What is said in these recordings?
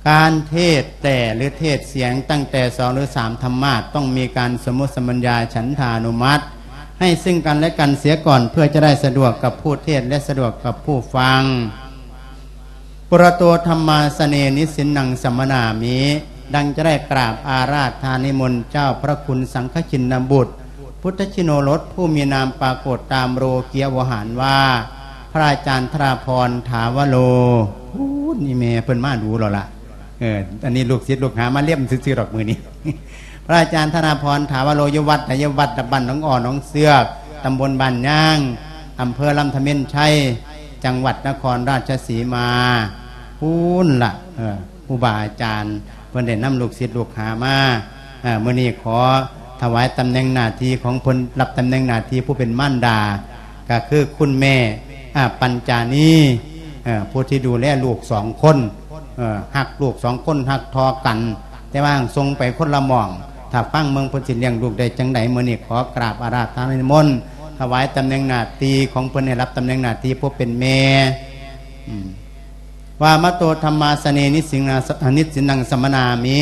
ການເທດແຕ່ ຫຼື ເທດສຽງຕັ້ງແຕ່ສອງ ຫຼື ສາມ ທຳມາດ ຕ້ອງມີການສົມມຸດສຳບັນຍາ ສັນທານຸມັດ ໃຫ້ຊຶ່ງກັນແລະກັນເສຍກ່ອນ ເພື່ອຈະໄດ້ສະດວກກັບຜູ້ເທດ ແລະ ສະດວກກັບຜູ້ຟັງ. ປຸຣະໂຕ ທຳມາສະເນ ນິສິນນັງ ສະມະນາມິ ດັ່ງຈະໄດ້ກາບອາລາທະນານິມົນເຈົ້າພະຄຸນສັງຄະຊິນນະບຸດ ພຸດທະຊິໂນລົດ ຜູ້ມີນາມປາກົດຕາມໂລກິຍະວະຫານວ່າ ພະອາຈານທະລາພອນ ຖາວະໂລ. ພຸ້ນ ອີ່ແມ່ເພິ່ນມາດູແລ້ວລະ. ເອີ ອັນນີ້ລູກສິດລູກຫາມາລຽມຊື່ໆດອກມື້ນີ້. ພະອາຈານທະລາພອນ ຖາວະໂລ ຢູ່ວັດໃດ? ຢູ່ວັດບ້ານໜອງອ້ອ ໜອງເຊືອກ ຕຳບົນບ້ານຍາງ ອຳເພີລຳທະເມນໄຊ ຈັງຫວັດນະຄອນລາຊະສີມາ. ພຸ້ນລະ ເອີ ຄູບາອາຈານເພິ່ນໄດ້ນຳລູກສິດລູກຫາມາ. ເອີ ມື້ນີ້ຂໍຖວາຍຕຳແໜ່ງໜ້າທີ່ຂອງເພິ່ນ ຮັບຕຳແໜ່ງໜ້າທີ່ຜູ້ເປັນມານດາ ກໍຄືຄຸນແມ່ ອາ ປັນຈານີ ເອີ ຜູ້ທີ່ດູແລລູກສອງຄົນ ເອີ ຮັກລູກສອງຄົນ ຮັກທໍ່ກັນ ແຕ່ວ່າສົ່ງໄປຄົນລະໝ່ອງ. ຖ້າຟັງເບິ່ງເພິ່ນຊິລ້ຽງລູກໄດ້ຈັ່ງໃດ. ມື້ນີ້ຂໍກາບອາລາທະນານິມົນ ຖວາຍຕຳແໜ່ງໜ້າທີ່ຂອງເພິ່ນ ໃຫ້ຮັບຕຳແໜ່ງໜ້າທີ່ຜູ້ເປັນແມ່ ອືມ ວ່າມະໂຕ ທຳມາສະເນ ນິສິນນະ ນິສິນນັງ ສະມະນາມິ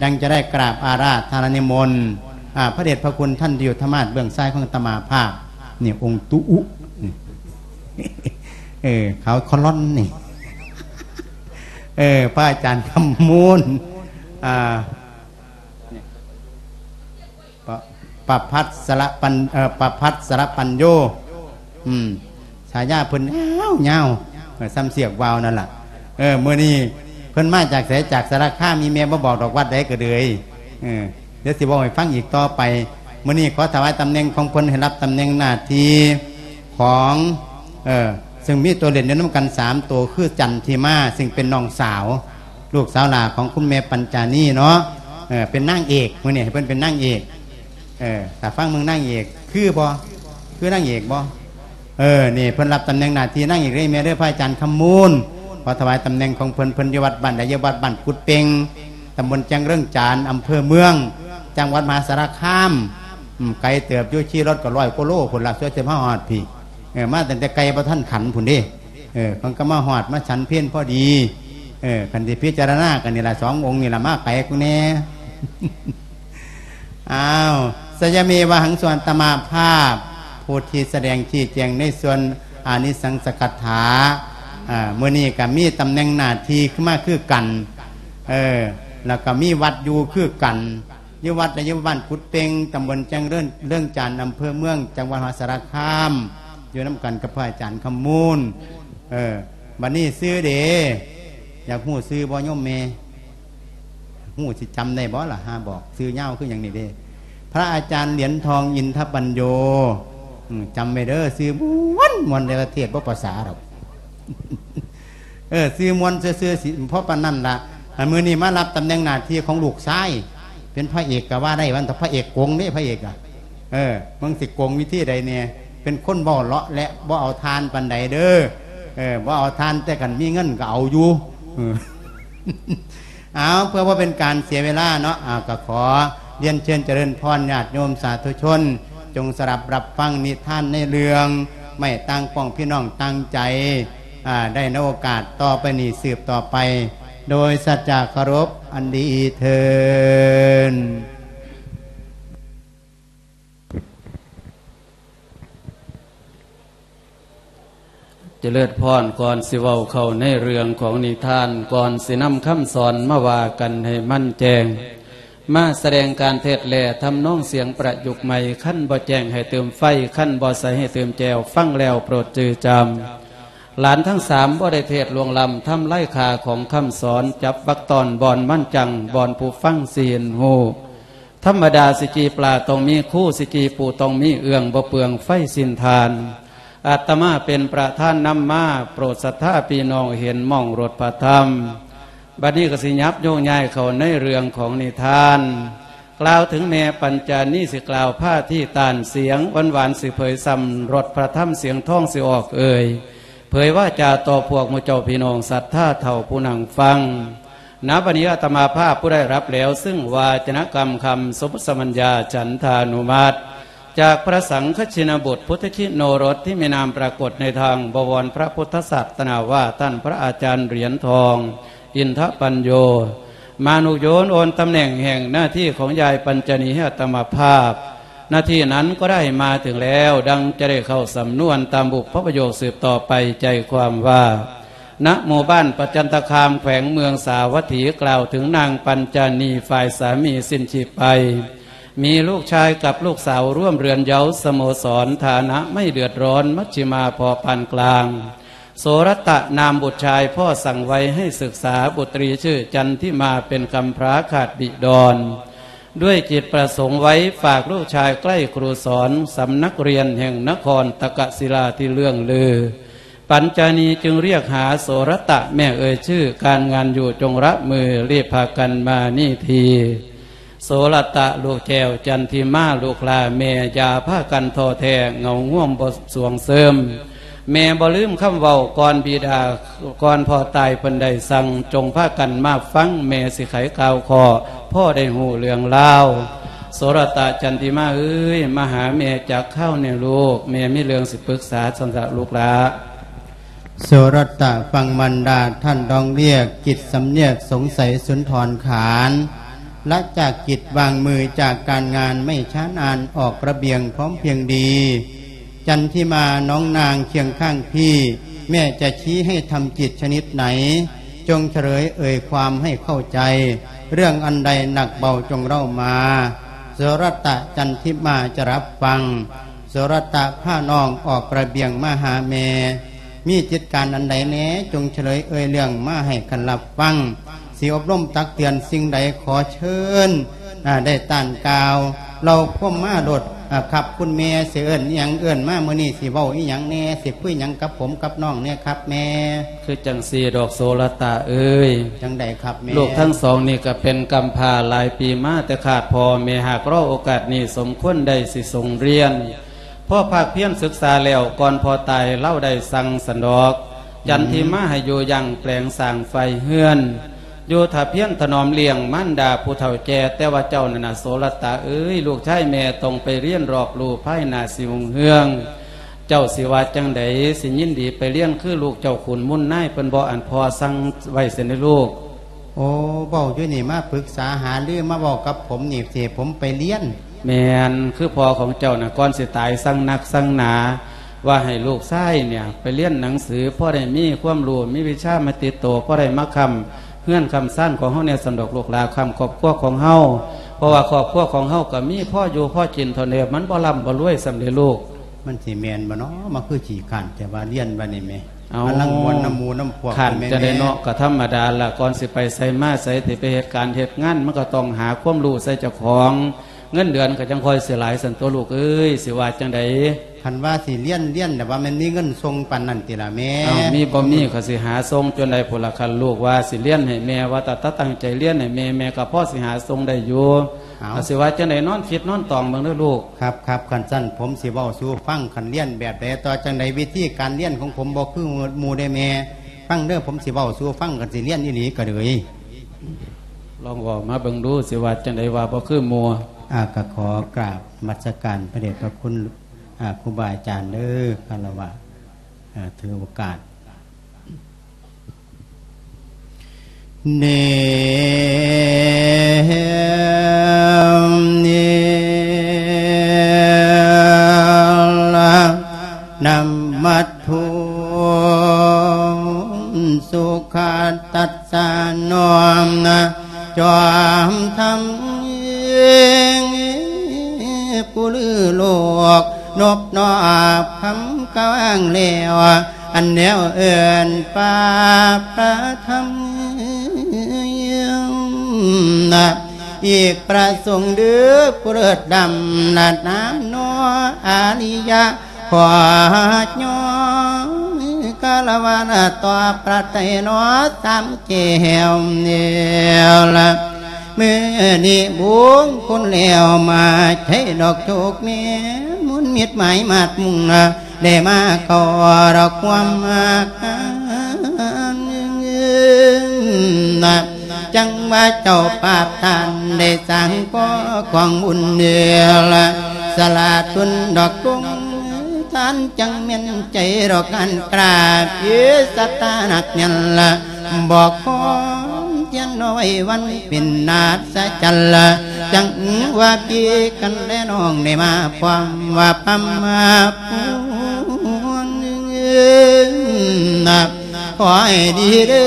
ດັ່ງຈະໄດ້ກາບອາລາທະນານິມົນ ອາ ພະເດດພະຄຸນທ່ານທີ່ຢູ່ທຳມາດເບື້ອງຊ້າຍຂອງອາດຕະມາພາບ ນີ້ອົງຕຸອຸ ນີ້ ເອີ ເຂົາຄອລອນນີ້ ເອີ ພະອາຈານຄຳມູນ ອາ ປະ ປະພັດສະລະປັນ ເອີ ປະພັດສະລະປັນໂຍ ອືມ ສາຍາເພິ່ນຍາວໆ ເອີ ສ່ຳເຊືອກວ່າວນັ້ນລະ. ເອີ ມື້ນີ້ເພິ່ນມາຈາກໃສ? ຈາກສາລະຄາມ. ມີແມ່ບໍ່ບອກດອກວັດໃດກໍເລີຍ. ເອີ ດຽວຊິເວົ້າໃຫ້ຟັງອີກຕໍ່ໄປ. ມື້ນີ້ຂໍຖວາຍຕຳແໜ່ງຂອງເພິ່ນ ໃຫ້ຮັບຕຳແໜ່ງໜ້າທີ່ຂອງ ເອີ ເຊິ່ງມີຕົວເຫຼັ້ນຢູ່ນຳກັນສາມໂຕ ຄືຈັນທິມາ ເຊິ່ງເປັນນ້ອງສາວ ລູກສາວຫຼ້າຂອງຄຸນແມ່ປັນຈານີເນາະ. ເອີ ເປັນນາງເອກ ມື້ນີ້ໃຫ້ເພິ່ນເປັນນາງເອກ. ເອີ ຖ້າຟັງເບິ່ງນາງເອກ ຄືບໍ່? ຄືນາງເອກບໍ່? ເອີ ນີ້ເພິ່ນຮັບຕຳແໜ່ງໜ້າທີ່ນາງເອກເດ້ແມ່ເດີ ພະອາຈານຄຳມູນ. ຂໍຖວາຍຕຳແໜ່ງຂອງເພິ່ນ. ເພິ່ນຢູ່ວັດບ້ານໃດ? ຢູ່ວັດບ້ານກຸດເປັງ ຕຳບົນແຈງເລື່ອງຈານ ອຳເພີເມືອງ ຈັງຫວັດມະຫາສາລະຄາມ. ອືມ ໄກເຕີບຢູ່ ຂີ່ລົດກໍຮ້ອຍກວ່າໂລພຸ້ນລະ ສ່ວຍຊິມາຮອດພີ້. ເອີ ມາຕັ້ງແຕ່ໄກ່ບໍ່ທັນຂັນພຸ້ນເດ້. ເອີ ເພິ່ນກໍມາຮອດ ມາສັນເພນພໍດີ. ເອີ ຄັນຊິພິຈາລະນາກໍນີ້ລະ ສອງອົງນີ້ລະ ມາໄກກວ່າແດ່. ອ້າວ ສະຍະເມວະຫັງ ສ່ວນອາດຕະມາພາບ ຜູ້ທີ່ສະແດງຊີ້ແຈງໃນສ່ວນອານິສັງສະກະຖາ. ອາ ມື້ນີ້ກໍມີຕຳແໜ່ງໜ້າທີ່ຂຶ້ນມາຄືກັນ ເອີ ແລ້ວກໍມີວັດຢູ່ຄືກັນ ຢູ່ວັດໃດ? ຢູ່ບ້ານກຸດເປັງ ຕຳບົນແຈງເລື່ອງ ເລື່ອງຈານ ອຳເພີເມືອງ ຈັງຫວັດມະຫາສາລະຄາມ ຢູ່ນຳກັນກັບພະອາຈານຄຳມູນ. ເອີ ບັດນີ້ຊື່ເດ ຢາກຮູ້ຊື່ບໍ່ໂຍມແມ່? ຮູ້ ຊິຈຳໄດ້ບໍ່ລະ? ຫາບອກຊື່ຍາວຄືຫຍັງນີ້ເດ້. ພະອາຈານຫຼຽນທອງ ອິນທະປັນໂຍ. ອືມ ຈຳໄວ້ເດີ ຊື່ມ່ວນໆ ແຕ່ວ່າເທດບໍ່ພາສາດອກ. ເອີ ຊື່ມ່ວນຊື່ໆ ຊິພໍປານນັ້ນລະ. ອັນມື້ນີ້ມາຮັບຕຳແໜ່ງໜ້າທີ່ຂອງລູກຊາຍ ເປັນພະເອກກໍວ່າໄດ້ ວ່າແຕ່ພະເອກກົງເດ້ ພະເອກອະ. ເອີ ເບິ່ງຊິກົງວິທີໃດແດ່? ເປັນຄົນເວົ້າເລາະແລະ ບໍ່ເອົາທ່ານປານໃດເດີ. ເອີ ບໍ່ເອົາທ່ານ ແຕ່ຄັນມີເງິນກໍເອົາຢູ່. ເອີ ເອົາ ເພື່ອບໍ່ເປັນການເສຍເວລາເນາະ ເອົາ ກໍຂໍລຽນເຊີນຈະເລີນພອນຍາດໂຍມສາທຸຊົນ ຈົ່ງສະດັບຮັບຟັງນິທານໃນເລື່ອງໄມ້ຕ່າງປ້ອງພີ່ນ້ອງຕ່າງໃຈ ອາ ໄດ້ໃນໂອກາດຕໍ່ໄປນີ້ ສືບຕໍ່ໄປ ໂດຍສັດຈະເຄົາລົບອັນດີເທີ້ນ. ຈະເລີນພອນ. ກ່ອນຊິເວົ້າເຂົ້າໃນເລື່ອງຂອງນິທານ, ກ່ອນຊິນຳຄຳສອນມາວ່າກັນໃຫ້ມັນແຈ້ງ, ມາສະແດງການເທດແລະທຳນອງສຽງປະຍຸກໃໝ່, ຄັນບໍ່ແຈ້ງໃຫ້ຕື່ມໄຟ, ຄັນບໍ່ໃສໃຫ້ຕື່ມແຈ່ວ, ຟັງແລ້ວໂປດຈື່ຈຳ. ຫຼານທັງສາມບໍ່ໄດ້ເທດລ່ວງລ້ຳ, ທຳລາຍຄ່າຂອງຄຳສອນ, ຈັບວັກຕອນບ່ອນມັນຈັງ, ບ່ອນຜູ້ຟັງຊິເຫັນຮູ້. ທຳມະດາຊິຈີ່ປາຕ້ອງມີຄູ, ຊິຈີ່ປູຕ້ອງມີເອື້ອງ, ບໍ່ເປືອງໄຟຊິນທານ. ອາດຕະມາເປັນປະທານນຳມາ, ໂປດສັດທາພີ່ນ້ອງເຫັນມອງລົດພະທຳ. ບັດນີ້ກໍຊິຫຍັບໂຍງຍ້າຍເຂົ້າໃນເລື່ອງຂອງນິທານ, ກ່າວເຖິງແມ່ປັນຈານີ, ຊິກ່າວພາທີຕານ, ສຽງຫວານໆຊິເຜີຍຊ້ຳ, ລົດພະທຳສຽງທອງຊິອອກເອີ່ຍ, ເຜີຍວາຈາຕໍ່ພວກໝູ່ເຈົ້າພີ່ນ້ອງສັດທາເຖົ້າຜູ້ນັ່ງຟັງ. ນະບັດນີ້ອາດຕະມາພາບຜູ້ໄດ້ຮັບແລ້ວ ຊຶ່ງວາຈະນະກຳຄຳສົມມຸດສຳບັນຍາ ສັນທານຸມັດ ຈາກພະສັງຄະຊິນະບຸດ ພຸດທະຄິດໂນລົດ ທີ່ມີນາມປາກົດໃນທາງບວອນພະພຸດທະສາສະໜາວ່າ ທ່ານພະອາຈານຫຼຽນທອງ ตินทปัญโญ มานุโยนโอนตำแหน่งแห่งหน้าที่ของยายปัญจนีให้อาตมาภาพ หน้าที่นั้นก็ได้มาถึงแล้ว ดังจะได้เข้าสำนวนตามบุพประโยคสืบต่อไป ใจความว่า ณ หมู่บ้านประจันตคาม แขวงเมืองสาวัตถี กล่าวถึงนางปัญจนี ฝ่ายสามีสิ้นชีพไป มีลูกชายกับลูกสาวร่วมเรือนเยาว์ สโมสร ฐานะไม่เดือดร้อน มัชฌิมาพอปานกลาง โสรตะนามบุตรชาย พ่อสั่งไว้ให้ศึกษา บุตรีชื่อจันทิมา เป็นกำพร้าขาดบิดร ด้วยจิตประสงค์ไว้ฝากลูกชายใกล้ครูสอน สำนักเรียนแห่งนครตะกะศิลาที่เลื่องลือ ปัญจานีจึงเรียกหาโสรตะ แม่เอ่ยชื่อ การงานอยู่จงละมือ รีบพากันมานี่ที โสรตะลูกแก้ว จันทิมาลูกหล้า แม่อย่าพากันท้อแท้ เหงาง่วมบ่สวงเซิม แม่บ่ลืมคำเว้าก่อนบิดา ก่อนพ่อตายเพิ่นได้สั่ง จงพากันมาฟัง แม่สิไขข่าวข้อ พ่อได้ฮู้เรื่องราว โสรตะ จันทิมาเอ้ย มาหาแม่จักคราวแหน่ลูก แม่มีเรื่องสิปรึกษา ซั่นซะลูกหล้า โสรตะฟังมารดาท่านร้องเรียก จิตสำเนียกสงสัยสุนทรขาน ละจากกิจวางมือจากการงานไม่ช้านานออกระเบียงพร้อมเพรียงดี จันทิมาน้องนางเคียงข้างพี่ แม่จะชี้ให้ทำกิจชนิดไหน จงเฉลยเอ่ยความให้เข้าใจ เรื่องอันใดหนักเบาจงเล่ามา โสรตะ จันทิมาจะรับฟัง โสรตะพาน้องออกระเบียงมาหาแม่ มีจิตการอันใดแหน่ จงเฉลยเอ่ยเรื่องมาให้คันรับฟัง สิอบรมตักเตือนสิ่งใดขอเชิญ อ่า ได้ต้านกล่าว เล่าความมาโลด อ่า ครับคุณแม่ สิเอิ้นอิหยังเอิ้นมา มื้อนี้สิเว้าอิหยังแหน่ สิคุยหยังกับผมกับน้องแหน่ครับแม่ คือจั่งซี้ดอกโสรตะเอ้ย จั่งใดครับแม่ ลูกทั้งสองนี่ก็เป็นกำพร้าหลายปีมาแต่ขาดพ่อ แม่หากรอโอกาสนี้สมควรได้สิส่งเรียน พอภาคเพียรศึกษาแล้ว ก่อนพ่อตายลาวได้สั่งซั้นดอก อืม จันทิมาให้อยู่หยังแปลงสร้างไฟเฮือน อยู่ถ้าเพียรถนอมเลี้ยงมารดาผู้เฒ่าแก่ แต่ว่าเจ้านั่นน่ะ โสรตะเอ้ย ลูกชายแม่ต้องไปเรียนรอบรู้ภายหน้าสิรุ่งเรือง เจ้าสิว่าจั่งใด สิยินดีไปเรียนคือลูกเจ้าขุนมูลนายเพิ่นบ่ อันพ่อสั่งไว้ซั้นเด้อลูก โอ้ เว้าอยู่นี่มาปรึกษาหารือมาเว้ากับผมนี่ สิให้ผมไปเรียน แม่น คือพ่อของเจ้าน่ะ ก่อนสิตายสั่งนักสั่งหนา ว่าให้ลูกชายเนี่ยไปเรียนหนังสือ พอได้มีความรู้ มีวิชามาติดตัว พอได้มาค้ำเฮือนค้ำซานของเฮาแหน่ ซั้นดอกลูกหล้า ค้ำครอบครัวของเฮา เพราะว่าครอบครัวของเฮาก็มีพออยู่พอกินเท่านั้น มันบ่ร่ำบ่รวยซั้นเด้อลูก มันสิแม่นบ่น้อ มาคือขี้คร้านแต่ว่าเรียนว่านี่แหม เอ้า กำลังม่วนนำหมู่นำพวก คร้าน แม่น จั่งใดเนาะ ก็ธรรมดาล่ะ ก่อนสิไปไสมาไส สิไปเฮ็ดการเฮ็ดงาน มันก็ต้องหาความรู้ใส่เจ้าของ เงินเดือนก็จั่งค่อยสิหลายซั้นตั๊วลูกเอ้ย สิว่าจั่งใด คันว่าสิเรียน เรียน แต่ว่ามันมีเงินส่งปานนั้นติล่ะแม่ เอ้า มีบ่มีก็สิหาส่งจนได้พุ้นล่ะ คันลูกว่าสิเรียนให้แม่ ว่าถ้าตั้งใจเรียนให้แม่ แม่ก็พอสิหาส่งได้อยู่ เอ้า ก็สิว่าจั่งใด นอนคิดนอนตองเบิ่งเด้อลูก ครับ ครับ คันซั่นผมสิเว้าสู่ฟัง คันเรียนแบบใดต่อจั่งใด วิธีการเรียนของผมบ่คือหมู่เด้แม่ ฟังเด้อ ผมสิเว้าสู่ฟัง คันสิเรียนอีหลีก็เลย ลองเว้ามาเบิ่งดู สิว่าจั่งใดว่าบ่คือหมู่ อ่า ก็ขอกราบนมัสการพระเดชพระคุณ อ่า ครูบาอาจารย์เด้อ คารวะ อ่า ถือโอกาส เน เน ละ นะมัตถุ สุขะตัสสะ น้อมนะ จอมธรรม ผู้ลือโลก นบนอบคำกว้างแล้ว อันแนวเอิ้นปาประธรรม อีกประสงค์เด้อผู้เลิศดำ นัดนามนออาริยะ ขอย้อนคารวะต่อพระไตรเนาะสามแก้วนี่ละ มื้อนี้บุญคุณแล้วมาใช้ดอกโชคแม่ มุนมิตรหมายมาดมุ่งนะ ได้มาเข้าดอกความมากนะ จังว่าเจ้าปาบท่านได้สร้างก่อของบุญเดือละ สละทุนดอกกง ท่านจังแม่นใจดอกอันกราบ เอสตานักยันละ บอกขอ ຽນນ້ອຍວັນເປັນນາດສະຈັນລະ ຈັ່ງວ່າພີ່ກັນແລນ້ອງໄດ້ມາພ້ອມວ່າປຳມາພວງ ຂໍໃຫ້ດີເດີ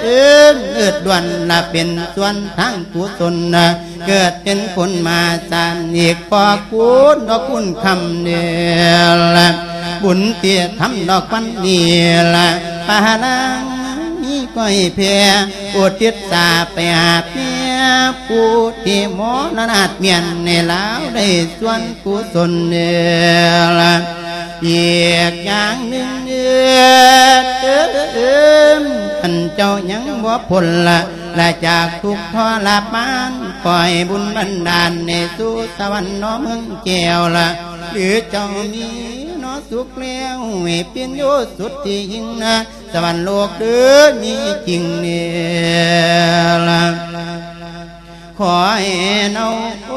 ເອີດດ່ວນລະເປັນສ່ວນທາງກຸສົນນະ ເກີດເປັນຄົນມາຊາດອີກ ຂໍຄູນດອກຄູນຄຳນີ້ລະ ບຸນທີ່ທຳດອກວັນນີ້ລະ ປານາງມີກ້ອຍແຜ່ອຸທິດສາໄປຫາແມ່ ຜູ້ທີ່ມໍລະນາດມຽນໃຫ້ລາວໄດ້ສ່ວນ ກຸສົນເດີລະ ອີກຢ່າງໜຶ່ງເດີ ຄັນເຈົ້າຍັງບໍ່ພົ້ນລະ ລະຈາກທຸກທໍລະມານ ຂໍໃຫ້ບຸນບັນດານໃຫ້ສູ່ສະຫວັນເນາະເມືອງແກ້ວລະ ຫຼືເຈົ້າມີເນາະສຸກແລ້ວ ໃຫ້ເປັນຢູ່ສຸດທີ່ຍິ່ງນະ ສະຫວັນໂລກເດີ ມີຈິງເດີລະ ຂໍໃຫ້ເນົ່າໂອ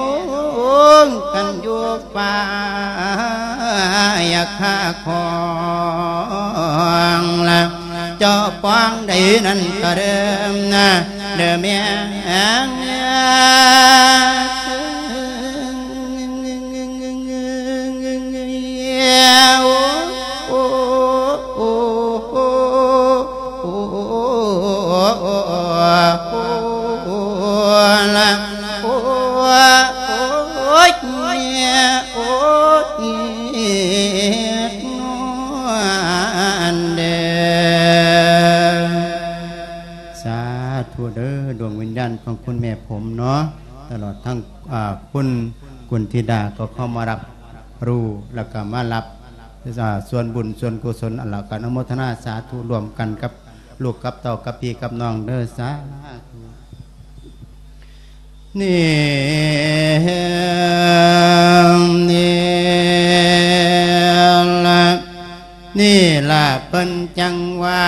ງກັນຢູ່ປ່າ ຢ່າຂ້າຂອງລະ ເຈົ້າປອງໃດນັ້ນກໍເດີມນະ ເດີແມ່ ສາທຸເດີ ດວງວິນຍານຂອງຄຸນແມ່ຜົມເນາະ ຕະຫຼອດທັງ ອ່າ ຄຸນກຸນທິດາກໍເຂົ້າມາຮັບຮູ້ ແລ້ວກໍມາຮັບ ອ່າ ສ່ວນບຸນສ່ວນກຸສົນ ແລ້ວກໍອະນຸໂມທະນາສາທຸຮ່ວມກັນກັບລູກກັບເຕົ້າກັບພີ່ກັບນ້ອງເດີ ສາທຸ ນີ້ ນີ້ລະ ນີ້ລະເພິ່ນຈັ່ງວ່າ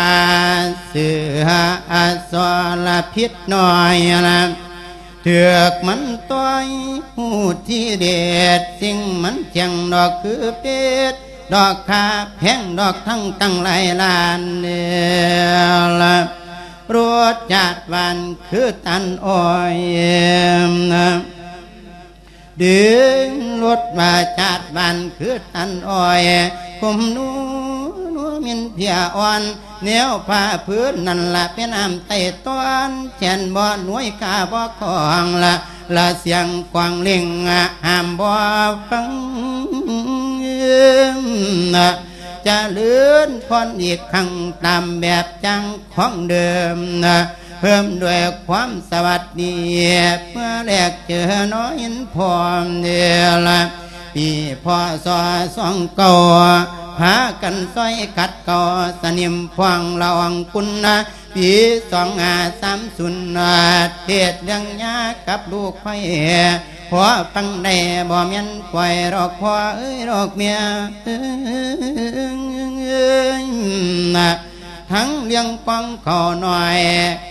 ເສືອອະສອລະພິດນ້ອຍລະ ຖືກມັນຕ່ອຍຮູ້ທີເດັດ ສິ່ງມັນຈຽງດອກຄືເປັດ ດອກຄ່າແພງດອກທັງຕັ້ງຫຼາຍລ້ານເດີລະ ລົດຈາດຫວານຄືຕານອ້ອຍ ດຶງລົດວ່າຈາດຫວານຄືຕານອ້ອຍ ກົມໜູນວນມິນເພຍອ່ອນ ແນວຜ້າພື້ນນັ້ນລະເປັນນ້ຳໄຕ້ຕ້ອນ ແຂນບໍ່ໜວຍຂາບໍ່ຄອງລະ ລະສຽງກວາງເລັ່ງຫ້າມບໍ່ຟັງ ຈະເລີນພອນອີກຄັ້ງຕາມແບບຢ່າງຂອງເດີມ ເພີ່ມດ້ວຍຄວາມສະຫວັດດີ ເມື່ອແລກເຈີນ້ອຍອິນພ້ອມເດີລະ ປີ ພ.ສ. ສອງເກົ້າ ພາກັນຊ່ອຍຂັດເກົາສະໜິມພວງລະອອງຄຸນນະ ປີ ສອງຫ້າສາມສູນ ເທດເລື່ອງຍາກັບລູກໄພ ພໍຟັງໄດ້ບໍ່ແມ່ນປ່ອຍດອກພໍ່ເອີຍດອກແມ່ ທັງເລື່ອງກອງເຂົ້າໜ້ອຍ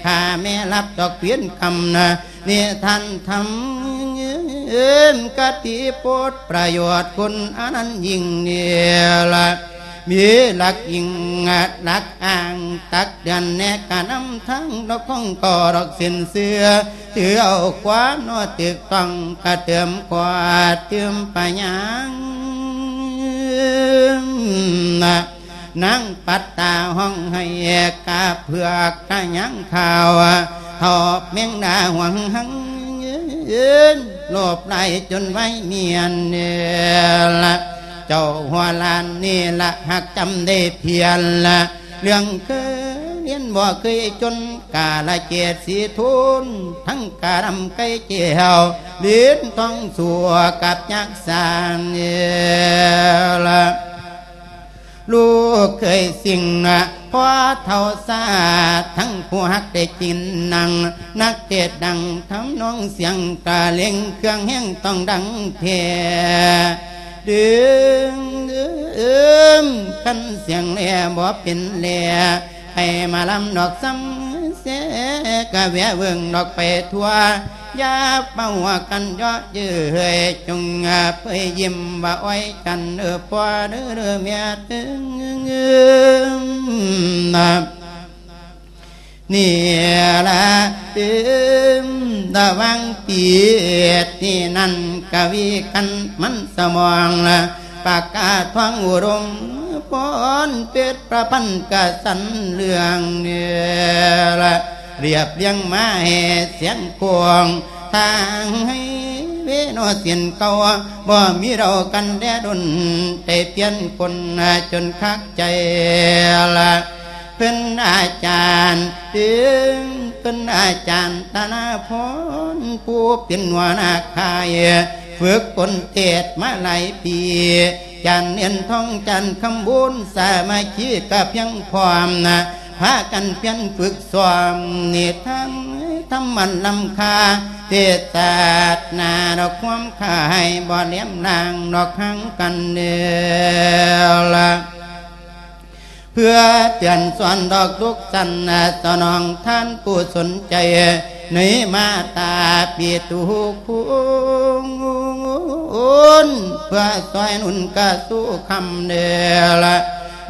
ຂ້າແມ່ລັບດອກວຽນກຳນະ ນິທານທຳ ຄະຕິໂປດປະໂຫຍດຄຸນອັນນັ້ນຍິ່ງນີ້ລະ ມີຫຼັກອີງຫຼັກອ້າງ ຕັກເຕືອນແນະກະນຳທາງດອກຂອງກໍດອກສິນເຊື່ອ ຖືເອົາຄວາມເນາະຖືກຕ້ອງ ກະເຕີມກວາດຕື່ມປະຍາງ ນາງປັດຕາຮ້ອງໄຫ້ກະເຜືອກກະຍາງຂາວ ເທົ່າແມງດາຫວງຫັງ ໂລບຫຼາຍຈົນໄວມຽນເນລະ ເຈົ້າຫົວລ້ານນີ້ລະຮັກຈຳໄດ້ພຽນລະ ເລື່ອງເຄີຍຮຽນບໍ່ເຄີຍຈົນ ກາລະເກດສີທູນ ທັງກາດຳໄກ່ແກ້ວ ລີນທອງຊົ່ວກັບຍັກສານເນລະ ລູກເຄີຍສິ່ງນະ ພໍເຖົ້າຊາ ທັງຜູ້ຮັກໄດ້ກິນນັ່ງ ນັກເທດດັງທຳນອງສຽງຕາເລັງ ເຄື່ອງແຮງຕ້ອງດັງແທ້ ດຶງເອີມ ຄັນສຽງແລບໍ່ເປັນແລ ໃຫ້ມາລຳດອກຊຳແຊ ກະແວະເບິ່ງດອກໄປທົ່ວ ຢ່າມາຫົວກັນເຍາະເຍີ້ຍ ຈົ່ງເຜີຍຍິ້ມວ່າອ້ອຍກັນເອີ ພໍ່ເດີ ເດີແມ່ເອີ ນະ ນີ້ລະຕື່ມລະຫວ່າງປີດນີ້ນັ້ນ ກະວີກັນມັນສະໝອງລະ ປາກກາທອງອຸດົມ ພອນເປັດປະພັນກະສັນເລື່ອງນີ້ລະ ລຽບລຽງມາໃຫ້ສຽງກວາງ ທາງໃຫ້ເວໂນສິນເກົ່າ ບໍ່ມີເຫຼົ່າກັນແລດົນ ໄດ້ປ່ຽນຄົນຈົນຄັກໃຈລະ ເພິ່ນອາຈານ ເຖິງເພິ່ນອາຈານຕະນາພອນ ຜູ້ເປັນຫົວໜ້າຄ້າຍ ຝຶກຝົນເທດມາຫຼາຍປີ ຈານເໜັນທອງ ຈານຄຳບຸນ ສາມັກຄີກະພຽງພ້ອມນະ ພາກັນພຽນຝຶກຊ້ອມ ນິທານທຳອັນລ້ຳຄ່າ ເທດສາດໜ້າດອກຄວາມຄາຍ ບໍ່ແຫຼມລ້າງດອກຫ່າງກັນແລ້ວລະ ເພື່ອເຕືອນສອນດອກທຸກສັນ ສະໜອງທ່ານຜູ້ສົນໃຈ ໃນມາຕາປິຕຸຄຸນ ເພື່ອຊ່ອຍໜູນກະສູ່ຄຳເດີລະ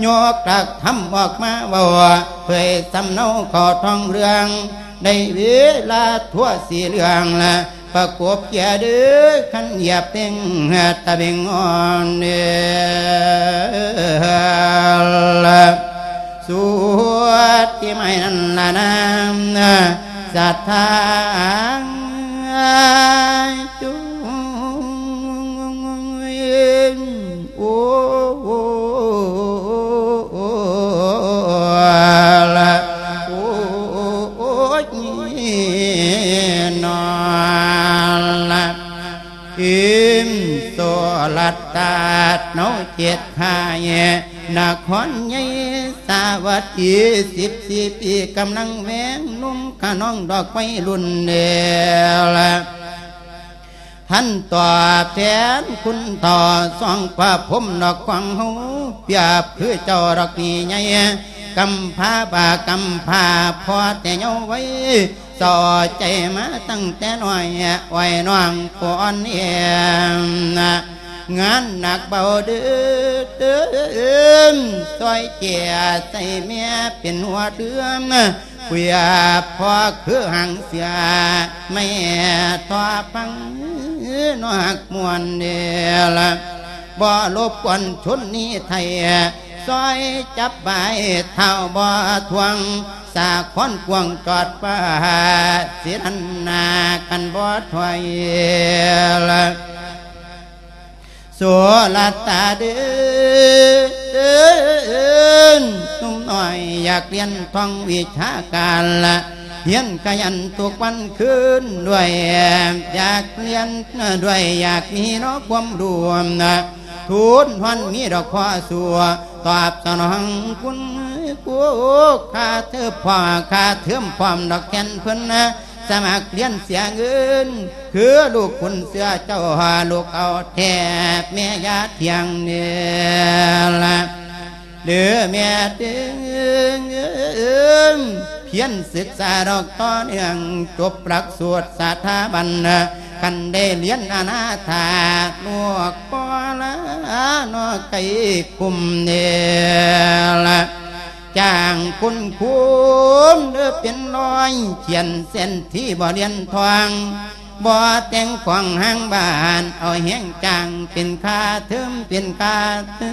ຍົກຫຼັກທຳອອກມາເວົ້າ ເຜີຍສຳເນົາເຂົ້າທ້ອງເລື່ອງ ໃນເວລາທົ່ວສີເລື່ອງລະ ປະກົບເກຍເດີ ຄັນຢາບເປັງຕະເບັງອ່ອນເດີລະ ສວດທີ່ໄມ້ນັ້ນລະນາ ສັດທາ ໂອ້ ໂອ້ ລະ ໂອ້ຍ ນອນລະ ອີມໂສລັດຕາດເນາເຈັດຂ້າຍ ນະຄອນໃຫຍ່ສາວັດດີ ສິບສີ່ປີກຳລັງແວງ ໜຸ່ມຂະນອງດອກໄວລຸ້ນແລ້ວລະ ທ່ານຕອບແທນຄຸນຕໍ່ ສອງພະພົມດອກຂອງເຮົາ ປຽບຄືເຈົ້າດອກນີ້ໃຫຍ່ ກຳພາບາກຳພາພໍ່ແຕ່ເຍົາໄວ ເຊົາໃຈມາຕັ້ງແຕ່ນ້ອຍ ອ້ອຍນ້ອງກ່ອນແອມ ງານໜັກເບົາເດີ ຊ່ອຍເຈຍໃສ່ແມ່ເປັນຫົວເດືອນ ເພື່ອພໍ່ຄືຫາງເສືອ ແມ່ທໍ່ຟັງນອກມ່ວນເດລະ ບໍ່ລົບກວນຊົນນີ້ໄທ ຊ່ອຍຈັບບາຍເທົ້າບໍ່ທວງ ສາຄອນກວ້າງຈອດຟ້າ ສິລັນນາກັນບໍ່ຖອຍລະ ໂສລະຕາເດີ ໜຸ່ມນ້ອຍຢາກຮຽນທ່ອງວິຊາການລະ ຮຽນຂະຫຍັນທຸກວັນຄືນ ດ້ວຍຢາກຮຽນ ດ້ວຍຢາກມີເນາະຄວາມຮູ້ ທູນຮອນມີດອກຂໍສູ່ ຕອບສະໜອງຄຸນຄູ ຄ່າເທີມພ້ອມ ຄ່າເທີມພ້ອມດອກແທນເພິ່ນນະ ສະໝັກຮຽນເສຍເງິນ ຄືລູກຂຸນເສືອເຈົ້າ ລູກເອົາແທ້ແມ່ຢ່າທ່ຽງເນີລະ ເດີແມ່ເຕີງ ພຽນສຶກສາດອກຕໍ່ເນື່ອງ ຈົບຫຼັກສູດສະຖາບັນ ຄັນໄດ້ຮຽນອະນາຖາ ລູກບໍ່ລາເນາະໄກກຸມເດີລະ ຈ້າງຄຸນຄູເດີເປັນຮ້ອຍ ຂຽນເສັ້ນທີ່ບໍ່ລຽນທ່ອງ ບໍ່ແຕ່ງຂອງຫ້າງບ້ານ ເອົາແຮງຈ້າງເປັນຄ່າເທີມ ເປັນຄ່າເທີ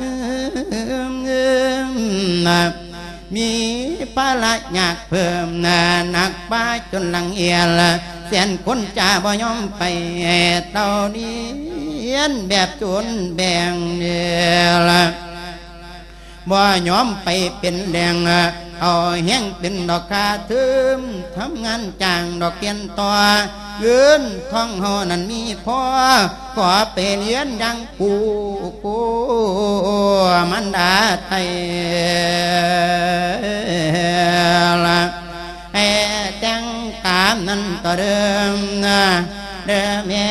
ມ ມີພາລະຍາກເພີ່ມ ໜັກປາຈົນຫຼັງອຽນ ແສນຄົນຈະບໍ່ຍອມໄປ ເຕົ້າລຽນແບບໂຈນແບ່ງເດີລະ ບໍ່ຍອມໄປເປັນແຫຼ່ງ ເອົາແຮງເປັນດອກຄ່າເທີມ ທຳງານຈ້າງດອກຮຽນຕໍ່ ເງິນທອງເຮົານັ້ນມີພໍ ຂໍໄປຮຽນຢ່າງປູ່ ກູ່ມັນດາໄທລະ ໃຫ້ແຕ່ງຕາມນັ້ນຕໍ່ເດີ ເດີແມ່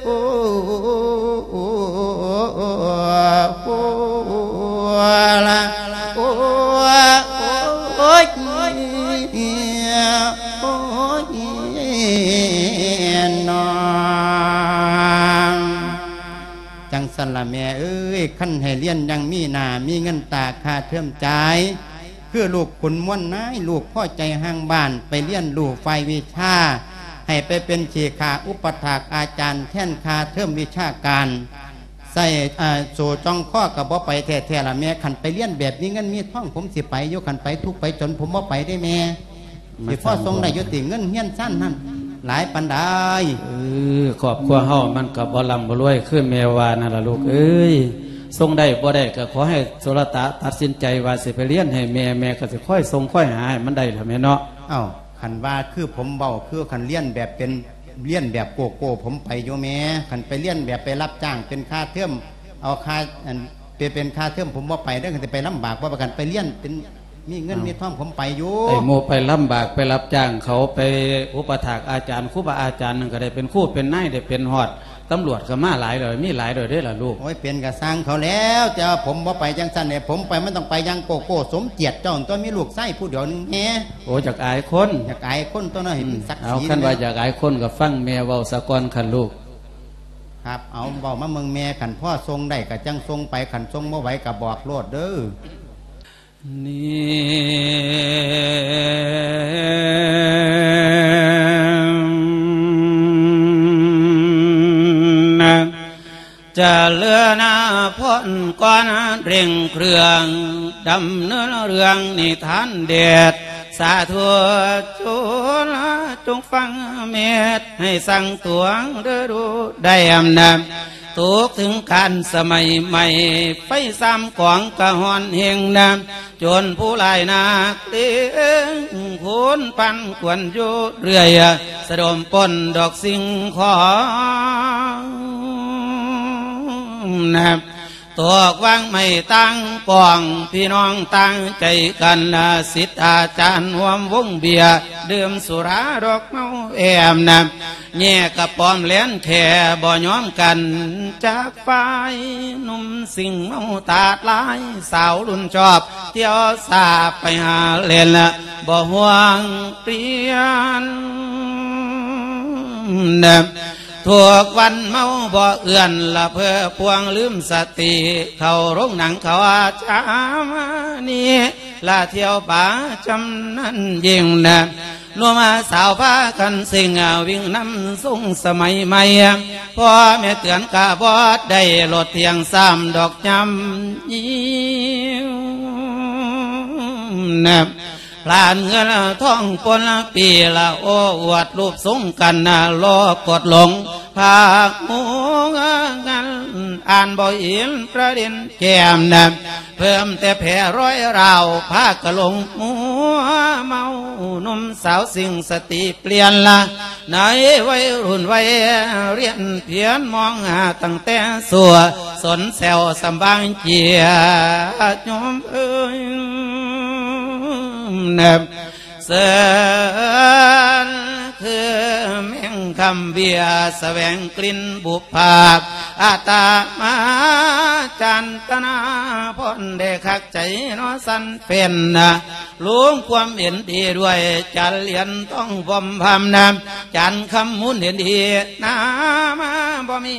ໂອ້ ໂອ້ ລະ ໂອ້ ໂອ້ຍ ໂອ້ຍ ນອງ ຈັ່ງຊັ້ນລະແມ່ເອີຍ. ຄັນໃຫ້ຮຽນຍັງມີໜ້າມີເງິນຕາຄ່າເທີມຈ່າຍ ຄືລູກຂຸນມວນນາຍ ລູກພໍໃຈຮ່າງບ້ານ ໄປຮຽນຮູ້ຝ່າຍວິຊາ ໃຫ້ໄປເປັນເຂຂາອຸປະຖາກອາຈານ ແທນຄ່າເທີມວິຊາການ ໃສ່ ເອີ ໂສ້ຈ່ອງຄໍກໍບໍ່ໄປແທ້ໆລະແມ່. ຄັນໄປຮຽນແບບມີເງິນມີທອງ ຜົມຊິໄປຢູ່, ຄັນໄປທຸກໄປຈົນ ຜົມບໍ່ໄປເດ້ແມ່. ມັນ ຊິພໍສົ່ງໄດ້ຢູ່ຕິ ເງິນຮຽນຊັ້ນນັ້ນຫຼາຍປານໃດ? ເອີ ຄອບຄົວເຮົາມັນກໍບໍ່ລ່ຳບໍ່ລວຍຄືແມ່ວ່ານັ້ນລະລູກເອີຍ. ສົ່ງໄດ້ບໍ່ໄດ້ກໍຂໍໃຫ້ໂສລະຕະຕັດສິນໃຈວ່າຊິໄປຮຽນໃຫ້ແມ່, ແມ່ກໍຊິຄອຍສົ່ງຄອຍຫາໃຫ້ມັນໄດ້ລະແມ່ເນາະ. ເອົ້າ ຄັນວ່າຄືຜົມເວົ້າ ຄືຄັນຮຽນແບບເປັນ ຮຽນແບບໂກ້ໆ ຜົມໄປຢູ່ແມ່. ຄັນໄປຮຽນແບບໄປຮັບຈ້າງເປັນຄ່າເທີມ ເອົາຄ່າ ອັນ ເປັນ ເປັນຄ່າເທີມ ຜົມບໍ່ໄປເດີ້. ຄັນຊິໄປລຳບາກບໍ່ປານກັນ ໄປຮຽນເປັນ ມີເງິນ ເອົ້າ ມີທອງ ຜົມໄປຢູ່. ໄອ້ໝູ່ໄປລຳບາກ ໄປຮັບຈ້າງເຂົາ ໄປອຸປະຖາກອາຈານ ຄູບາອາຈານນັ້ນກໍໄດ້ເປັນຄູເປັນນາຍ ໄດ້ເປັນຮອດຕຳຫຼວດກໍມາຫຼາຍແລ້ວ ມີຫຼາຍແລ້ວເດ້ລະລູກ. ໂອ້ຍ ເປັນກໍຊ່າງເຂົາແລ້ວ, ແຕ່ວ່າຜົມບໍ່ໄປຈັ່ງຊັ້ນເດ້. ຜົມໄປມັນຕ້ອງໄປຢ່າງໂກ້ໆ ສົມກຽດເຈົ້າຕົວະ ມີລູກຊາຍຜູ້ດຽວໜຶ່ງແດ່. ໂອ້ ຢາກອາຍຄົນ. ຢາກອາຍຄົນຕົວະເນາະ ໃຫ້ມັນ ອືມ ສັກສີ. ເອົາ ຄັນວ່າຢາກອາຍຄົນກໍຟັງແມ່ເວົ້າສາກ່ອນຄັນລູກ. ຄັບ ເອົາ ເວົ້າມາເບິ່ງແມ່, ຄັນພໍສົ່ງໄດ້ກໍຈັ່ງສົ່ງໄປ, ຄັນສົ່ງບໍ່ໄຫວກໍບອກໂລດເດີ້. ນີ້ນະ ຈະເລີນນະ ພົ້ນກ່ອນເລັ່ງເຄື່ອງ ດຳເນີນເລື່ອງນິທານເດັດ ສາທຸຊົນຈົ່ງຟັງເມດ ໃຫ້ສັງຕວງເດີດູໄດ້ອຳນາດ ຕົກເຖິງການສະໄໝໃໝ່ ໄຟສາມກອງກະຮ້ອນແຮງນາ ຈົນຜູ້ຫຼາຍນັກເລງ ຄົນປັນກວນຢູ່ເລື້ອຍ ສະດົມປົນດອກສິ່ງຂອງນາ ຕອກວາງໄມ້ຕ່າງກອງ ພີ່ນ້ອງຕ່າງໃຈກັນ ສິດອາຈານຮ່ວມວົງເບຍ ດື່ມສຸລາດອກເມົາແອມນາ ແຍກກະປ້ອມແລນແຄ່ບໍ່ຍອມກັນ ຈາກຝ່າຍໜຸ່ມສິ່ງເມົາຕາດຫຼາຍ ສາວລຸ້ນຊອບ ທ່ຽວສາໄປຫາເຫຼັ້ນ ບໍ່ຫ່ວງປ່ຽນ ທຸກວັນເມົາບໍ່ເອື້ອນ ລະເພີພວງລືມສະຕິ ເຂົ້າໂຮງໜັງເຂົາອາຈານນີ້ ລະທ່ຽວປະຈຳນັ້ນຍິ່ງນະ ໜຸ່ມສາວພາກັນເສັງ ວິ່ງນຳຊົງສະໄໝໃໝ່ ພໍ່ແມ່ເຕືອນກະບໍ່ໄດ້ ລົດທ່ຽງຊ້ຳດອກຍາມຍິ້ວນະ ພລານເງິນທອງປົນປີລະ ໂອ້ອວດຮູບຊົງກັນນະ ລໍກົດຫຼົງພາກຫົວງານ ອ່ານບໍ່ເຫັນປະເດັນແກ້ມນະ ເພີ່ມແຕ່ແຜລອຍລາວ ພາກະຫຼົງຫົວເມົາ ໜຸ່ມສາວສິ່ງສະຕິປ່ຽນລະ ໃນໄວລຸ້ນໄວຮຽນ ພຽນມອງຫາຕັ້ງແຕ່ຊົ່ວ ສົນແຊວສຳບາງເຈຍ ໂຍມເອີຍນະ ເຊີນຄືແມງຄຳເບຍ ສະແຫວງກິ່ນບຸບພາບ ອາດຕະມາຈັນຕະນາພອນ ໄດ້ຄັກໃຈເນາະສັນເປັນນະ ລົງຄວາມເຫັນດີດ້ວຍ ຈັນລຽນຕ້ອງບອມພາມນາ ຈັນຄຳມູນເຫັນດີນາ ມາບໍ່ມີ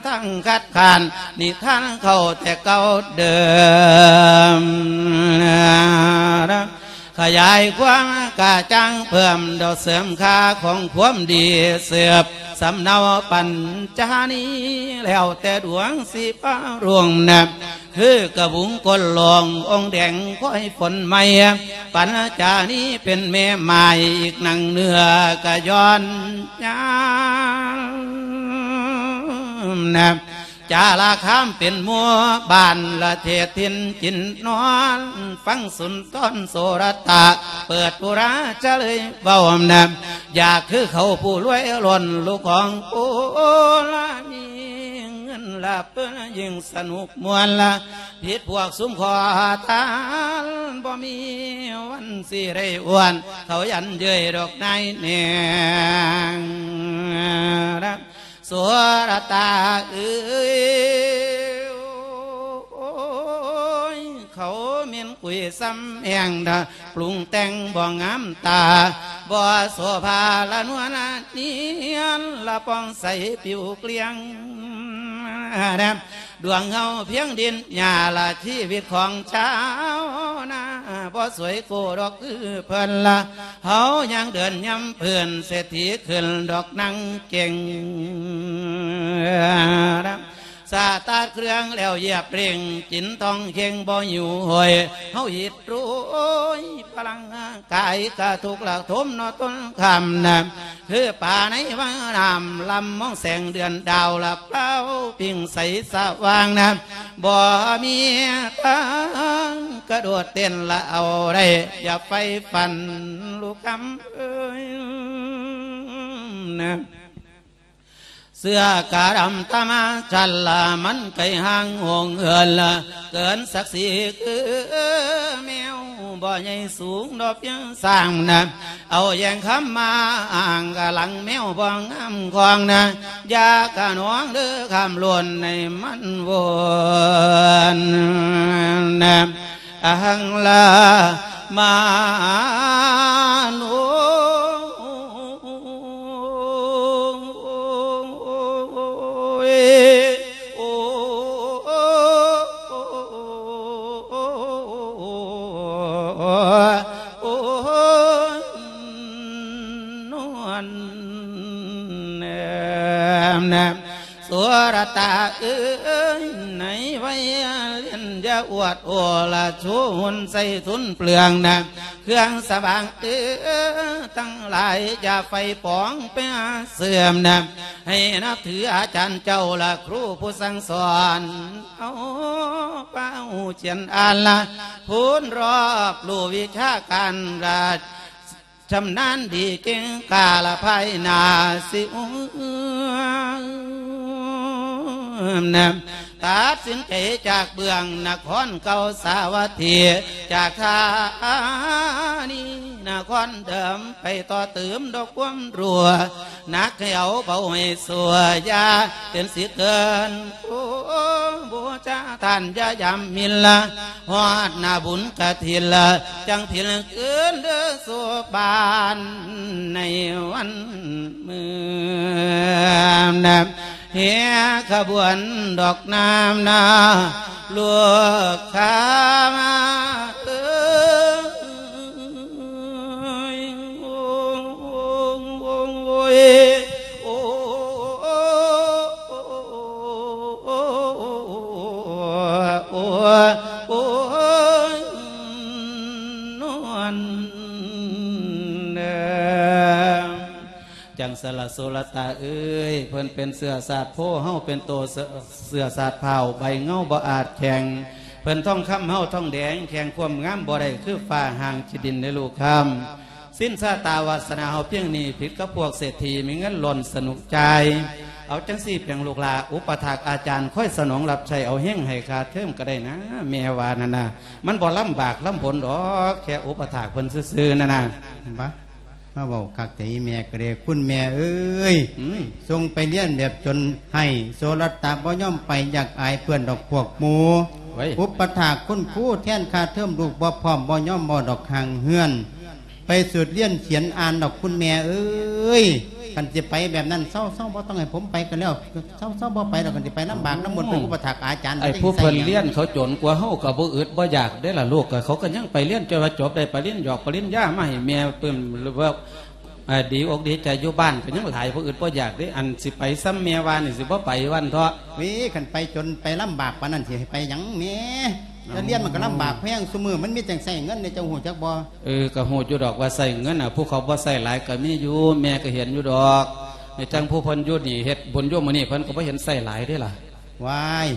ທາງຄັດຄ້ານ ນິທານເກົ່າແຕ່ເກົ່າເດີມ ຂະຫຍາຍຄວາມກະຈ່າງເພີ່ມ ດອກເສີມຄ່າຂອງຄວາມດີ ເສີບສຳເນົາປັນຈານີ ແລ້ວແຕ່ດວງຊິປະລົງນະ ຄືກະບຸງກົ້ນຫຼອງ ອົງແດງຄອຍຝົນໃໝ່ ປັນຈານີເປັນແມ່ໝ້າຍ ອີກໜັງເນື້ອກະຍ້ອນຍານນະ ຈາລະຄາມເປັນໝູ່ບ້ານ ລະເທດຖິ່ນກິນນອນ ຟັງສຸນທອນໂສລະຕະ ເປີດປຸລາຈະເລີຍເວົ້ານະ ຢາກຄືເຂົາຜູ້ລວຍລ້ນ ລູກຂອງໂອລະມີເງິນລະເປີນ ຍິ່ງສະໜຸກມ່ວນລະ ຜິດພວກຊຸມຂໍທານ ບໍ່ມີວັນຊິໄດ້ອ້ວນ ເຂົາຢັນເຍີ້ຍດອກນາຍແນງ ໂສລະຕາເອີຍ ເຂົາແມ່ນກຸຍຊ້ຳແຮງດາ ປຸງແຕ່ງບໍ່ງາມຕາ ບໍ່ໂສພາລະນວນນຽນ ລະປ່ອງໃສຜິວເກລ້ຽງ ດວງເຮົາພຽງດິນຫຍ້າລະ ຊີວິດຂອງຊາວນາບໍ່ສວຍໂກດອກຄືເພິ່ນລະ ເຮົາຍັງເດີນຍ່ຳເພິ່ນ ເສດຖີຂຶ້ນດອກນາງເກັ່ງ ສະຕາດເຄື່ອງແລ້ວຢຽບເລັ່ງ ກິນທອງເຄັ່ງບໍ່ຫິວໂຫຍ ເຮົາອິດໂລຍພະລັງ ກາຍກະທຸກລະທົມເນາະຕົ້ນຄຳນະ ຄືປາໃນວັງນ້ຳລຳ ມອງແສງເດືອນດາວລະເປົ່າປິງໃສສະຫວ່າງນະ ບໍ່ມີທາງກະໂດດເຕັ້ນລະເອົາໄດ້ ຢ່າໄຟຝັນລູກຄຳເອີຍນະ. ເສື້ອກະດຳຕາມາຈັນລະ ມັນໄກຫ່າງຫົງເຫີນລະ ເກີນສັກສີຄືແມວ ບໍ່ໃຫຍ່ສູງດອກພຽງສ້າງນະ ເອົາແຍງຄຳມາອ້າງກະຫຼັງແມວບໍ່ງາມຂອງນະ ຢ່າກະໜອງເດີຄຳລົ້ນໃຫ້ມັນວົນນະ ອັງລາມາໂນ ໂອ້ຍ ໂອ້ຍ ໂອ້ຍ ນວນແນມແນມ ໂສລະຕາເອີຍ ໃນໄວລຽນຢ່າອວດໂອລະ ໂຊຮຸນໃສ່ທຶນເປືອງນະ ເຄື່ອງສະບາງເອີ ທັງຫຼາຍຢ່າໄຟປອງໄປຫາເສື່ອມນະ ໃຫ້ນັບຖືອາຈານເຈົ້າລະ ຄູຜູ້ສັ່ງສອນ ເອົາປາຫູຈຽນອ່ານລະ ພູນຮອບຮູ້ວິຊາການລະ ຊຳນານດີເກັ່ງກ້າລະພາຍໜ້າຊິອຸມນະ ຕັດສິນໃຈຈາກເບື້ອງນະຄອນເກົ່າສາວັດຖີ ຈາກທານີນະຄອນເດີມ ໄປຕໍ່ຕື່ມດອກຄວາມຮູ້ ໜັກໃຫ້ເອົາເບົາໃຫ້ຊົ່ວ ຢ່າເປັນສິເກີນ ໂອ້ ບູຊາທ່ານຢ່າຢຳມິນລະ ຮອດໜ້າບຸນກະຖິນລະ ຈັ່ງຜິນຄືນເດີໂສບານໃນວັນມື້ນະ ແຫ່ຂະບວນດອກນ້ຳນາ ລູກຄ້າມາເອີຍ ໂອ້ ໂອ້ ໂອ້ຍ ໂອ້ ໂອ້ ໂອ້ຍ ນວນເດີ ຈັ່ງຊັ້ນລະ ໂສລະຕາເອີຍ ເພິ່ນເປັນເຊື້ອຊາດໂພ ເຮົາເປັນໂຕເຊື້ອ ເຊື້ອຊາດພ້າວ ໃບເຫງົາບໍ່ອາດແຂງ ເພິ່ນທອງຄຳ ເຮົາທອງແດງ ແຂ່ງຄວາມງາມບໍ່ໄດ້ ຄືຟ້າຮ່າງຂີ້ດິນເດີລູກຄຳ ສິນຊາຕາວາສະໜາເຮົາພຽງນີ້ ຜິດກັບພວກເສດຖີ ມີເງິນລ້ນສະໜຸກຈ່າຍ ເອົາຈັ່ງຊີ້ແປງລູກຫຼ້າ ອຸປະຖາກອາຈານ ຄອຍສະໜອງຮັບໃຊ້ ເອົາເຮງໃຫ້ຄ່າເທີມກະໄດ້ນາ ແມ່ວ່ານັ້ນນະ ມັນບໍ່ລຳບາກລຳບົນດອກ ແຄ່ອຸປະຖາກເພິ່ນຊື່ໆ ນັ້ນນະ ບະ ມາເວົ້າຄັກແທ້ ອີແມ່ກະເດ ຄຸນແມ່ເອີຍ ອືມ ສົ່ງໄປຮຽນແບບຈົນໄຫ້ ໂສລະຕະບໍ່ຍອມໄປ ຢາກອາຍເພື່ອນດອກພວກໝູ່ ເວີຍ ອຸປະຖາກຄຸນຄູ ແທນຄ່າເທີມລູກບໍ່ພ້ອມ ບໍ່ຍອມບໍ່ດອກຫ່າງເຮືອນ ໄປສູດຮຽນຂຽນອ່ານດອກຄຸນແມ່ເອີຍ ຄັນຊິໄປແບບນັ້ນ ເຊົາໆ ບໍ່ຕ້ອງໃຫ້ຜົມໄປກະແລ້ວ ເຊົາໆ ບໍ່ໄປດອກ ຄັນຊິໄປລຳບາກນຳໝູ່ ໄປອຸປະຖາກອາຈານ ໄອ້ຜູ້ເພິ່ນຮຽນເຂົາຈົນກວ່າເຮົາກະບໍ່ອຶດບໍ່ຢາກເດ້ລະລູກ ກະເຂົາກະຍັງໄປຮຽນຈົນວ່າຈົບ ໄດ້ປະລິນຢອກປະລິນຍາມາໃຫ້ແມ່ປຶ້ມ ຫຼືວ່າ ເອີ ດີອົກດີໃຈ ຢູ່ບ້ານກະຍັງຫຼາຍ ບໍ່ອຶດບໍ່ຢາກເດ້ ອັນຊິໄປຊ່ຳແມ່ວ່ານີ້ ຊິບໍ່ໄປວ່າຊັ້ນເຖາະ ເວີຍ ຄັນໄປຈົນໄປລຳບາກປານນັ້ນ ຊິໃຫ້ໄປຫຍັງແມ່ ເອົ້າ ແຕ່ຮຽນມັນກະລຳບາກແຮງ ຊຸມື້ມັນມີຈັ່ງໃຊ້ເງິນເດ້ ເຈົ້າຮູ້ຈັກບໍ່? ເອີ ກະຮູ້ຢູ່ດອກວ່າໃຊ້ເງິນນະ ຜູ້ເຂົາບໍ່ໃຊ້ຫຼາຍກະມີຢູ່ ແມ່ກະເຫັນຢູ່ດອກ ໃນຈັ່ງຜູ້ເພິ່ນຢູ່ນີ້ ເຮັດບຸນຢູ່ມື້ນີ້ ເພິ່ນກະບໍ່ເຫັນໃຊ້ຫຼາຍເດ້ລະ ວ້າຍ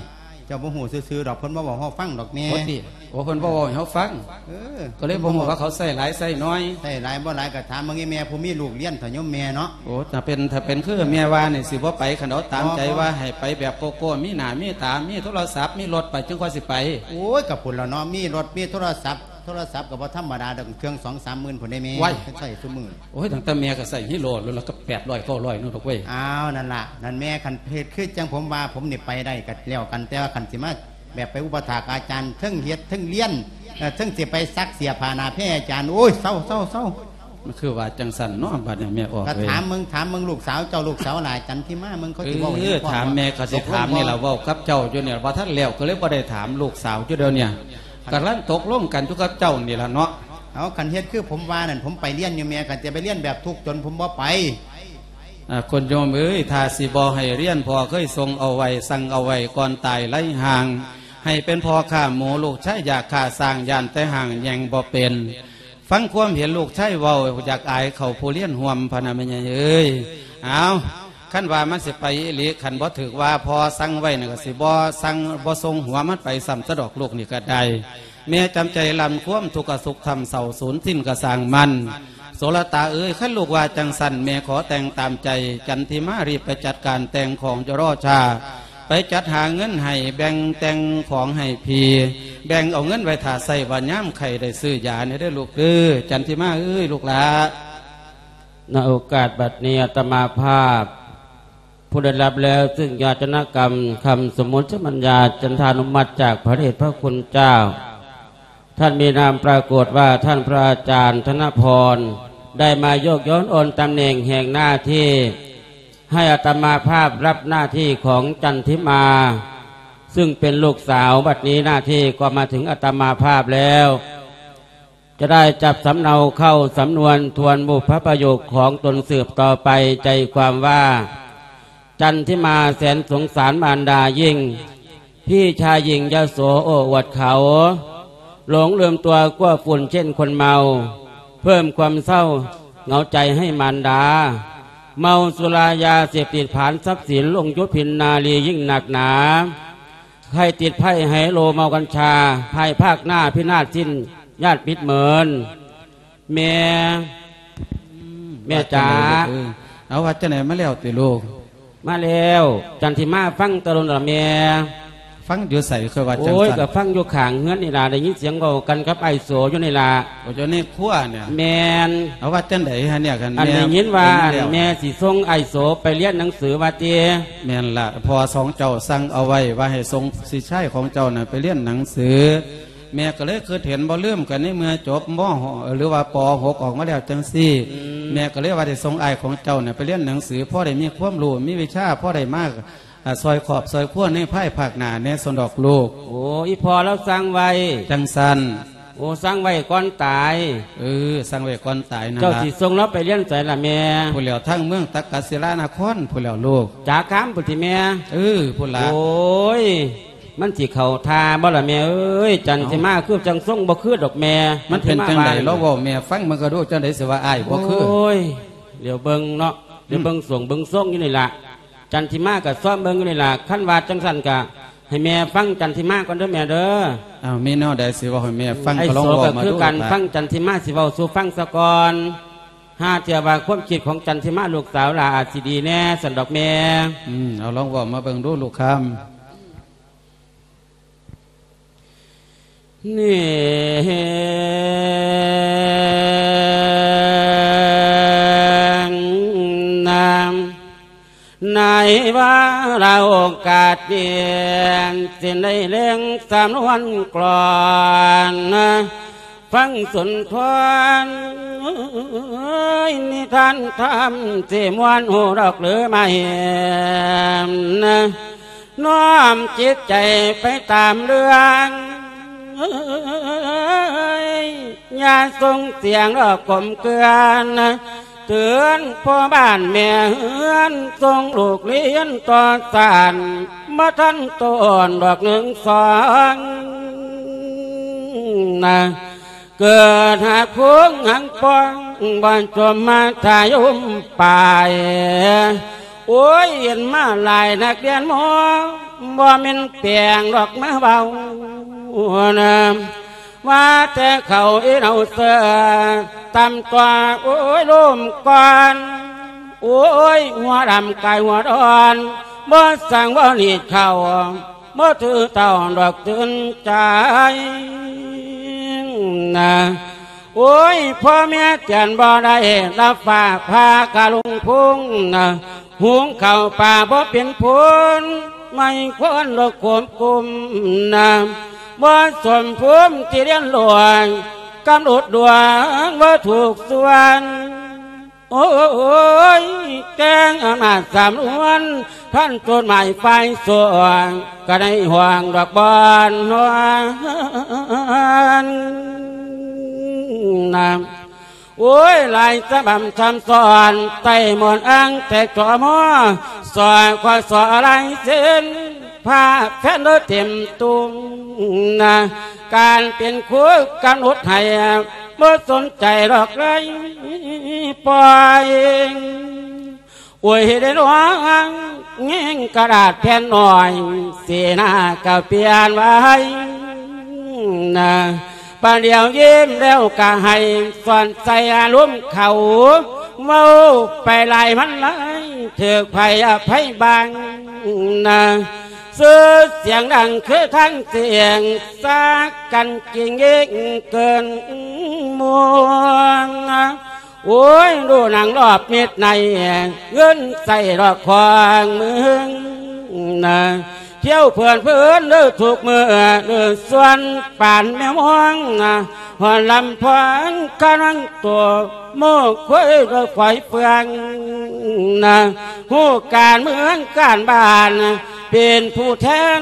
ເຈົ້າບໍ່ຮູ້ຊື່ໆດອກ ເພິ່ນບໍ່ເວົ້າໃຫ້ເຮົາຟັງດອກແມ່ ໂອ້ຕິ ໂອ້ ເພິ່ນບໍ່ເວົ້າໃຫ້ເຮົາຟັງ ເອີ ກະເລີຍບໍ່ຮູ້ວ່າເຂົາໃຊ້ຫຼາຍໃຊ້ໜ້ອຍ ໃຊ້ຫຼາຍບໍ່ຫຼາຍກະຖາມເບິ່ງອີ່ແມ່ຜູ້ມີລູກຮຽນເຖາະໂຍມແມ່ເນາະ ໂອ້ ຖ້າເປັນ ຖ້າເປັນຄືແມ່ວ່ານີ້ ຊິບໍ່ໄປ ຄັນເອົາຕາມໃຈວ່າໃຫ້ໄປແບບໂກໂກ້ ມີໜ້າມີຕາ ມີໂທລະສັບ ມີລົດໄປ ຈຶ່ງຄ່ອຍຊິໄປ ໂອ້ຍ ກະພຸ້ນລະເນາະ ມີລົດ ມີໂທລະສັບ ໂທລະສັບກະບໍ່ທຳມະດາດອກ ເຄື່ອງສອງສາມໝື່ນພຸ້ນເດ້ແມ່ ໄວ້ ເພິ່ນໃຊ້ຊຸມື້ ໂອ້ຍ ຕັ້ງແຕ່ແມ່ກະໃຊ້ຮີໂຣດ ລະກະແປດຮ້ອຍເກົ້າຮ້ອຍໂລດອກເວີຍ ອ້າວ ນັ້ນລະ ນັ້ນແມ່ ຄັນເຮັດຄືຈັ່ງຜົມວ່າ ຜົມນີ້ໄປໄດ້ກະແລ້ວກັນ ແຕ່ວ່າຄັນຊິມາແບບໄປອຸປະຖາກອາຈານ ເທິງເຮັດເທິງຮຽນ ເອີ ເທິງຊິໄປຊັກເສື້ອຜ້າໜ້າແພອາຈານ ໂອ້ຍ ເຊົາ ເຊົາ ເຊົາ ມັນຄືວ່າຈັ່ງຊັ້ນເນາະ ບັດນີ້ແມ່ອອກ ກໍເອີຍ ຖາມເບິ່ງ ຖາມເບິ່ງລູກສາວເຈົ້າ ລູກສາວຫຼ້າຈັນທິມາ ເບິ່ງເຂົາຊິເວົ້າໃຫ້ ເອີ ພໍ່ ຖາມແມ່ ເຂົາຊິຖາມນີ້ລະ ເວົ້າກັບເຈົ້າຢູ່ນີ້ລະ ບໍ່ທັນແລ້ວ ກໍເລີຍບໍ່ໄດ້ຖາມລູກສາວຢູ່ດຽວນີ້ ກຳລັງຕົກລົງກັນຢູ່ກັບເຈົ້ານີ້ລະເນາະ. ເອົາ ຄັນເຮັດຄືຜົມວ່ານັ້ນ ຜົມໄປຮຽນຢູ່ແມ່ ຄັນຈະໄປຮຽນແບບທຸກຈົນ ຜົມບໍ່ໄປ. ອາ ຄຸນໂຍມເອີຍ ຖ້າຊິບໍ່ໃຫ້ຮຽນ ພໍ່ເຄີຍສົ່ງເອົາໄວ້ ສັ່ງເອົາໄວ້ ກ່ອນຕາຍໄລຮ່າງ ໃຫ້ເປັນພໍ່ຄ້າໝູ ລູກຊາຍຢາກຂ້າຊ້າງ ຢ້ານແຕ່ຮ່າງແຍ່ງບໍ່ເປັນ. ຟັງຄວາມເຫັນລູກຊາຍເວົ້າ ຢາກອາຍເຂົາຜູ້ຮຽນຮ່ວມ ພະນະແມ່ໃຫຍ່ເອີຍ. ເອົາ ຄັນວ່າມັນຊິໄປອີ່ຫຼີ ຄັນບໍ່ຖືກວ່າພໍ່ສັ່ງໄວ້ນັ້ນ ກໍຊິບໍ່ສັ່ງ ບໍ່ສົ່ງຫົວມັນໄປຊ້ຳຊະດອກ ລູກນີ້ກໍໄດ້. ແມ່ຈຳໃຈລຳຄວາມທຸກກະສຸກທຳເສົ້າສູນສິ້ນກະຊ່າງມັນ. ໂສລະຕາເອີຍ ຄັນລູກວ່າຈັ່ງຊັ້ນ ແມ່ຂໍແຕ່ງຕາມໃຈ. ຈັນທິມາ ຣີບໄປຈັດການແຕ່ງຂອງ ຢ່າລໍຊ້າ ໄປຈັດຫາເງິນໃຫ້ ແບ່ງແຕ່ງຂອງໃຫ້ພີ່ ແບ່ງເອົາເງິນໄວ້ຖ້າໃຊ້ ວ່າຍາມໄຂ້ໄດ້ຊື້ຢາແດ່ເດີລູກເດີ. ຈັນທິມາເອີຍ ລູກຫຼ້າ. ໃນໂອກາດບັດນີ້ ອາດຕະມາພາບ ຜູ້ໄດ້ຮັບແລ້ວຊຶ່ງຍາດຕະນະກຳຄຳສົມມຸດສຳບັນຍາຈັນທານຸມັດຈາກພະເດດພະຄຸນເຈົ້າ, ທ່ານມີນາມປາກົດວ່າທ່ານພະອາຈານທະນະພອນ ໄດ້ມາໂຍກຍ້ອນໂອນຕຳແໜ່ງແຫ່ງໜ້າທີ່ ໃຫ້ອາດຕະມາພາບຮັບໜ້າທີ່ຂອງຈັນທິມາ ຊຶ່ງເປັນລູກສາວ. ບັດນີ້ໜ້າທີ່ກໍມາເຖິງອາດຕະມາພາບແລ້ວ. ຈະໄດ້ຈັບສຳເນົາເຂົ້າສຳນວນທວນບຸບພະປະໂຫຍກຂອງຕົນສືບຕໍ່ໄປ. ໃຈຄວາມວ່າ ຈັນທິມາແສນສົງສານມານດາຍິ່ງ, ພີ່ຊາຍຍິ່ງຍະໂສໂອ້ອວດເຂົາ, ຫຼົງລືມຕົວກົວຝຸ່ນເຊັ່ນຄົນເມົາ, ເພີ່ມຄວາມເສົ້າເຫງົາໃຈໃຫ້ມານດາ. ເມົາສຸລາຢາເສບຕິດຜານຊັບສິນ ຫຼົງຢູ່ພິນນາລີຍິ່ງໜັກໜາ. ໃຜຕິດໄພ້ໄຮໂລເມົາກັນຊາ, ພາຍພາກໜ້າພິນາດສິ້ນຍາດມິດເມີນ. ແມ່ ອືມ ແມ່ ວ່າຈັ່ງໃດ ຈາ ລູກເອີຍ? ເອົາ ວ່າຈັ່ງໃດ ມາແລ້ວຕິລູກ? ມາແລ້ວ ຈັນທິມາ ຟັງແຕ່ດົນລະແມ່. ຟັງຢູ່ໃສ? ເຄີຍວ່າ ໂອ້ຍ ຈັ່ງຊັ້ນ ກໍຟັງຢູ່ຂ້າງເຮືອນນີ້ລະ ໄດ້ຍິນສຽງເວົ້າກັນກັບອ້າຍໂສຢູ່ນີ້ລະ. ໂອ້ ຢູ່ໃນຄົວນີ້? ແມ່ນ. ເອົາ ວ່າຈັ່ງໃດຫັ້ນເນຍ? ຄັນ ອັນ ແມ່ ໄດ້ຍິນວ່າ ໄດ້ຍິນແລ້ວ ອັນ ແມ່ຊິສົ່ງອ້າຍໂສໄປຮຽນໜັງສືວ່າຕິ? ແມ່ນລະ ພໍ່ສອງເຈົ້າສັ່ງເອົາໄວ້ວ່າໃຫ້ສົ່ງສິດຊາຍຂອງເຈົ້ານັ້ນໄປຮຽນໜັງສື. ແມ່ກໍເລີຍຄິດເຫັນບໍ່ລືມກັນໃນເມື່ອຈົບ ມ. ຫົກ ຫຼືວ່າ ປໍຫົກ ອອກມາແລ້ວຈັ່ງຊີ້ ອືມ ແມ່ກໍເລີຍວ່າໄດ້ສົ່ງອ້າຍຂອງເຈົ້ານະໄປຮຽນໜັງສື ພໍໄດ້ມີຄວາມຮູ້ ມີວິຊາ ພໍໄດ້ມາ ອາ ຊ່ອຍຄອບຊ່ອຍຄົວໃນພາຍພາກໜ້າແດ່ຊັ້ນດອກລູກ. ໂອ້ ອີ່ພໍ່ລາວສັ່ງໄວ້. ຈັ່ງຊັ້ນ. ໂອ້ ສັ່ງໄວ້ກ່ອນຕາຍ. ເອີ ສັ່ງໄວ້ກ່ອນຕາຍນັ້ນລະ. ເຈົ້າຊິສົ່ງລາວໄປຮຽນໃສລະແມ່? ພຸ້ນແລ້ວ ທາງເມືອງຕັກກະສິລານະຄອນພຸ້ນແລ້ວລູກ. ຈາຄາມພຸ້ນຕິແມ່? ເອີ ພຸ້ນລະ. ໂອ້ຍ ມັນຊິເຂົ້າທ່າບໍ່ລະແມ່ເອີຍ? ເອົ້າ ຈັນທິມາຄືຈັ່ງຊົງບໍ່ຄືດອກແມ່. ມັນເປັນຈັ່ງໃດ? ລອງເວົ້າແມ່ຟັງເບິ່ງກະດູ ຈັ່ງໃດຊິວ່າອ້າຍບໍ່ຄື. ໂອ້ຍ ດຽວເບິ່ງເນາະ ດຽວເບິ່ງ ອືມ ຊ່ວງເບິ່ງຊົງຢູ່ນີ້ລະ. ຈັນທິມາກະຊອມເບິ່ງຢູ່ນີ້ລະ. ຄັນວ່າຈັ່ງຊັ້ນກະໃຫ້ແມ່ຟັງຈັນທິມາກ່ອນເດີແມ່ເດີ. ເອົ້າ ມີແນວໃດຊິເວົ້າໃຫ້ແມ່ຟັງ ກະລອງເວົ້າມາດູ. ອ້າຍໂສກະຄືກັນ ຟັງຈັນທິມາຊິເວົ້າສູ່ຟັງສາກ່ອນ. ຫາເທື່ອວ່າຄວາມຄິດຂອງຈັນທິມາລູກສາວຫຼ້າອາດຊິດີແດ່ຊັ້ນດອກແມ່. ອືມ ເອົາລອງເວົ້າມາເບິ່ງດູລູກຄຳ. ນີ້ ນາງ ໃນວາລະໂອກາດນີ້ ຊິໄດ້ແລງສຳນວນກລອນ ຟັງສຸນທອນນິທານທຳ ຊິມ່ວນຮູ້ດອກຫຼືມາເຫັນ ນ້ອມຈິດໃຈໄປຕາມເລື່ອງ ຢ່າສົ່ງສຽງດອກກົມເກືອນ ເຕືອນພໍ່ບ້ານແມ່ເຮືອນ ສົ່ງລູກຮຽນຕໍ່ສານ ບໍ່ທັນຕ້ອນດອກໜຶ່ງສອງນະ ເກີດຫາກພວງຫາກປ້ອງ ບໍ່ສົມມາທາຍົມປາຍ. ໂອ້ຍ ເຫັນມາຫຼາຍນັກຮຽນໝໍ ບໍ່ແມ່ນແປງດອກມາເວົ້ານະ ວ່າແຕ່ເຂົາອີເນົາເສືອ ຕຳຕົວ ໂອ້ຍ ລົມກ່ອນ ໂອ້ຍ ຫົວດຳກາຍຫົວດອນ ບໍ່ສັ່ງບໍ່ໜີດເຂົ້າ ບໍ່ຖືເຕົ້າດອກຕື່ນໃຈນະ. ໂອ້ຍ ພໍ່ແມ່ຕຽນບໍ່ໄດ້ ລະຝາກພາກະລຸງພຸງນະ ຫຸງເຂົ້າປາບໍ່ເປັນພຸນ ໄມ້ຄວນດອກໂຄມກຸມນະ ບໍ່ສົມພູມທີ່ລຽນຫຼວງ ກຳນົດດວງບໍ່ຖືກສ່ວນ ໂອ້ຍ ແກງອຳນາດສຳນວນ ທ່ານໂຈນໝາຍຝ່າຍສວງ ກໍໄດ້ຫ່ວງດອກບອນນວນນະ ໂອ້ຍ ຫຼາຍສະບຳຊ້ຳຊ້ອນ ໃຕ້ໝອນອ້າງແຕ່ຈອມ ສ ຄ ສ ລາຍເຊັນ ພາແຟນເດີເຕັມຕຸງນະ ການເປັນຄູກຳນົດໃຫ້ ບໍ່ສົນໃຈດອກເລີຍປ່ອຍ ໂອ້ຍ ເຮັດໃຫ້ນ້ອງແຍງກະດາດແຜ່ນນ້ອຍ ສີໜ້າກໍປ່ຽນໄວນະ ປາດດຽວຍິ້ມແລ້ວກໍໄຫ້ ສອນໃສ່ອາລົມເຂົາ ເວົ້າໄປຫຼາຍມັນຫຼາຍ ຖືກໃຜອະໄພບາງນະ ຊື່ສຽງດັງຄືທັງສຽງ ສາກັນກິງເອງເກີນມ່ວນ ໂອ້ຍ ດູໜັງລອບມິດໃນ ເງິນໃຊ້ດອກຂອງເມືອງນະ ທ່ຽວເພື່ອນເພິ່ນເດີທຸກມື້ ເດີສ່ວນປານແມວມອງນະ ຮອດລຳພອງກະນັງໂຕ ໂມກຄຸຍໂດຍຝອຍເຟືອງນະ ຮູ້ການເມືອງການບ້ານ ເປັນຜູ້ແທນ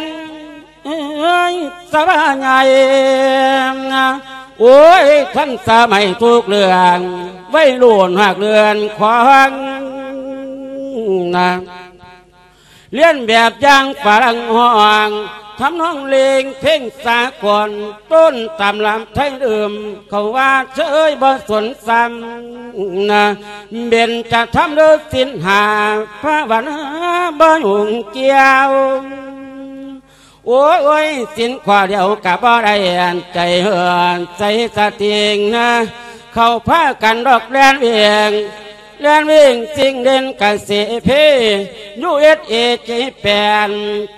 ເອີຍ ສະບາໃຫຍ່ ໂອ້ຍ ທັນສະໄໝທຸກເລື່ອງ ໄວລຸ້ນຮາກເລື່ອນຂອງນະ ລຽນແບບຢ່າງຝຣັ່ງຮ້ອງ ທຳນອງເລງເພງສາກົນ ຕົ້ນຕຳລາໄທເດີມ ເຂົາວ່າເຊີຍບໍ່ສົນຊ້ຳນະ ເບັນຈະທຳເດີສິນຫ້າ ພາວະນາບໍ່ຫຍຸ້ງກ່ຽວ ໂອ້ຍ ສິນຂໍ້ດຽວກໍບໍ່ໄດ້ ໃຈເຫີນໃສສະຕິງນະ ເຂົາພາກັນດອກແລ່ນເວງ ແລ່ນເວງສິ່ງເດັ່ນກະເສເພ ຢູເອສເອ ເຈແປນ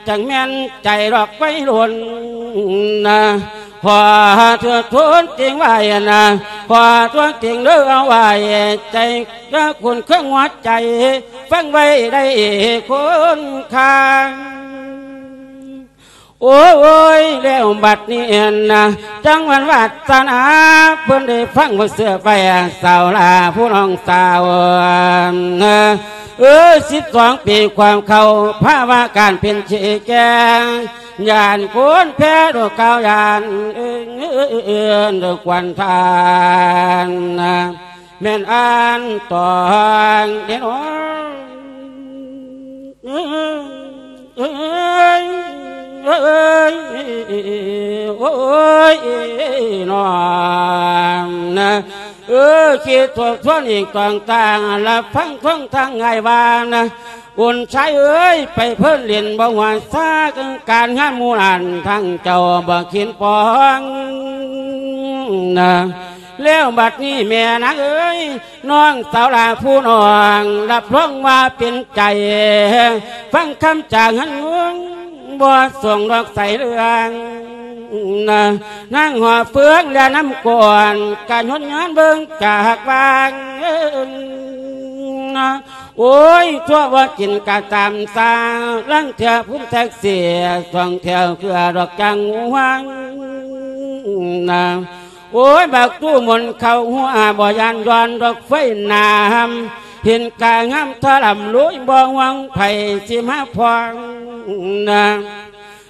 ຈັ່ງແມ່ນໃຈດອກໄວລຸ້ນນະ ຂໍເທື່ອທົນຕິງໄວ້ນະ ຂໍທົນຕິງເດີເອົາໄວ້ໃຈ ເດີຄຸນເຄື່ອງຫົວໃຈ ຟັງໄວ້ໄດ້ຄົນຂ້າງ ໂອ້ຍ ແລ້ວບັດນີ້ນະ ຈັງຫວັນວາສະໜາ ເພິ່ນໄດ້ຟັງບໍ່ເຊື່ອໄປ ສາວລາຜູ້ນ້ອງສາວ ເອີ ສິບສອງປີຄວາມເຂົ້າ ພາວະການເປັນຊີ້ແຈງ ຢ້ານຄົນແພ້ດວງກາວ ຢ້ານເອີ້ນດວງຄວັນທານ ແມ່ນອ່ານຕອງເດນ້ອງ ເອີຍ ເອີຍ ເອີຍ ໂອ້ຍ ນ້ອງນະ ເອີ ຄິດທົບທວນອີກຕອງຕ່າງ ລະຟັງຄວາມທາງອ້າຍວ່ານະ ອຸ່ນຊາຍເອີຍ ໄປເພີນຫຼິ້ນບໍ່ຫົວຊາ ການງານໝູ່ນັ້ນ ທັງເຈົ້າບໍ່ຄິດປອງນະ ແລ້ວບັດນີ້ແມ່ນາງເອີຍ ນ້ອງສາວຫຼ້າຜູ້ນ້ອງ ຮັບຮອງວ່າເປັນໃຈ ຟັງຄຳຈາກຫັ້ນ ບໍ່ສົ່ງດອກໃສເລື່ອງນະ ນາງຫອບເຟືອງແລະນ້ຳກວນ ກະຍົນຍານເບິ່ງຈາກວາງນະ ໂອ້ຍ ທົ່ວບໍ່ກິນກະຕາມສາ ລາງເທື່ອພູມແທັກເສຍ ສອງແຖວເຄືອດອກຈາງຫວງນະ ໂອ້ຍ ບັກຕູ້ມົນເຂົ້າຫົວ ບໍ່ຢ້ານຍ້ອນດອກໄຟນ້ຳ ເຫັນກາງາມທະລຳລຸຍ ບໍ່ຫວັງໃຜຊິມາພ້ອງນະ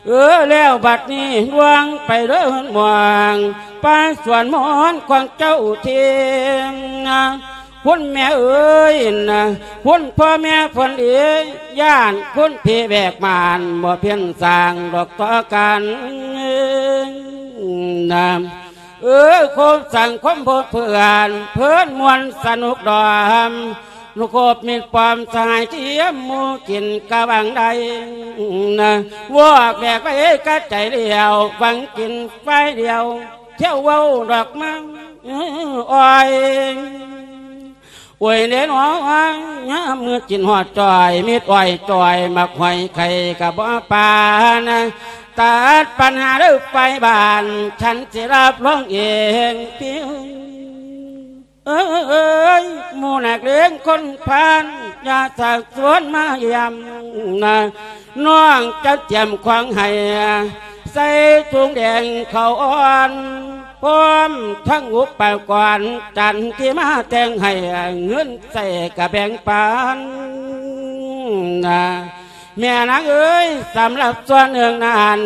ເອີ ແລ້ວບັດນີ້ລວງໄປເດີເຮືອນໝອງ ປ່າສວນມອນຂອງເຈົ້າເທງນະ ຄຸນແມ່ເອີຍນະ ຄຸນພໍ່ແມ່ເພິ່ນເອີຍ ຢ້ານຄຸນຜີແບກມານ ບໍ່ພຽນສ້າງດອກຕໍ່ກັນນະ ເອີ ຄົບສັງຄົມພົບເພື່ອນ ເພີນມ່ວນສະໜຸກດອມ ລູກຄົບມິດປອມສະຫາຍທຽມໝູ່ກິນກະຫວັງໄດ້ນະ ວອກແບກໄວ້ກະໃຈດຽວ ຫວັງກິນຝ່າຍດຽວ ທ່ຽວເວົ້າດອກມາ ໂອ້ຍ ໂອ້ຍເດ້ນ້ອງ ຍາມມື້ກິນຮອດຈ້ອຍ ມິດອ້ອຍຈ້ອຍ ໝາກຫອຍໄຂ່ກະບໍ່ປານະ ຕັດປັນຫາເດີໄຟບ້ານ ສັນຊິຮັບຮອງເອງຕິ ເອີຍ ໝູ່ນັກເລງຄົນພານ ຢ່າຊັກຊວນມາຢ້ຽມນະ ນ້ອງຈະຕຽມຂອງໃຫ້ ໃສ່ຖົງແດງເຂົ້າອ່ອນ ພ້ອມທັງອຸປະກອນຈັນທິມາແຕ່ງໃຫ້ ເງິນໃຊ້ກະແບ່ງປັນນະ ແມ່ນາງເອີຍ ສຳລັບສ່ວນໜຶ່ງນັ້ນ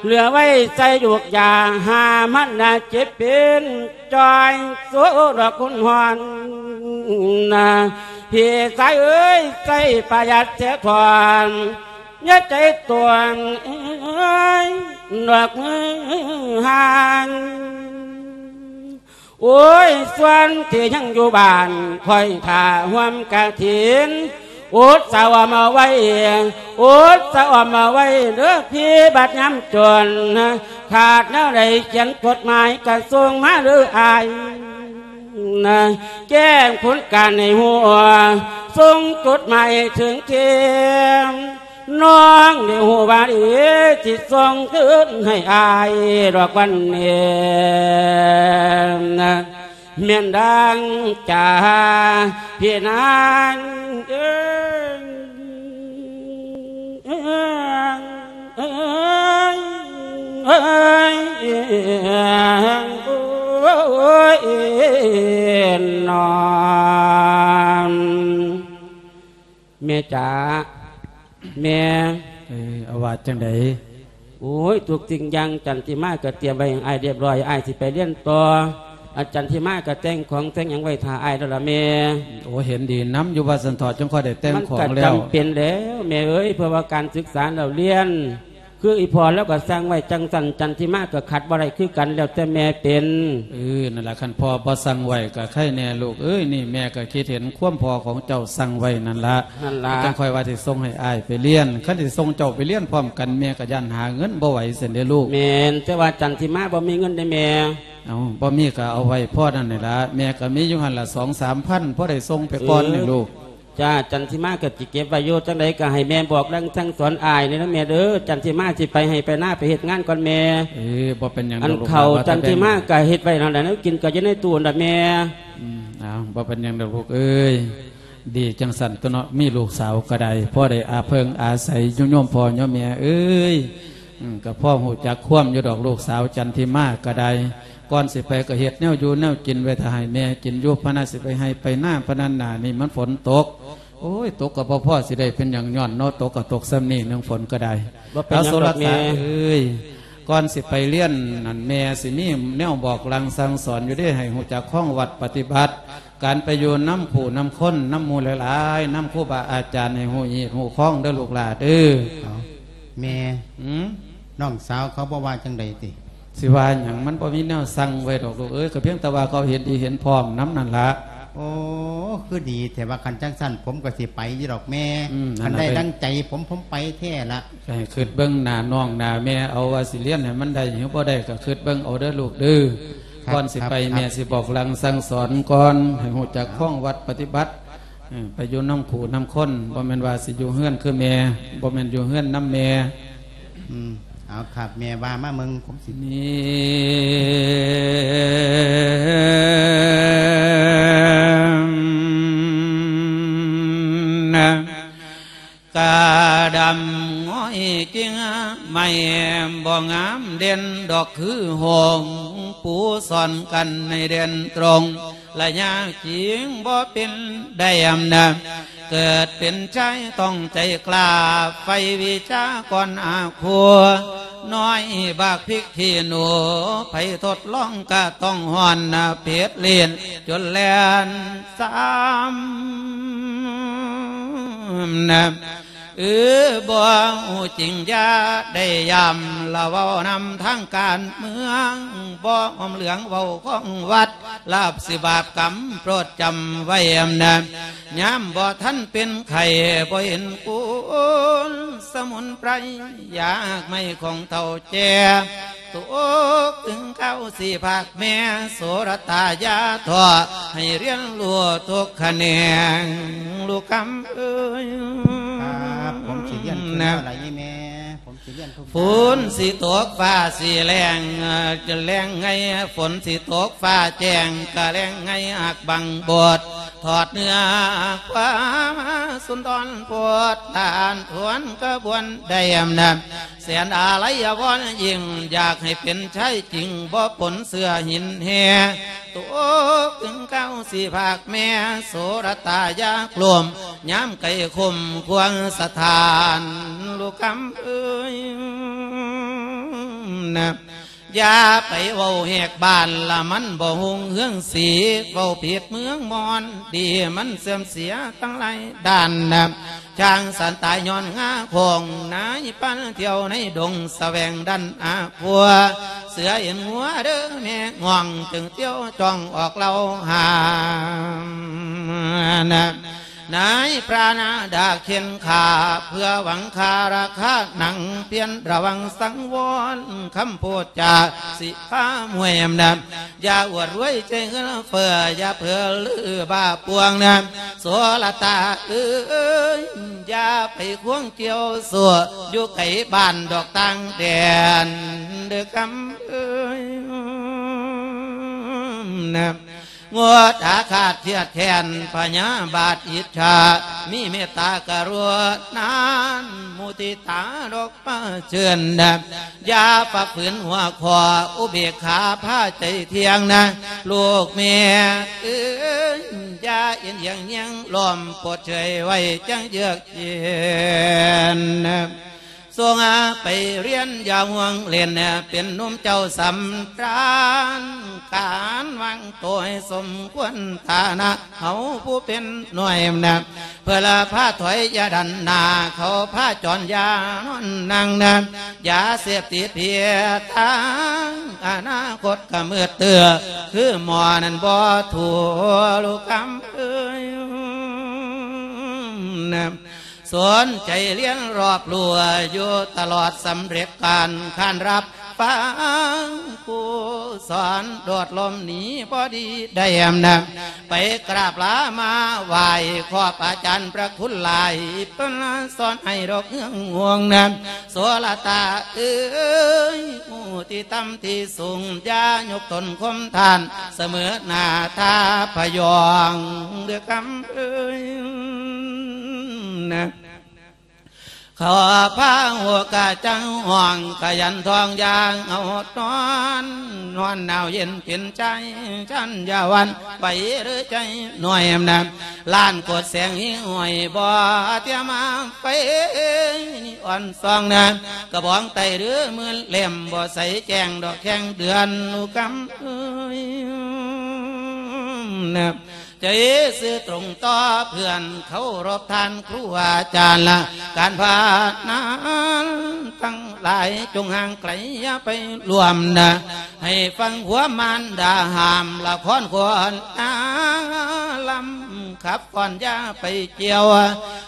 ເຫຼືອໄວ້ໃຊ້ຢູກຢາ ຫາມັນນະເຈັບເປັນ ຈ່ອຍໂຊດອກຄຸນຮອນນະ ພີ່ຊາຍເອີຍ ໃຊ້ປະຢັດເສຍກ່ອນ ຢ່າໃຈຕົວງເອີຍ ດອກມືຫານ ໂອ້ຍ ສ່ວນທີ່ຍັງຢູ່ບ້ານ ຄອຍຖ້າຮ່ວມກະຖິນ ອົດສະອອມເອົາໄວ້ ອົດສະອອມເອົາໄວ້ເດີພີ່ ບັດຍາມຈົນ ຂາດແນວໃດຂຽນຈົດໝາຍກະສົ່ງມາເດີອ້າຍ ແຈ້ງຜົນການໃຫ້ຮູ້ ສົ່ງຈົດໝາຍເຖິງເທມ ນ້ອງໄດ້ຮູ້ວ່າດີ ຊິສົ່ງຄືນໃຫ້ອ້າຍດອກວັນນີ້ ແມ່ນດັ່ງໃຈພີ່ນາງເອີຍ ເອີຍ ເອີຍ ໂອ້ຍ ນ້ອງ ແມ່ຈ໋າ ແມ່ ເອີ ເອົາວ່າຈັ່ງໃດ? ໂອ້ຍ ທຸກສິ່ງຢ່າງຈັນທິມາກໍຕຽມໄວ້ໃຫ້ອ້າຍຮຽບຮ້ອຍ ອ້າຍຊິໄປຮຽນຕໍ່ ອາ ຈັນທິມາກໍແຕ່ງຂອງແຕ່ງຫຍັງໄວ້ຖ້າອ້າຍແລ້ວລະແມ່. ໂອ້ ເຫັນດີນຳຢູ່ວ່າຊັ້ນເຖາະ ຈຶ່ງຄ່ອຍໄດ້ແຕ່ງຂອງແລ້ວ. ມັນກໍຈຳເປັນແລ້ວແມ່ເອີຍ ເພາະວ່າການສຶກສາເລົ່າຮຽນ ຄືອີ່ພໍ່ລາວກໍສັ່ງໄວ້ຈັ່ງຊັ້ນ ຈັນທິມາກໍຂັດບໍ່ໄດ້ຄືກັນ ແລ້ວແຕ່ແມ່ເປັນ. ເອີ ນັ້ນລະ ຄັນພໍ່ບໍ່ສັ່ງໄວ້ກໍໄຄແນ່ລູກເອີຍ. ນີ້ແມ່ກໍຄິດເຫັນຄວາມພໍ່ຂອງເຈົ້າສັ່ງໄວ້ນັ້ນລະ ນັ້ນລະ ຈັ່ງຄ່ອຍວ່າຊິສົ່ງໃຫ້ອ້າຍໄປຮຽນ. ຄັນຊິສົ່ງເຈົ້າໄປຮຽນພ້ອມກັນ ແມ່ກໍຢ້ານຫາເງິນບໍ່ໄຫວຊັ້ນເດ້ລູກ. ແມ່ນ ແຕ່ວ່າຈັນທິມາບໍ່ມີເງິນເດ້ແມ່. ເອົ້າ ບໍ່ມີກໍເອົາໄວ້ພໍນັ້ນນີ້ລະ ແມ່ກໍມີຢູ່ຫັ້ນລະ ສອງສາມພັນ ພໍໄດ້ສົ່ງໄປກ່ອນນີ້ລູກ. ເອີ ຈ້າ ຈັນທິມາກໍຊິເກັບໄວ້ຢູ່ ຈັ່ງໃດກໍໃຫ້ແມ່ບອກລາງສັ່ງສອນອ້າຍແດ່ນະແມ່ເດີ. ຈັນທິມາຊິໄປໄຮ່ໄປນາໄປເຮັດງານກ່ອນແມ່. ເອີ ບໍ່ເປັນຫຍັງດອກລູກ ອັນເຂົ້າ ວ່າແຕ່ ຈັນທິມາກໍເຮັດໄວ້ຫັ້ນລະ ແນວກິນກໍຢູ່ໃນຕູ້ຫັ້ນລະແມ່. ອືມ ເອົາ ບໍ່ເປັນຫຍັງດອກລູກເອີຍ. ດີຈັ່ງຊັ້ນຕົວະເນາະ ມີລູກສາວກໍໄດ້ ພໍໄດ້ອາເພິ່ງອາໄສຢູ່ໂຍມພໍ່ໂຍມແມ່ເອີຍ. ອືມ ກໍພໍຮູ້ຈັກຄວາມຢູ່ດອກ ລູກສາວຈັນທິມາກໍໄດ້. ກ່ອນຊິໄປກໍເຮັດແນວຢູ່ແນວກິນໄວ້ຖ້າໃຫ້ແມ່ກິນຢູ່ ພະນະ ຊິໄປໄຮ່ໄປນາ ພະນະ ໜ້ານີ້ມັນຝົນຕົກ. ໂອ້ຍ ຕົກກໍບໍ່ພໍຊິໄດ້ເປັນຫຍັງ ຍ້ອນເນາະ ຕົກກໍຕົກສ່ຳນີ້ໜຶ່ງ ຝົນກໍໄດ້. ບໍ່ເປັນຫຍັງດອກແມ່ ເອົາ ໂສລະຕາເອີຍ ກ່ອນຊິໄປຮຽນນັ້ນ ແມ່ຊິມີແນວບອກລາງສັ່ງສອນຢູ່ເດ້ ໃຫ້ຮູ້ຈັກຄອງວັດປະຕິບັດ ການໄປຢູ່ນຳຜູ້ນຳຄົນ ນຳໝູ່ຫຼາຍໆ ນຳຄູບາອາຈານ ໃຫ້ຮູ້ຮີດຮູ້ຄອງເດີລູກຫຼ້າເດີ. ເອົ້າ ແມ່ ຫືມ ນ້ອງສາວເຂົາບໍ່ວ່າຈັ່ງໃດຕິ? ຊິວ່າຫຍັງ ມັນບໍ່ມີແນວສັ່ງໄວ້ດອກລູກເອີຍ ກໍພຽງແຕ່ວ່າເຂົາເຫັນດີເຫັນພ້ອມນຳນັ້ນລະ. ໂອ້ ຄືດີແທ້ວ່າ ຄັນຈັ່ງຊັ້ນ ຜົມກໍຊິໄປຢູ່ດອກແມ່. ອືມ ຄັນໄດ້ ນັ້ນລະ ດັ່ງໃຈຜົມ ຜົມໄປແທ້ລະ. ກໍໃຫ້ຄິດເບິ່ງໜ້ານ້ອງໜ້າແມ່ເອົາ ວ່າຊິຮຽນໃຫ້ມັນໄດ້ ຫຼືບໍ່ໄດ້ ກໍຄິດເບິ່ງເອົາເດີລູກເດີ. ຄັບ ກ່ອນຊິໄປ ຄັບ ແມ່ຊິບອກລາງສັ່ງສອນກ່ອນ ໃຫ້ຮູ້ຈັກຄອງວັດປະຕິບັດ. ເອີ ໄປຢູ່ນຳຄູ່ນຳຄົນ ບໍ່ແມ່ນວ່າຊິຢູ່ເຮືອນຄືແມ່ ບໍ່ແມ່ນຢູ່ເຮືອນນຳແມ່. ອືມ ເອົາ ຄັບ ແມ່ວ່າມາເບິ່ງ ຜົມຊິ ນີ້ ກະດຳງອຍກິ່ງໄມ້ ບໍ່ງາມເດັ່ນດອກຄືຫົງ ປູສອນກັນໃຫ້ເດັ່ນຕົງ ລະຍາຈິງບໍ່ເປັນໄດ້ອຳນາດ ເກີດເປັນຊາຍຕ້ອງໃຈກ້າ ໃຝ່ວິຊາກ່ອນອາຄົວ ນ້ອຍບັກພິກຂີ້ໜູ ໃຜທົດລອງກະຕ້ອງຮ້ອນເຜັດຫຼິ້ນ ຈົນແລ່ນຊ້ຳນະ. ເອີ ບໍ່ຮູ້ຈິງຢ່າໄດ້ຢ້ຳ ລະເວົ້ານຳທາງການເມືອງ ບໍ່ຫອມເຫຼືອງເວົ້າຂອງວັດ ລາບສິບາບກຳໂປດຈຳໄວ້ນະ. ຍາມບໍ່ທັນເປັນໄຂ້ ບໍ່ເຫັນຄຸນສະໝຸນໄພ ຢາກໄມ້ຂອງເຖົ້າແກ່ ຕົກເຖິງຄາວຊິພາກແມ່ ໂສລະຕາຢ່າທໍ້ ໃຫ້ຮຽນຮູ້ທຸກຂະແໜງ ລູກຄຳເອີຍ. ຄັບ ຜົມຊິຮຽນຂຶ້ນແລ້ວລະອີ່ແມ່ ຜົມຊິຮຽນທຸກ ຝົນຊິຕົກຟ້າຊິແລ້ງ ຈະແລ້ງໄງ ຝົນຊິຕົກຟ້າແຈ້ງ ກະແລ້ງໄງ ຮັກບັງບົດ ທອດເນື້ອຄວາມສຸນທອນໂພດ ທ່ານຄວນຂະບວນໄດ້ອຳນາດ ແສນອາໄລອາວອນ ຍິ່ງຢາກໃຫ້ເປັນຊາຍຈິງ ບໍ່ປົນເຊື້ອຫີນແຮ່ ໂຕກຶງເກົ້າສີ່ພາກແມ່ ໂສລະຕາຢ່າໂກລມ ຍາມໄກຄົມຄວາງສະຖານ ລູກຄຳເອີຍນະ. ຢ່າໄປເວົ້າແຫກບ້ານລະ ມັນບໍ່ຮຸ່ງເຮືອງສີ ເວົ້າຜິດເມືອງມອນ ດີມັນເສື່ອມເສຍທັງຫຼາຍດ້ານນະ. ຊ້າງສັນຕາຍຍ້ອນງາຂອງ ນາຍພານທ່ຽວໃນດົງ ສະແຫວງດັນອາຂົວ ເສືອເອັນງົວເດີແມ່ງ່ອງ ຈຶ່ງທ່ຽວຈ້ອງອອກເລົ່າຫານະ. ນາຍພຣານາດາກເຂັນຂ້າ ເພື່ອຫວັງຄ່າລາຄາໜັງ ພຽນລະວັງສັງວອນ ຄຳໂພດຈາຊິພາມວຍອຳນາດ ຢ່າອວດລວຍໃຈເງິນເຟີ້ ຢ່າເຜີເລືອບ້າປວງນະ ໂສລະຕາເອີຍ ຢ່າໄປຄວງກ່ຽວໂສ້ ຢູ່ໄກບ້ານດອກຕ່າງແດນ ເດີຄຳເອີຍນະ. ງົດອາຄາດຄຽດແຄ້ນ ພະຍາບາດອິດສາ ມີເມດຕາກະລຸນາ ມຸທິຕາດອກປະເຊີນນະ ຢ່າປະຝືນຫົວຂໍ້ ອຸເບກຂາພາໃຈທ່ຽງນະ ລູກແມ່ເອີຍ ຢ່າເອັນຫຍັງຍ່ຽງລ້ອມ ໂປດເຊີຍໄວ້ຈັ່ງເຍືອກເຢັນນະ. ສົ່ງໄປຮຽນຢ່າຫ່ວງເຫຼັ້ນ ເປັນໜຸ່ມເຈົ້າສຳຕານ ການວາງໂຕໃຫ້ສົມຄວນຖານະ ເຮົາຜູ້ເປັນໜ່ວຍນະ ເພື່ອລະພາຖອຍຢ່າດັນໜ້າ ເຂົາພາຈອນຢ່ານອນນັ່ງນະ ຢາເສບຕິດເພຍທາງ ອະນາຄົດກະມືດເຕີ ຄືໝໍນັ້ນບໍ່ຖືກ ລູກຄຳເອີຍນະ. ສົນໃຈຮຽນຮອບຮູ້ຢູ່ຕະຫຼອດ ສຳເລັດການຂານຮັບຟັງ ຄູສອນໂດດຫຼົບໜີບໍ່ດີໄດ້ນະ ໄປກາບລາມາໄຫວ້ຂອບອາຈານພະຄຸນຫຼາຍ ເພິ່ນສອນໃຫ້ດອກເຮືອງຫ່ວງນະ ໂສລະຕາເອີຍ ຜູ້ທີ່ຕ່ຳທີ່ສູງ ຢ່າຍົກຕົນຂົ່ມທ່ານ ສະເໝີໜ້າທ່າພະຍອງ ເດີຄຳເອີຍນະ. ເຂົາພາຫົວກະຈັງຫ້ອງ ຂະຫຍັນທ່ອງຢ່າງເອົານອນ ຮ້ອນໜາວເຢັນເປັນໃຈ ຊັ້ນຢ່າຫວັ່ນໄຫວເດີໃຈໜ້ອຍນະ ລ້ານໂກດແສງຫິ້ງຫ້ອຍ ບໍ່ຕຽມມາໄຟອ່ອນສ່ອງນະ ກະບອງໄຕ້ເດີໝື່ນເຫຼັ້ມ ບໍ່ໃສແຈ້ງດອກແຂ້ງເດືອນ ລູກຄຳເອີຍນະ. ໃຈຊື່ຕົງຕໍ່ເພື່ອນ ເຄົາລົບທ່ານຄູອາຈານລະ ການພານນານທັງຫຼາຍ ຈົ່ງຫ່າງໄກຢ່າໄປຮ່ວມນະ ໃຫ້ຟັງຄວາມມານດາຫ້າມ ລະຄອນຄວນນາງລຳຂັບກ່ອນຢ່າໄປກ່ຽວ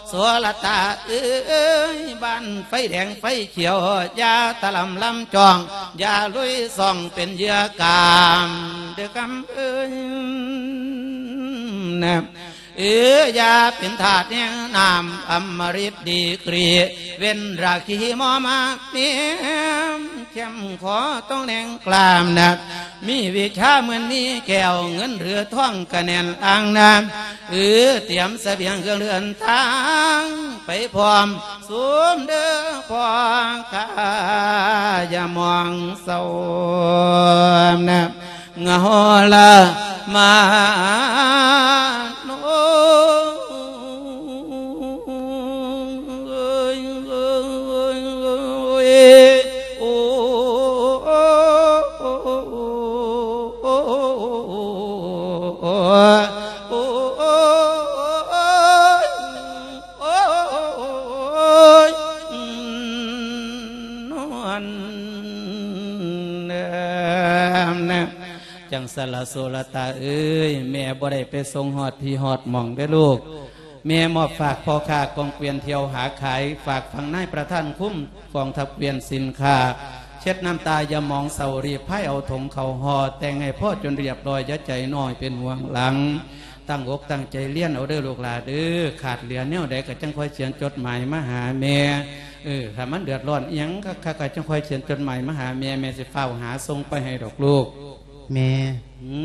ໂສລະຕາເອີຍ ບ້ານໄຟແດງໄຟຂຽວ ຢ່າຕະຫຼຳລຳຈ້ອງ ຢ່າລຸຍຊ່ອງເປັນເຫຍື່ອກາມ ເດີຄຳເອີຍນະ. ເອີ ຢ່າເປັນທາດແຫ່ງນ້ຳ ອຳມະລິດດີກຣີ ເວັ້ນລາຄີມໍມາເມມ ແຄມຂໍຕ້ອງແດງກລ້າມນະ ມີວິຊາເໝືອນມີແກ້ວ ເງິນຫຼືທອງກະແໜ້ນອ່າງນະ ເອີ ຕຽມສະບຽງເຄື່ອງເດີນທາງ ໄປພ້ອມຊຸມເດີພໍ່ຂ້າ ຢ່າໝອງເສົ້ານະ ເຫງົາລະມາໂນ ໂອ້ຍ ໂອ້ຍ ໂອ້ຍ ໂອ້ຍ ໂອ້ຍ ນວນ ເອີ ນະ ຈັ່ງຊັ້ນລະ ໂສລະຕາເອີຍ ແມ່ບໍ່ໄດ້ໄປສົ່ງຮອດທີ່ຮອດໝ່ອງເດີລູກ. ແມ່ມອບຝາກພໍ່ຄ້າກອງເກວຽນທ່ຽວຫາຂາຍ ຝາກຝັງນາຍປະທານຄຸ້ມກອງທັບເກວຽນສິນຄ້າ ເຊັດນ້ຳຕາຢ່າໝອງເສົ້າ ລີບພາຍເອົາຖົງເຂົ້າຫໍ່ ແຕ່ງໃຫ້ພໍຈົນລຽບລ້ອຍ ຢ່າໃຈນ້ອຍເປັນຫ່ວງຫຼັງ. ຕັ້ງອົກຕັ້ງໃຈຮຽນເອົາເດີລູກຫຼ້າເດີ ຂາດເຫຼືອແນວໃດກໍຈັ່ງຄ່ອຍຂຽນຈົດໝາຍມາຫາແມ່. ເອີ ຖ້າມັນເດືອດຮ້ອນອີ່ຫຍັງຄັກໆ ກໍຈັ່ງຄ່ອຍຂຽນຈົດໝາຍມາຫາແມ່ ແມ່ຊິຟ້າວຫາສົ່ງໄປໃຫ້ດອກລູກ. ແມ່ ຫື?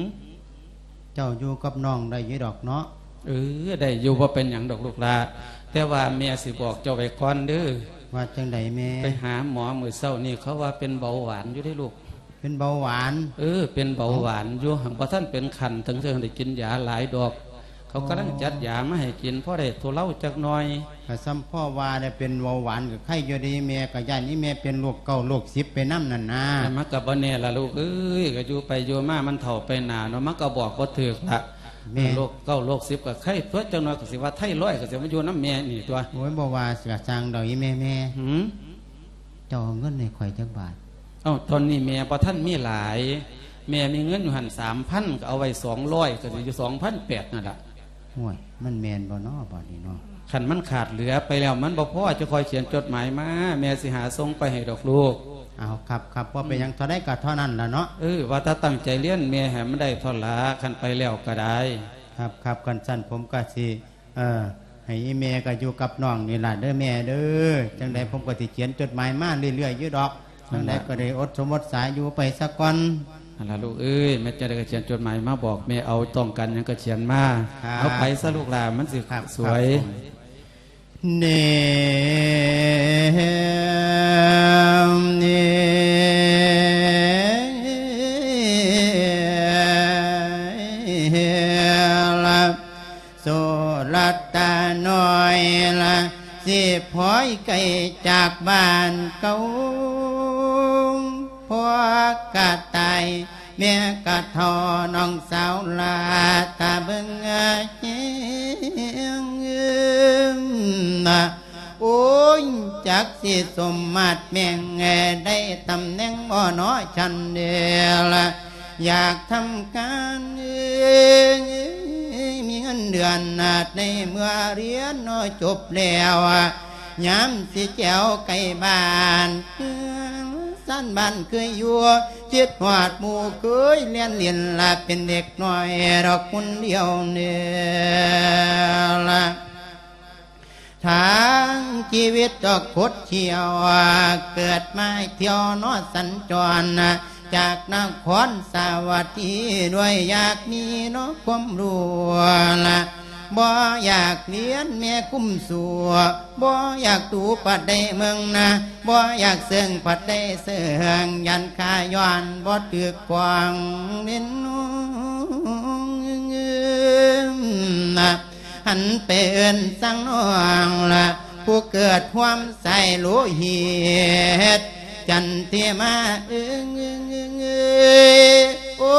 ເຈົ້າຢູ່ກັບນ້ອງໄດ້ຢູ່ດອກເນາະ. ເອີ ໄດ້ຢູ່ ບໍ່ເປັນຫຍັງດອກລູກຫຼ້າ ແຕ່ວ່າແມ່ຊິບອກເຈົ້າໄວ້ກ່ອນເດີ. ວ່າຈັ່ງໃດແມ່? ໄປຫາໝໍມື້ເຊົ້ານີ້ ເຂົາວ່າເປັນເບົາຫວານຢູ່ເດ້ລູກ. ເປັນເບົາຫວານ? ເອີ ເປັນເບົາຫວານຢູ່ ເອົ້າ ຫັງບໍ່ທັນເປັນຂັ້ນເຖິງຊິໄດ້ກິນຢາຫຼາຍດອກ. ເຂົາກຳລັງ ອໍ ຈັດຢາມາໃຫ້ກິນ ພໍໄດ້ທຸເລົາຈັກໜ່ອຍ. ກະສ່ຳພໍວ່າໄດ້ເປັນເບົາຫວານກະໄຄຢູ່ເດແມ່ ກະຢ້ານອີ່ແມ່ເປັນໂລກເກົ້າໂລກສິບໄປນຳນັ້ນນາ. ແຕ່ມັນກະບໍ່ແນ່ລະລູກເອີຍ ກະຢູ່ໄປຢູ່ມາມັນເຖົ້າໄປໜ້າເນາະ ມັນກະບອກບໍ່ຖືກລະ. ແມ່ນ ໂລກເກົ້າໂລກສິບກະໄຄຕົວະ ຈັກໜ່ອຍກະຊິວ່າໄທລອຍ ກະຊິມາຢູ່ນຳແມ່ນີ້ຕົວະ. ໂອ້ຍ ບໍ່ວ່າກະຊ່າງດອກອີ່ແມ່ ແມ່ ຫື ເຈົ້າເອົາເງິນໃຫ້ຂ້ອຍຈັກບາດ? ເອົ້າ ຕອນນີ້ແມ່ບໍ່ທັນມີຫຼາຍ ແມ່ມີເງິນຢູ່ຫັ້ນສາມພັນ ກະເອົາໄວ້ສອງຮ້ອຍ ກະຊິຢູ່ສອງພັນແປດນັ້ນລະ. ໂອ້ຍ ມັນແມ່ນບໍ່ນໍບາດນີ້ນໍ? ຄັນມັນຂາດເຫຼືອໄປແລ້ວ ມັນບໍ່ພໍ ຈະຄ່ອຍຂຽນຈົດໝາຍມາ ແມ່ຊິຫາສົ່ງໄປໃຫ້ດອກລູກ. ເອົາ ຄັບໆ ບໍ່ເປັນຫຍັງ ອືມ ເທົ່າໃດກະເທົ່ານັ້ນລະເນາະ. ເອີ ວ່າແຕ່ຕັ້ງໃຈຮຽນແມ່ໃຫ້ມັນໄດ້ເທົ່າລະ ຄັນໄປແລ້ວກະໄດ້. ຄັບໆ ຄັນຊັ້ນຜົມກະຊິ ເອີ ໃຫ້ອີ່ແມ່ກະຢູ່ກັບນ້ອງນີ້ລະເດີແມ່ເດີ. ຈັ່ງໃດ ອືມ ຜົມກະຊິຂຽນຈົດໝາຍມາເລື້ອຍໆຢູ່ດອກ. ຈັ່ງໃດກະໄດ້ອົດສົມອົດສາຢູ່ໄປສາກ່ອນ. ຫັ້ນລະລູກເອີຍ ແມ່ນຈັ່ງໃດກະຂຽນຈົດໝາຍມາບອກແມ່ເອົາ ຕ້ອງການຫຍັງກະຂຽນມາ. ຄັບ ເອົາໄປຊະລູກຫຼ້າ ມັນຊິ ຄັບ ສວຍ ຄັບ ເນ ເນ ລະ ໂສລະຕານ້ອຍລະ ຊິພອຍໄກຈາກບ້ານເກົ່າ ພໍ່ກະຕາຍ ແມ່ກະເຖົ້າ ນ້ອງສາວລາຕາເບິ່ງແຍງ. ໂອ້ຍ ຈັກຊິສົມມາດແມ່ງ ໄດ້ຕຳແໜ່ງບໍ່ນໍ ຊັ້ນເດລະ ຢາກທຳການ ມີເງິນເດືອນ ໃນເມື່ອຮຽນຈົບແລ້ວ ຍາມຊິແຈວໃກ້ບ້ານ ຊານບ້ານເຄີຍຢູ່ ຄິດຮອດໝູ່ເຄີຍແລ່ນຫຼິ້ນ ລະເປັນເດັກນ້ອຍດອກຄົນດຽວນີ້ລະ. ທາງຊີວິດດອກຄົດທ່ຽວ ເກີດມາທ່ຽວເນາະສັນຈອນ ຈາກນະຄອນສາວັດທີ ດ້ວຍຢາກມີເນາະຄວາມຮູ້ລະ ບໍ່ຢາກຮຽນແມ່ຄຸ້ມສູ່ ບໍ່ຢາກດູປານໃດເມືອງນາ ບໍ່ຢາກເຊິ່ງປານໃດເຊິ່ງ ຢ້ານຂ້າຍ້ອນບໍ່ຖືກຂອງເນນ ນະ ຫັນໄປເອີ້ນສັງນ້ອງລະ ຜູ້ເກີດຮ່ວມສາຍໂລຫິດ ຈັນທິມາ ເອີ ໂອ້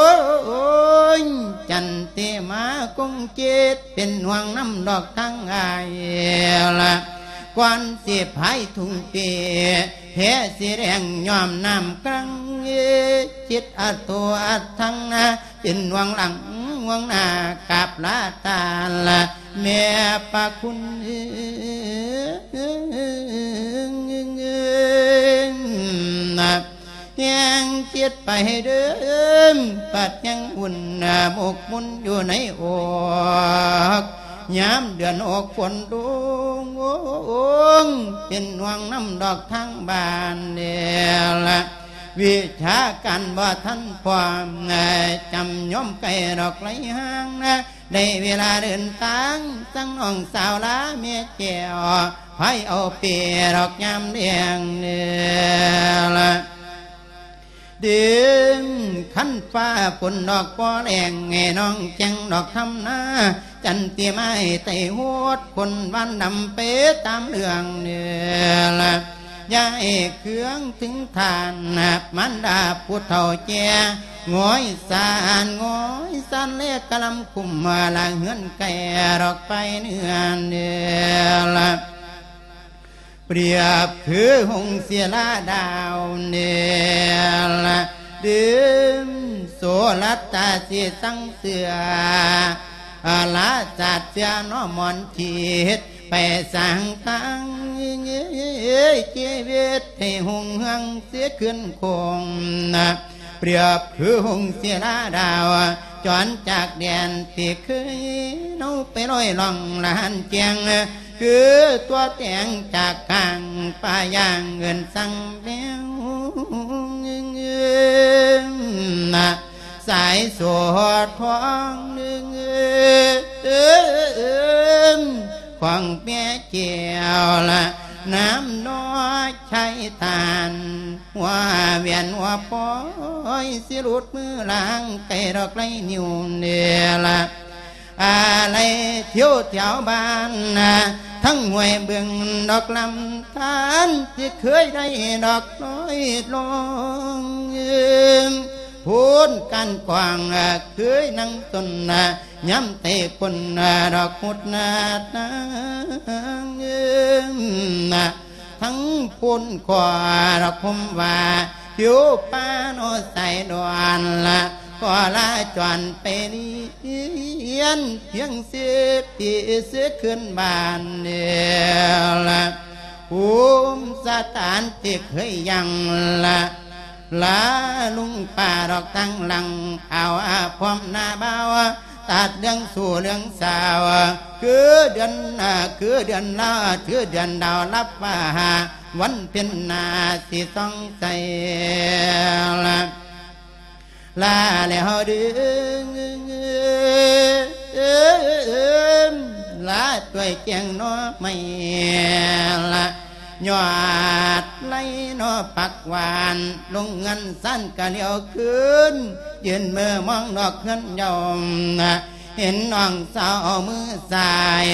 ຍ ຈັນທິມາຄົງຈິດ ເປັນຫ່ວງນຳດອກທາງອ້າຍລະ ກ່ອນຊິພາຍທຸ່ງເປ ແພສີແດງຍ້ອມນ້ຳກລັງ ຈິດອະໂທອະທັງນາ ເປັນຫວງຫຼັງຫວງໜ້າ ກາບລາຕາລະແມ່ພະຄຸນ ແຮງຈິດໄປເດີ ປັດຍັງອຸ່ນໝົກມຸ່ນຢູ່ໃນອົກ ຍາມເດືອນອົກຝົນລົງ ເປັນຫວງນຳດອກທາງບ້ານແລ້ວລະ ວິຊາການບໍ່ທັນພ້ອມ ຈຳຍອມໄກດອກໄລຫ່າງນະ ໄດ້ເວລາເດີນທາງ ສັງນ້ອງສາວລາແມ່ແກ້ວ ພາຍເອົາເປດອກຍາມແລງເດີລະ ເດືອນຄັນຟ້າຝົນດອກບໍ່ແລ້ງ ໃຫ້ນ້ອງແຈ້ງດອກທຳນາ ຈັນຕິມາໃຫ້ໄຕ້ໂຫດ ຄົນບ້ານດຳໄປຕາມເລື່ອງເດີລະ ຢ່າໃຫ້ເຄືອງເຖິງທ່ານ ມານດາຜູ້ເຖົ້າແກ່ ງອຍສານ ງອຍສານແລກະລຳຄຸມ ລະເຮືອນໄກດອກໄປເໜືອເດີລະ ປຽບຄືຫົງສິລາດາວເນີລະ ດຶງໂສລະຕາສີສັງເສືອ ອາລາສາດເສືອນອມມອນທິດ ໄປສ້າງຕັ້ງຊີວິດໃຫ້ຮຸ່ງເຮືອງເສຍຂຶ້ນຄົງນະ ປຽບຄືຫົງສິລາດາວ ຈອນຈາກແດນທີ່ເຄີຍເຮົາໄປລອຍລ່ອງລະຫັນແຈ້ງ ຄືຕົວແຕງຈາກກາງປ່າຢ່າງເອີ້ນສັງແມວນະ ສາຍໂສທອງເອີ ຂອງແມ່ແກ້ວລະ ນາມນ້ອຍໄຊຕານ ຫົວແຫວນຫົວປອຍ ຊິຫຼຸດມືລາງໄກດອກໄລນິ້ວເດລະ ອາໄລທ່ຽວແຖວບ້ານນະ ທັງຫ້ວຍເບິ່ງດອກລຳທານ ທີ່ເຄີຍໄດ້ດອກນ້ອຍລົງ ໂພນການກວ້າງ ເຄີຍນັ່ງສົນນະ ຍາມໄຕ້ຄົນດອກຫົດນານາງ ທັງຄົນກໍດອກຄົມວ່າ ຜິວປາໂນໄຊດອນລະ ກໍລາຈອນໄປລຽນ ພຽງສິບປີເສຍຄືນບ້ານເດລະ ພູມສະຖານທີ່ເຄີຍຍັງລະ ລາລຸງປ້າດອກທາງຫຼັງ ເອົາອາພອມໜ້າບ່າວ ຕັດເລື່ອງຊູ່ເລື່ອງສາວ ຄືເດືອນ ຄືເດືອນລາວ ຄືເດືອນດາວ ລັບວ່າ ວັນເພັນໜ້າຊິສ່ອງໃສ ລາແລ້ວເດີ ລາຕວຍແກງໜໍ່ໄມ້ລະ ຍອດໄລໜໍ່ຜັກຫວານ ລົງເຮືອນຊານກະຫຼຽວຄືນ ຢືນເມີມອງນອກເຮືອນເຍົາ ເຫັນນ້ອງສາວເອົາມືຊ້າຍ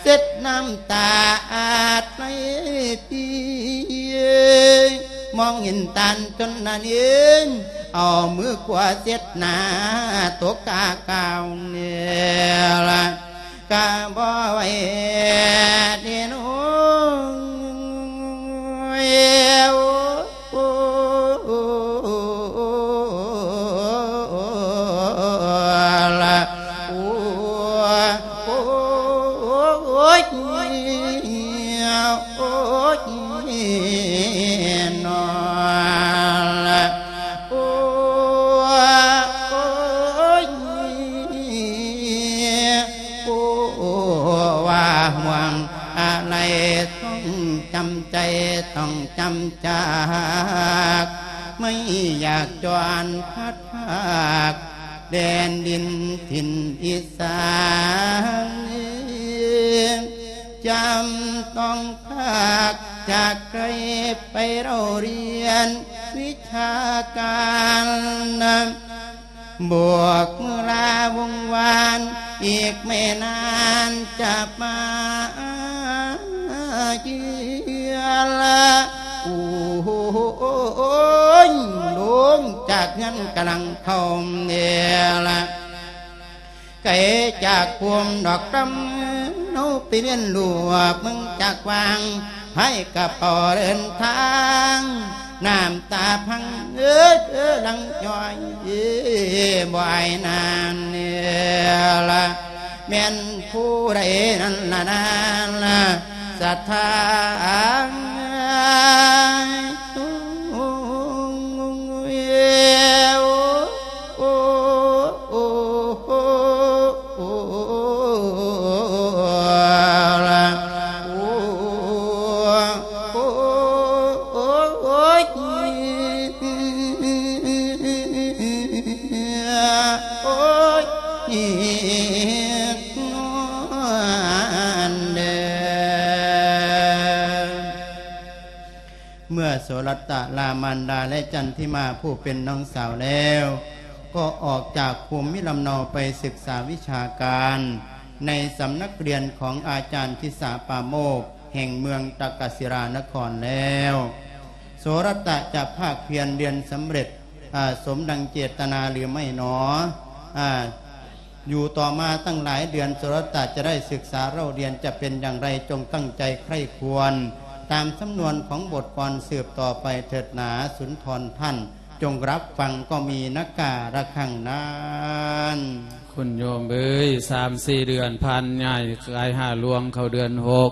ເຊັດນ້ຳຕາອາດໄຫຼປີ ມອງເຫັນຕານຈົນນະເນນ ເອົາມືຂວາເຊັດໜ້າ ຕົກກາກາວເນລະ ກະບໍ່ໄຫວເດໂນຍ ໂອ້ ລະ ໂອ້ ໂອ້ຍ ໂອ້ຍ ນອ ລະ ໂອ້ ໂອ້ຍ ໂອ້ ວ່າຫ່ວງອາໄລ ຕ້ອງຈຳໃຈ ຕ້ອງຈຳຈາກ ໄມ່ຢາກຈອນພັດພາກ ແດນດິນຖິ່ນອີສານ ຈຳຕ້ອງພາກຈາກໄກ ໄປເລົ່າຮຽນວິຊາການ ບວກມື້ລາວົງວານ ອີກໄມ່ນານຈະມາເຍລະ ໂອ້ຍ ລົງຈາກເຮືອນກຳລັງເຂົ້າເນລະ ໄກຈາກພູມດອກດຳ ເຮົາໄປຮຽນຮູ້ເມືອງຈາກວາງ ພາຍກະເປົາເດີນທາງ ນ້ຳຕາພັງເອີ ເອີ ຫຼັງຍ້ອຍ ບໍ່ອາຍນານເນລະ ແມ່ນຜູ້ໃດນັ້ນລະນາລະ ສະຖານ ໂອ້ ໂອ້ ໂອ້ ໂອ້ ໂອ້ ລະ ໂອ້ ໂອ້ ໂອ້ຍ ໂອ້ຍ ນອນເດີ. ເມື່ອໂສລັດຕະລາມານດາ ແລະ ຈັນທິມາຜູ້ເປັນນ້ອງສາວແລ້ວ ກໍອອກຈາກພູມມິລຳເນົາໄປສຶກສາວິຊາການ ໃນສຳນັກຮຽນຂອງອາຈານທິສາປາໂມກ ແຫ່ງເມືອງຕະກະສິລານະຄອນແລ້ວ ໂສລັດຕະຈະພາກພຽນຮຽນສຳເລັດ ອາ ສົມດັ່ງເຈດຕະນາຫຼືໄມ່ໜໍ? ອາ ຢູ່ຕໍ່ມາຕັ້ງຫຼາຍເດືອນ ໂສລັດຕະຈະໄດ້ສຶກສາເລົ່າຮຽນຈະເປັນຢ່າງໃດ ຈົ່ງຕັ້ງໃຈໃຄ່ຄວນຕາມສຳນວນຂອງບົດກ່ອນສືບຕໍ່ໄປເຖີດໜາ ສຸນທອນທ່ານ ຈົ່ງຮັບຟັງກໍມີນະກາລະຄັງນານ. ຄຸນໂຍມເອີຍ ສາມສີ່ເດືອນຜ່ານ ຍ້າຍກາຍຫ້າຫຼວງເຂົ້າເດືອນຫົກ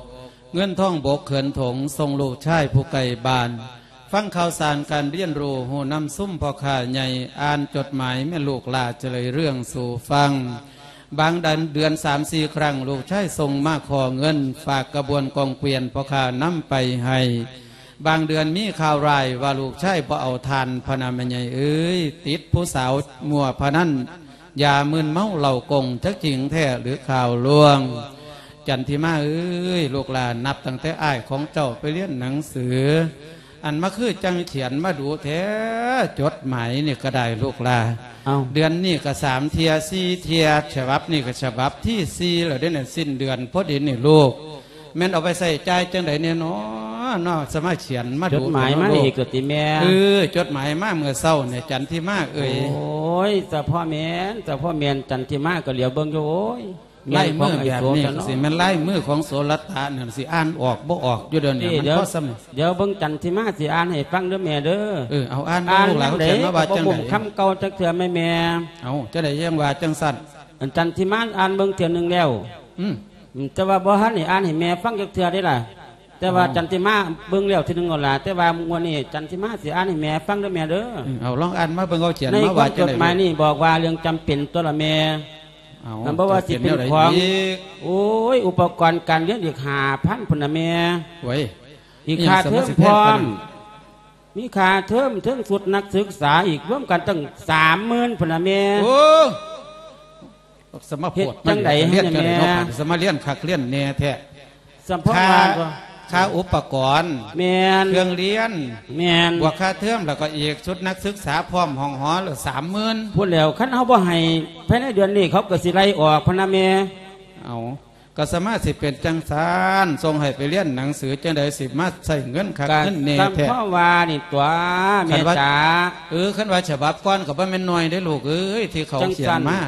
ເງິນທອງບົກເຂີນຖົງ ສົ່ງລູກຊາຍຜູ້ໃກ້ບ້ານ ຟັງຂ່າວສານການຮຽນຮູ້ ຮູ້ນຳຊຸມພໍ່ຄ້າໃຫຍ່ ອ່ານຈົດໝາຍແມ່ລູກຫຼ້າຈະເລີຍເລື່ອງສູ່ຟັງ. ບາງເດືອນ ເດືອນສາມສີ່ຄັ້ງ ລູກຊາຍສົ່ງມາຂໍເງິນ ຝາກກະບວນກອງກວຽນພໍ່ຄ້ານຳໄປໃຫ້. ບາງເດືອນມີຂ່າວຮ້າຍວ່າລູກຊາຍບໍ່ເອົາທ່ານ ພະນະແມ່ໃຫຍ່ເອີຍ ຕິດຜູ້ສາວມົວພະນັນ ຢາມຶນເມົາເຫຼົ້າກົງ ຈັກຈິງແທ້ຫຼືຂ່າວລວງ. ຈັນທິມາເອີຍ ລູກຫຼານ ນັບຕັ້ງແຕ່ອ້າຍຂອງເຈົ້າໄປຮຽນໜັງສື ອັນມາຄືຈັ່ງຂຽນມາດຸແທ້ ຈົດໝາຍນີ້ກໍໄດ້ລູກຫຼານ. ເອົ້າ ເດືອນນີ້ກໍສາມເທື່ອ ສີ່ເທື່ອ ສະບັບນີ້ກໍສະບັບທີສີ່ແລ້ວເດ້ນະ ສິ້ນເດືອນພໍດີນີ້ລູກ ແມ່ນເອົາໄປໃຊ້ຈ່າຍຈັ່ງໃດແນ່ນໍເນາະ ສະມາຂຽນມາດຸ ຈົດໝາຍມາອີກກໍຕິແມ່? ເອີ ຈົດໝາຍມາເມື່ອເຊົ້ານີ້ ຈັນທິມາເອີຍ. ໂອ້ຍ ສະເພາະແມ່ນ ສະເພາະແມ່ນ ຈັນທິມາກໍຫຼຽວເບິ່ງຢູ່ ໂອ້ຍ ລາຍມືແບບນີ້ກໍຊິແມ່ນລາຍມືຂອງໂສລະຕະນັ້ນ ຊິອ່ານອອກບໍ່ອອກຢູ່ດຽວນີ້ ມັນພໍສ່ຳ. ດຽວເບິ່ງຈັນທິມາຊິອ່ານໃຫ້ຟັງເດີແມ່ເດີ. ເອີ ເອົາອ່ານເບິ່ງລູກຫຼານ ຂຽນມາວ່າຈັ່ງໃດ? ຄຳເກົ່າຈັກເທື່ອແມ່ ແມ່. ເອົ້າ ຈັ່ງໃດຈັ່ງວ່າຈັ່ງຊັ້ນ? ອັນຈັນທິມາອ່ານເບິ່ງເທື່ອໜຶ່ງແລ້ວ ອືມ ແຕ່ວ່າບໍ່ທັນໄດ້ອ່ານໃຫ້ແມ່ຟັງຈັກເທື່ອເດ້ລະ. ແຕ່ວ່າ ອໍ ຈັນທິມາເບິ່ງແລ້ວເທື່ອໜຶ່ງແລ້ວລະ ແຕ່ວ່າງວດນີ້ຈັນທິມາຊິອ່ານໃຫ້ແມ່ຟັງເດີແມ່ເດີ. ອືມ ເອົາ ລອງອ່ານມາເບິ່ງ ເຂົາຂຽນມາວ່າຈັ່ງໃດ? ໃນຄວາມຈົດໝາຍນີ້ບອກວ່າເລື່ອງຈຳເປັນຕົວລະແມ່. ເອົາ ມັນບໍ່ວ່າຊິເປັນຂອງ ໂອ້ຍ ອຸປະກອນການຮຽນອີກຫ້າພັນພຸ້ນນະແມ່. ໂອ້ຍ ອີກຄ່າເທີມພ້ອມ ມີຄ່າເທີມ ເທິງຊຸດນັກສຶກສາອີກ ລວມກັນຕັ້ງສາມໝື່ນພຸ້ນນະແມ່. ໂອ້ ສະມາໂພດ ເຮັດຈັ່ງໃດ ມາຮຽນຈັ່ງໃດເນາະ ແມ່ ບັດນີ້ ສະມາຮຽນຄັກຮຽນແນ່ແທ້. ສຳເພາະ ຄ່າ ວ່າ ຄ່າອຸປະກອນ ແມ່ນ ເຄື່ອງຮຽນ ແມ່ນ ບວກຄ່າເທີມ ແລ້ວກໍອີກຊຸດນັກສຶກສາພ້ອມຫ້ອງຫໍລະສາມໝື່ນພຸ້ນແຫຼ້ວ. ຄັນເຮົາບໍ່ໃຫ້ພາຍໃນເດືອນນີ້ ເຂົາກໍຊິໄລ່ອອກພຸ້ນນະແມ່. ເອົາ ກໍສະມາຊິເປັນຈັ່ງຊັ້ນ ສົ່ງໃຫ້ໄປຮຽນໜັງສື ຈັ່ງໃດຊິມາໃຊ້ເງິນຄັກເງິນແນ່ແທ້. ກໍສຳເພາະວ່ານີ້ຕົວະ ແມ່ຈ໋າ. ເອີ ຄັນວ່າສະບັບກ່ອນກໍບໍ່ແມ່ນໜ້ອຍເດ້ລູກເອີຍ ທີ່ເຂົາຂຽນມາ.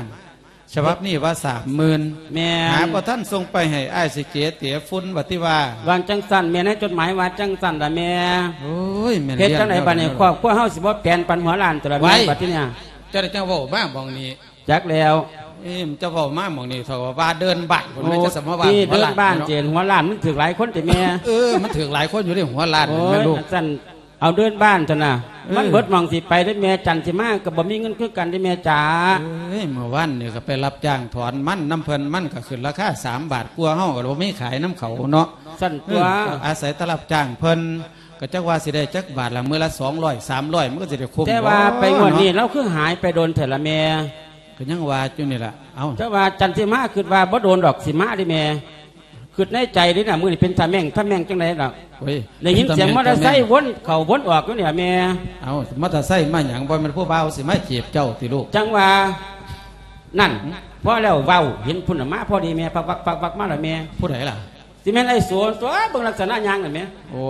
ສະບັບນີ້ວ່າສາມໝື່ນ ແມ່ນ ຫາບໍ່ທັນສົ່ງໄປໃຫ້ອ້າຍຊິເກເຕະຝຸ່ນວ່າຕິວ່າ. ວ່າຈັ່ງຊັ້ນແມ່ ໃນຈົດໝາຍວ່າຈັ່ງຊັ້ນລະແມ່. ໂອ້ຍ ແມ່ນ ເຮັດຈັ່ງໃດບັດນີ້ ຄອບຄົວເຮົາຊິບໍ່ແປນປັນຫົວລ້ານຕົວລະແມ່ ບັດທີນີ້. ເຈົ້າໄດ້ຈັ່ງເວົ້າມາໝ່ອງນີ້ ຈັກແລ້ວ. ເອີ ເຈົ້າເວົ້າມາໝ່ອງນີ້ ເທົ່າວ່າເດີ່ນບ້ານພຸ້ນ ແມ່ນ ຈະສະມາວ່າ ເດີ່ນບ້ານ ເຈນ ຫົວລ້ານມັນຖືກຫຼາຍຄົນຕິແມ່. ເອີ ມັນຖືກຫຼາຍຄົນຢູ່ເດ້ ຫົວລ້ານ ໂອ້ຍ ແມ່ນລູກ ອັນຊັ້ນ ເອົາເດີ່ນບ້ານຊັ້ນນະ. ເອີ ມັນເບິດໝ່ອງຊິໄປເດ້ແມ່ ຈັນຊິມາກໍບໍ່ມີເງິນຄືກັນເດ້ແມ່ຈ໋າ. ເອີຍ ເມື່ອວານນີ້ກໍໄປຮັບຈ້າງຖອນມັນນຳເພິ່ນ ມັນກໍຂຶ້ນລາຄາສາມບາດກວ່າ ເຮົາກໍບໍ່ມີຂາຍນຳເຂົາເນາະ. ຊັ້ນຕົວະ ເອີ ກໍອາໄສແຕ່ຮັບຈ້າງເພິ່ນ ກໍຈັກວ່າຊິໄດ້ຈັກບາດລະ ມື້ລະສອງຮ້ອຍ ສາມຮ້ອຍ ມັນກໍຊິໄດ້ຄຸ້ມ. ແຕ່ວ່າໄປງວດນີ້ ເນາະ ລາວຄືຫາຍໄປດົນແທ້ລະແມ່. ກໍຍັງວ່າຢູ່ນີ້ລະ. ເອົ້າ ແຕ່ວ່າຈັນຊິມາ ຄິດວ່າບໍ່ດົນດອກ ຊິມາເດ້ແມ່. ຄິດໃນໃຈເດ້ນະ ມື້ນີ້ເປັນຕາແມ່ງ ຕາແມ່ງຈັ່ງໃດດອກ. ໂອ້ຍ ໄດ້ຍິນສຽງມໍເຕີໄຊວົນເຂົ້າວົນອອກຢູ່ນີ້ລະແມ່. ເອົ້າ ມໍເຕີໄຊມາຫຍັງ? ບໍ່ແມ່ນຜູ້ບ່າວຊິມາຈີບເຈົ້າຕິລູກ? ຈັ່ງວ່າ ນັ້ນ ພໍແລ້ວເວົ້າ ເຫັນພຸ້ນນະມາພໍດີແມ່ ປັກວັກ ປັກວັກມາລະແມ່. ຜູ້ໃດລະ? ຊິແມ່ນໄອ້ໂສຕົວະ ເບິ່ງລັກສະນະຍ່າງນັ້ນແໝ. ໂອ້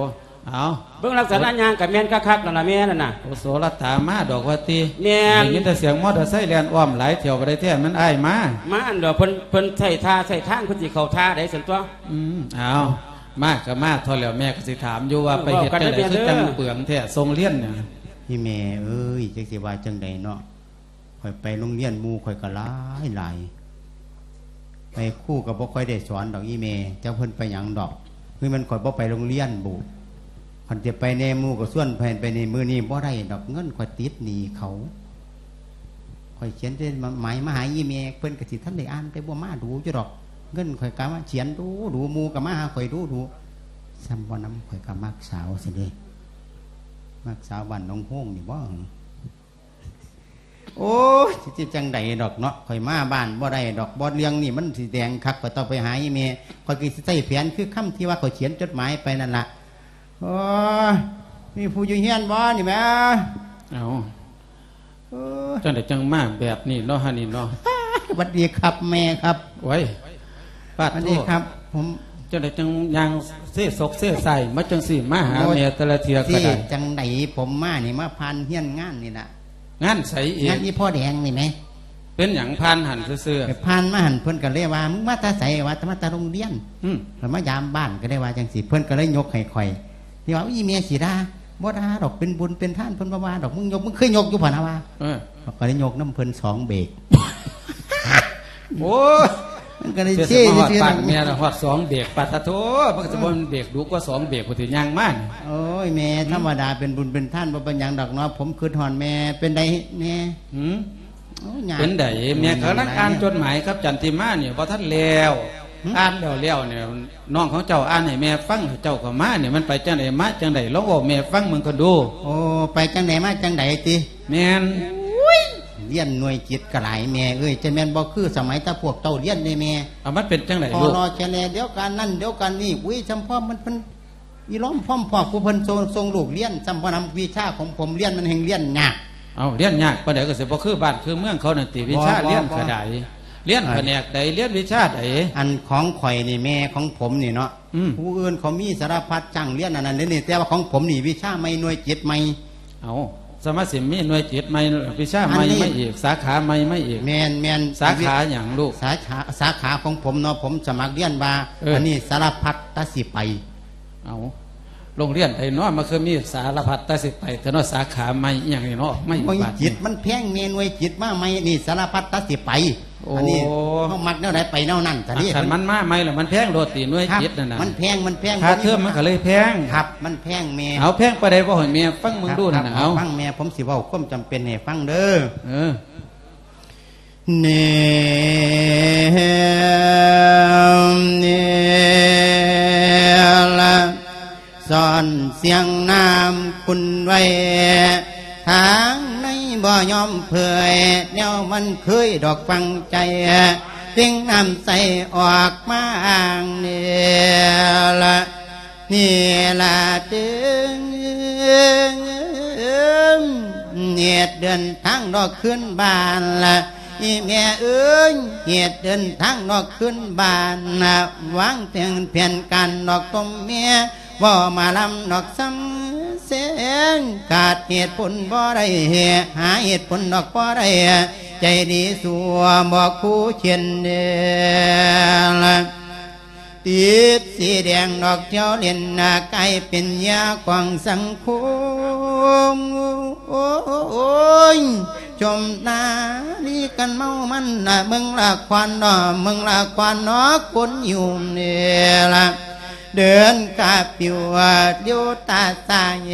ເອົາ ເບິ່ງລັກສະນະຍ່າງກໍແມ່ນຄັກໆ ນັ້ນລະແມ່ນັ້ນນະ. ໂອ ໂສລະຕາມາດອກວ່າຕິ? ແມ່ນ ໄດ້ຍິນແຕ່ສຽງມໍເຕີໄຊແລ່ນອ້ອມຫຼາຍແຖວ ບໍ່ໄດ້ແທ້ ແມ່ນອ້າຍມາ. ມາອັນດອກ ເພິ່ນ ເພິ່ນໃຊ້ທ່າໃຊ້ທາງ ເພິ່ນຊິເຂົ້າທ່າໃດຊັ້ນຕົວະ. ອືມ ເອົາ ມາກໍມາເທົ່າແລ້ວ ແມ່ກໍຊິຖາມຢູ່ວ່າ ເອີ ໄປເຮັດຈັ່ງໃດ ເວົ້າກັນເດີແມ່ເດີ ຄືຈັ່ງເປືອງແທ້ ສົ່ງຮຽນນະ. ອີ່ແມ່ເອີຍ ຈັກຊິວ່າຈັ່ງໃດເນາະ. ຂ້ອຍໄປໂຮງຮຽນ ໝູ່ຂ້ອຍກໍຫຼາຍໆ ໄອ້ຄູກໍບໍ່ຄ່ອຍໄດ້ສອນດອກອີ່ແມ່. ຈັກເພິ່ນໄປຫຍັງດອກ ຄືແມ່ນຂ້ອຍບໍ່ໄປໂຮງຮຽນບຸ. ຄັນຊິໄປແດ່ ໝູ່ກໍຊວນໄປ ໄປນີ້ ມື້ນີ້ບໍ່ໄດ້ດອກ ເງິນຂ້ອຍຕິດໜີ້ເຂົາ. ຂ້ອຍຂຽນແຕ່ໝາຍມາຫາອີ່ແມ່ ເພິ່ນກໍຊິທັນໄດ້ອ່ານ ແຕ່ບໍ່ມາດູຢູ່ດອກ. ເງິນຂ້ອຍກໍມາຂຽນດູໆ ໝູ່ກໍມາຫາຂ້ອຍດູໆ. ສ່ຳບໍ່ນຳ ຂ້ອຍກໍມັກສາວຊັ້ນເດ້ ມັກສາວບ້ານໜອງໂຮງນີ້ບໍ? ໂອ້ຍ ຊິຈັ່ງໃດດອກເນາະ ຂ້ອຍມາບ້ານບໍ່ໄດ້ດອກ. ບໍ່ ເລື່ອງນີ້ມັນຊິແດງຄັກ ຂ້ອຍຕ້ອງໄປຫາອີ່ແມ່ ຂ້ອຍກໍຊິໃຊ້ແຜນຄືຄຳທີ່ວ່າຂ້ອຍຂຽນຈົດໝາຍໄປນັ້ນລະ. ໂອ້ຍ ມີຜູ້ຢູ່ເຮືອນບໍ່ນີ້ແມ່? ເອົ້າ ເອີ ຈັ່ງໃດຈັ່ງມາແບບນີ້ເນາະ ຫັ້ນນີ້ເນາະ. ຫວັດດີຄັບແມ່ຄັບ. ໂອ້ຍ ປາດໂທ ຫວັດດີຄັບ ຜົມ ຈັ່ງໃດຈັ່ງຍ່າງເຊສົກເຊໄຊມາຈັ່ງຊີ້ ມາຫາແມ່ແຕ່ລະເທື່ອກໍໄດ້. ຈັ່ງໃດ ຜົມມານີ້ ມາຜ່ານເຮືອນງານນີ້ລະ. ງານໃສອີກ? ງານອີ່ພໍ່ແດງນີ້ແໝ. ເປັນຫຍັງ? ຜ່ານຫັ້ນຊື່ໆ. ໄປຜ່ານມາຫັ້ນ ເພິ່ນກໍເລີຍວ່າ ມຶງມາແຕ່ໃສ? ວ່າ ມາແຕ່ໂຮງຮຽນ. ອືມ ຂ້ອຍມາຢາມບ້ານ ກໍໄດ້ວ່າຈັ່ງຊີ້ ເພິ່ນກໍເລີຍຍົກໃຫ້ຂ້ອຍ ທີ່ວ່າ ອີ່ແມ່ສີດາ ບໍ່ດ່າດອກ ເປັນບຸນເປັນທານ ເພິ່ນບໍ່ວ່າດອກ ມຶງຍົກ ມຶງເຄີຍຍົກຢູ່ບໍ່ນະວ່າ. ເອີ ຂ້ອຍກໍໄດ້ຍົກນຳເພິ່ນສອງເບກ. ໂອ້ຍ ມັນກໍໄດ້ເຊຊື່ໆ ມາຮອດບ້ານແມ່ລະ ຮອດສອງເບກ ປາດຕະໂທ ມັນກໍຊິບໍ່ແມ່ນເບກດຸກວ່າສອງເບກພຸ້ນຕິຍ່າງມາ. ໂອ້ຍແມ່ ອືມ ທຳມະດາ ເປັນບຸນເປັນທານ ບໍ່ເປັນຫຍັງດອກເນາະ. ຜົມຄິດຮອດແມ່ ເປັນໃດແມ່? ຫືມ ໂອ້ຍ ຍາກ ເປັນໃດແມ່? ກຳລັງອ່ານຈົດໝາຍກັບຈັນທິມານີ້ ບໍ່ທັນແລ້ວ. ຫືມ ອ່ານແລ້ວໆນີ້ ນ້ອງຂອງເຈົ້າອ່ານໃຫ້ແມ່ຟັງ ເຈົ້າກໍມານີ້ ມັນໄປຈັ່ງໃດມາຈັ່ງໃດ ລອງເວົ້າໃຫ້ແມ່ຟັງເບິ່ງກ່ອນດູ. ໂອ້ ໄປຈັ່ງໃດມາຈັ່ງໃດຕິ? ແມ່ນ. ໂອ້ຍ ຮຽນໜ່ວຍຈິດກໍຫຼາຍແມ່ເອີຍ, ຈະແມ່ນບໍ່ຄືສະໄໝແຕ່ພວກເຈົ້າຮຽນເດ້ແມ່. ເອົາ ມັນເປັນຈັ່ງໃດລູກ? ພໍລໍແຄ່ແລດຽວກັນນັ້ນດຽວກັນນີ້, ອຸ້ຍ ຊ່ຳພວກມັນ ເພິ່ນອີຫຼອມພ້ອມພວກຜູ້ເພິ່ນສົ່ງ ສົ່ງລູກຮຽນ ຊ່ຳບໍ່ນຳ ວິຊາຂອງຜົມຮຽນມັນແຮ່ງຮຽນຍາກ. ເອົາ ຮຽນຍາກປານໃດກໍຊິບໍ່ຄືບ້ານຄືເມືອງເຂົານັ້ນຕິ? ວິຊາ ບໍ່ ຮຽນ ບໍ່ ຂະດາຍ ຮຽນ ບໍ່ ພະແນກໃດ? ຮຽນວິຊາໃດ? ອັນຂອງຂ້ອຍນີ້ ແມ່ຂອງຜົມນີ້ເນາະ ອືມ ຜູ້ອື່ນເຂົາມີສາລະພັດຊ່າງຮຽນອັນນັ້ນເດ້ນີ້, ແຕ່ວ່າຂອງຜົມນີ້ວິຊາໃໝ່ ໜ່ວຍຈິດໃໝ່. ເອົາ ສະມາຊິມີໜ່ວຍຈິດໃໝ່ ວິຊາໃໝ່ ອັນນີ້ ໃໝ່ອີກ ສາຂາໃໝ່ ໃໝ່ອີກ. ແມ່ນໆ. ສາຂາຫຍັງລູກ? ສາຂາ ສາຂາຂອງຜົມເນາະ ຜົມສະໝັກຮຽນວ່າ ເອີ ອັນນີ້ສາລະພັດຕາຊິໄປ. ເອົາ ໂຮງຮຽນໃດເນາະ ມັນຄືມີສາລະພັດຕາຊິໄປແທ້ເນາະ? ສາຂາໃໝ່ອີ່ຫຍັງນີ້ເນາະ ໃໝ່ ໜ່ວຍຈິດມັນແພງແມ່, ໜ່ວຍຈິດມາໃໝ່ ນີ້ສາລະພັດຕາຊິໄປ. ໂອ້ ອັນນີ້ເຮົາມັກແນວໃດໄປແນວນັ້ນຊະເດ. ຄັນມັນມາໃໝ່ແລ້ວມັນແພງໂລດຕິ ໜ່ວຍຈິດນັ້ນນະ? ມັນແພງ ມັນແພງ. ຄ່າເທີມມັນກໍເລີຍແພງ. ຄັບ ມັນແພງແມ່. ເອົາ ແພງປານໃດ ເວົ້າໃຫ້ແມ່ຟັງເບິ່ງດູນັ້ນນະ. ເອົາ ຟັງແມ່ ຜົມຊິເວົ້າຄວາມຈຳເປັນໃຫ້ຟັງເດີ. ເອີ ແນມແນລະ ສ້ອນສຽງນ້ຳຂຸ່ນໄວ້ ທາງໃນບໍ່ຍອມເຜີຍ ແນວມັນເຄີຍດອກຝັງໃຈ ເລັ່ງນ້ຳໃສອອກມາອ້າງແນລະ. ນີ້ລະເຕີງ ເຮັດເດີນທາງດອກຄືນບ້ານລະ ອີແມ່ເອີຍ ເຮັດເດີນທາງດອກຄືນບ້ານລະ ວາງແຜນ ແຜນການດອກຕົມແມ່ ເວົ້າມາລຳດອກສ່ຳແສງ ຂາດເຫດຜົນບໍ່ໄດ້ ຫາເຫດຜົນດອກບໍ່ໄດ້ ໃຈດີຊົ່ວບໍ່ຄູ່ຂຽນເດລະ. ຕິດສີແດງດອກທ່ຽວຫຼິ້ນນະ ກາຍເປັນເຫຍື່ອຂອງສັງຄົມ. ໂອ້ຍ ຊົມນາລີກັນເມົາມັນນະ ເບິ່ງລະຄອນເນາະ ເບິ່ງລະຄອນເນາະ ຄົນຢູ່ນີ້ລະ ເດີນກາປິວ ຫຼຽວຕາສາຍ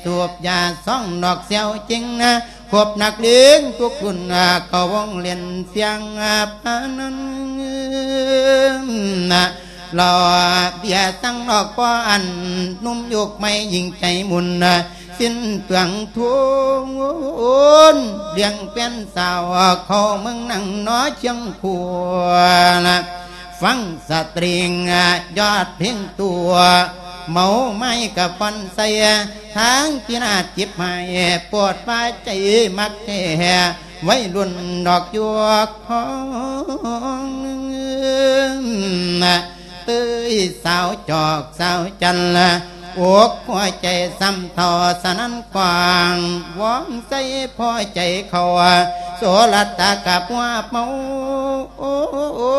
ສູບຢາຊອງດອກແຊວຈິງນະ ຄົບນັກເລງທຸກລຸ້ນ ເຂົ້າວົງຫຼິ້ນສຽງພະນັນ ເຫຼົ້າເບຍສັງນອກບໍ່ອັນ ໜຸ່ມຍຸກໃໝ່ຍິ່ງໃຈມຸ່ນ ສິ້ນເປືອງທຸນ ລ້ຽງແຟນສາວເຂົ້າເມືອງນັ່ງໜໍຄຽງຄູ່ ຟັງສະຕຣິງຍອດເພງຕົວ ເມົາໄມ້ກະຟອນໃສ່ ທາງພິນາດຈິບໃຫ້ ໂປດວ່າໃຈມັກແທ້ ໄວລຸ້ນດອກຢວກຂອງ ເຕີຍສາວຈອກສາວຈັນ ອົກຫົວໃຈຊ້ຳເທົ່າສະນັ້ນກວ້າງ ວອງໃສ່ພໍໃຈເຂົ້າ ໂສລະຕາກັບຫົວເມົາ ໂອ້ ໂອ້ ໂອ້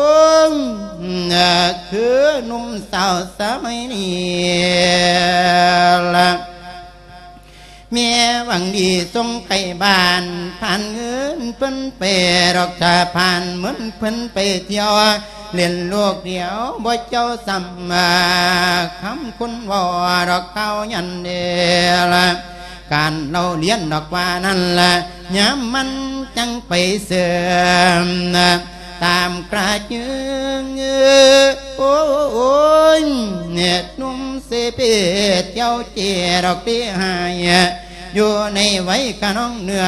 ຄືໜຸ່ມສາວສະໄໝນີ້ລະ ແມ່ຫວັງດີສົ່ງໄປບ້ານ ຜ່ານເງິນເພິ່ນໄປດອກ ຖ້າຜ່ານເງິນເພິ່ນໄປທ່ຽວ ຫຼິ້ນລູກດຽວບໍ່ເຈົ້າຊ້ຳ ຄຳຄົນເວົ້າດອກກ່າວຢັນເດລະ ການເລົ່າລຽນດອກວ່ານັ້ນລະ ຍາມມັນຈັ່ງໄປເສີມ ຕາມກະເຈິງ ໂອ້ຍ ໜຸ່ມເສເປດເຈົ້າເຈດອກເດຫາຍ ຢູ່ໃນໄວກະນອງເໜືອ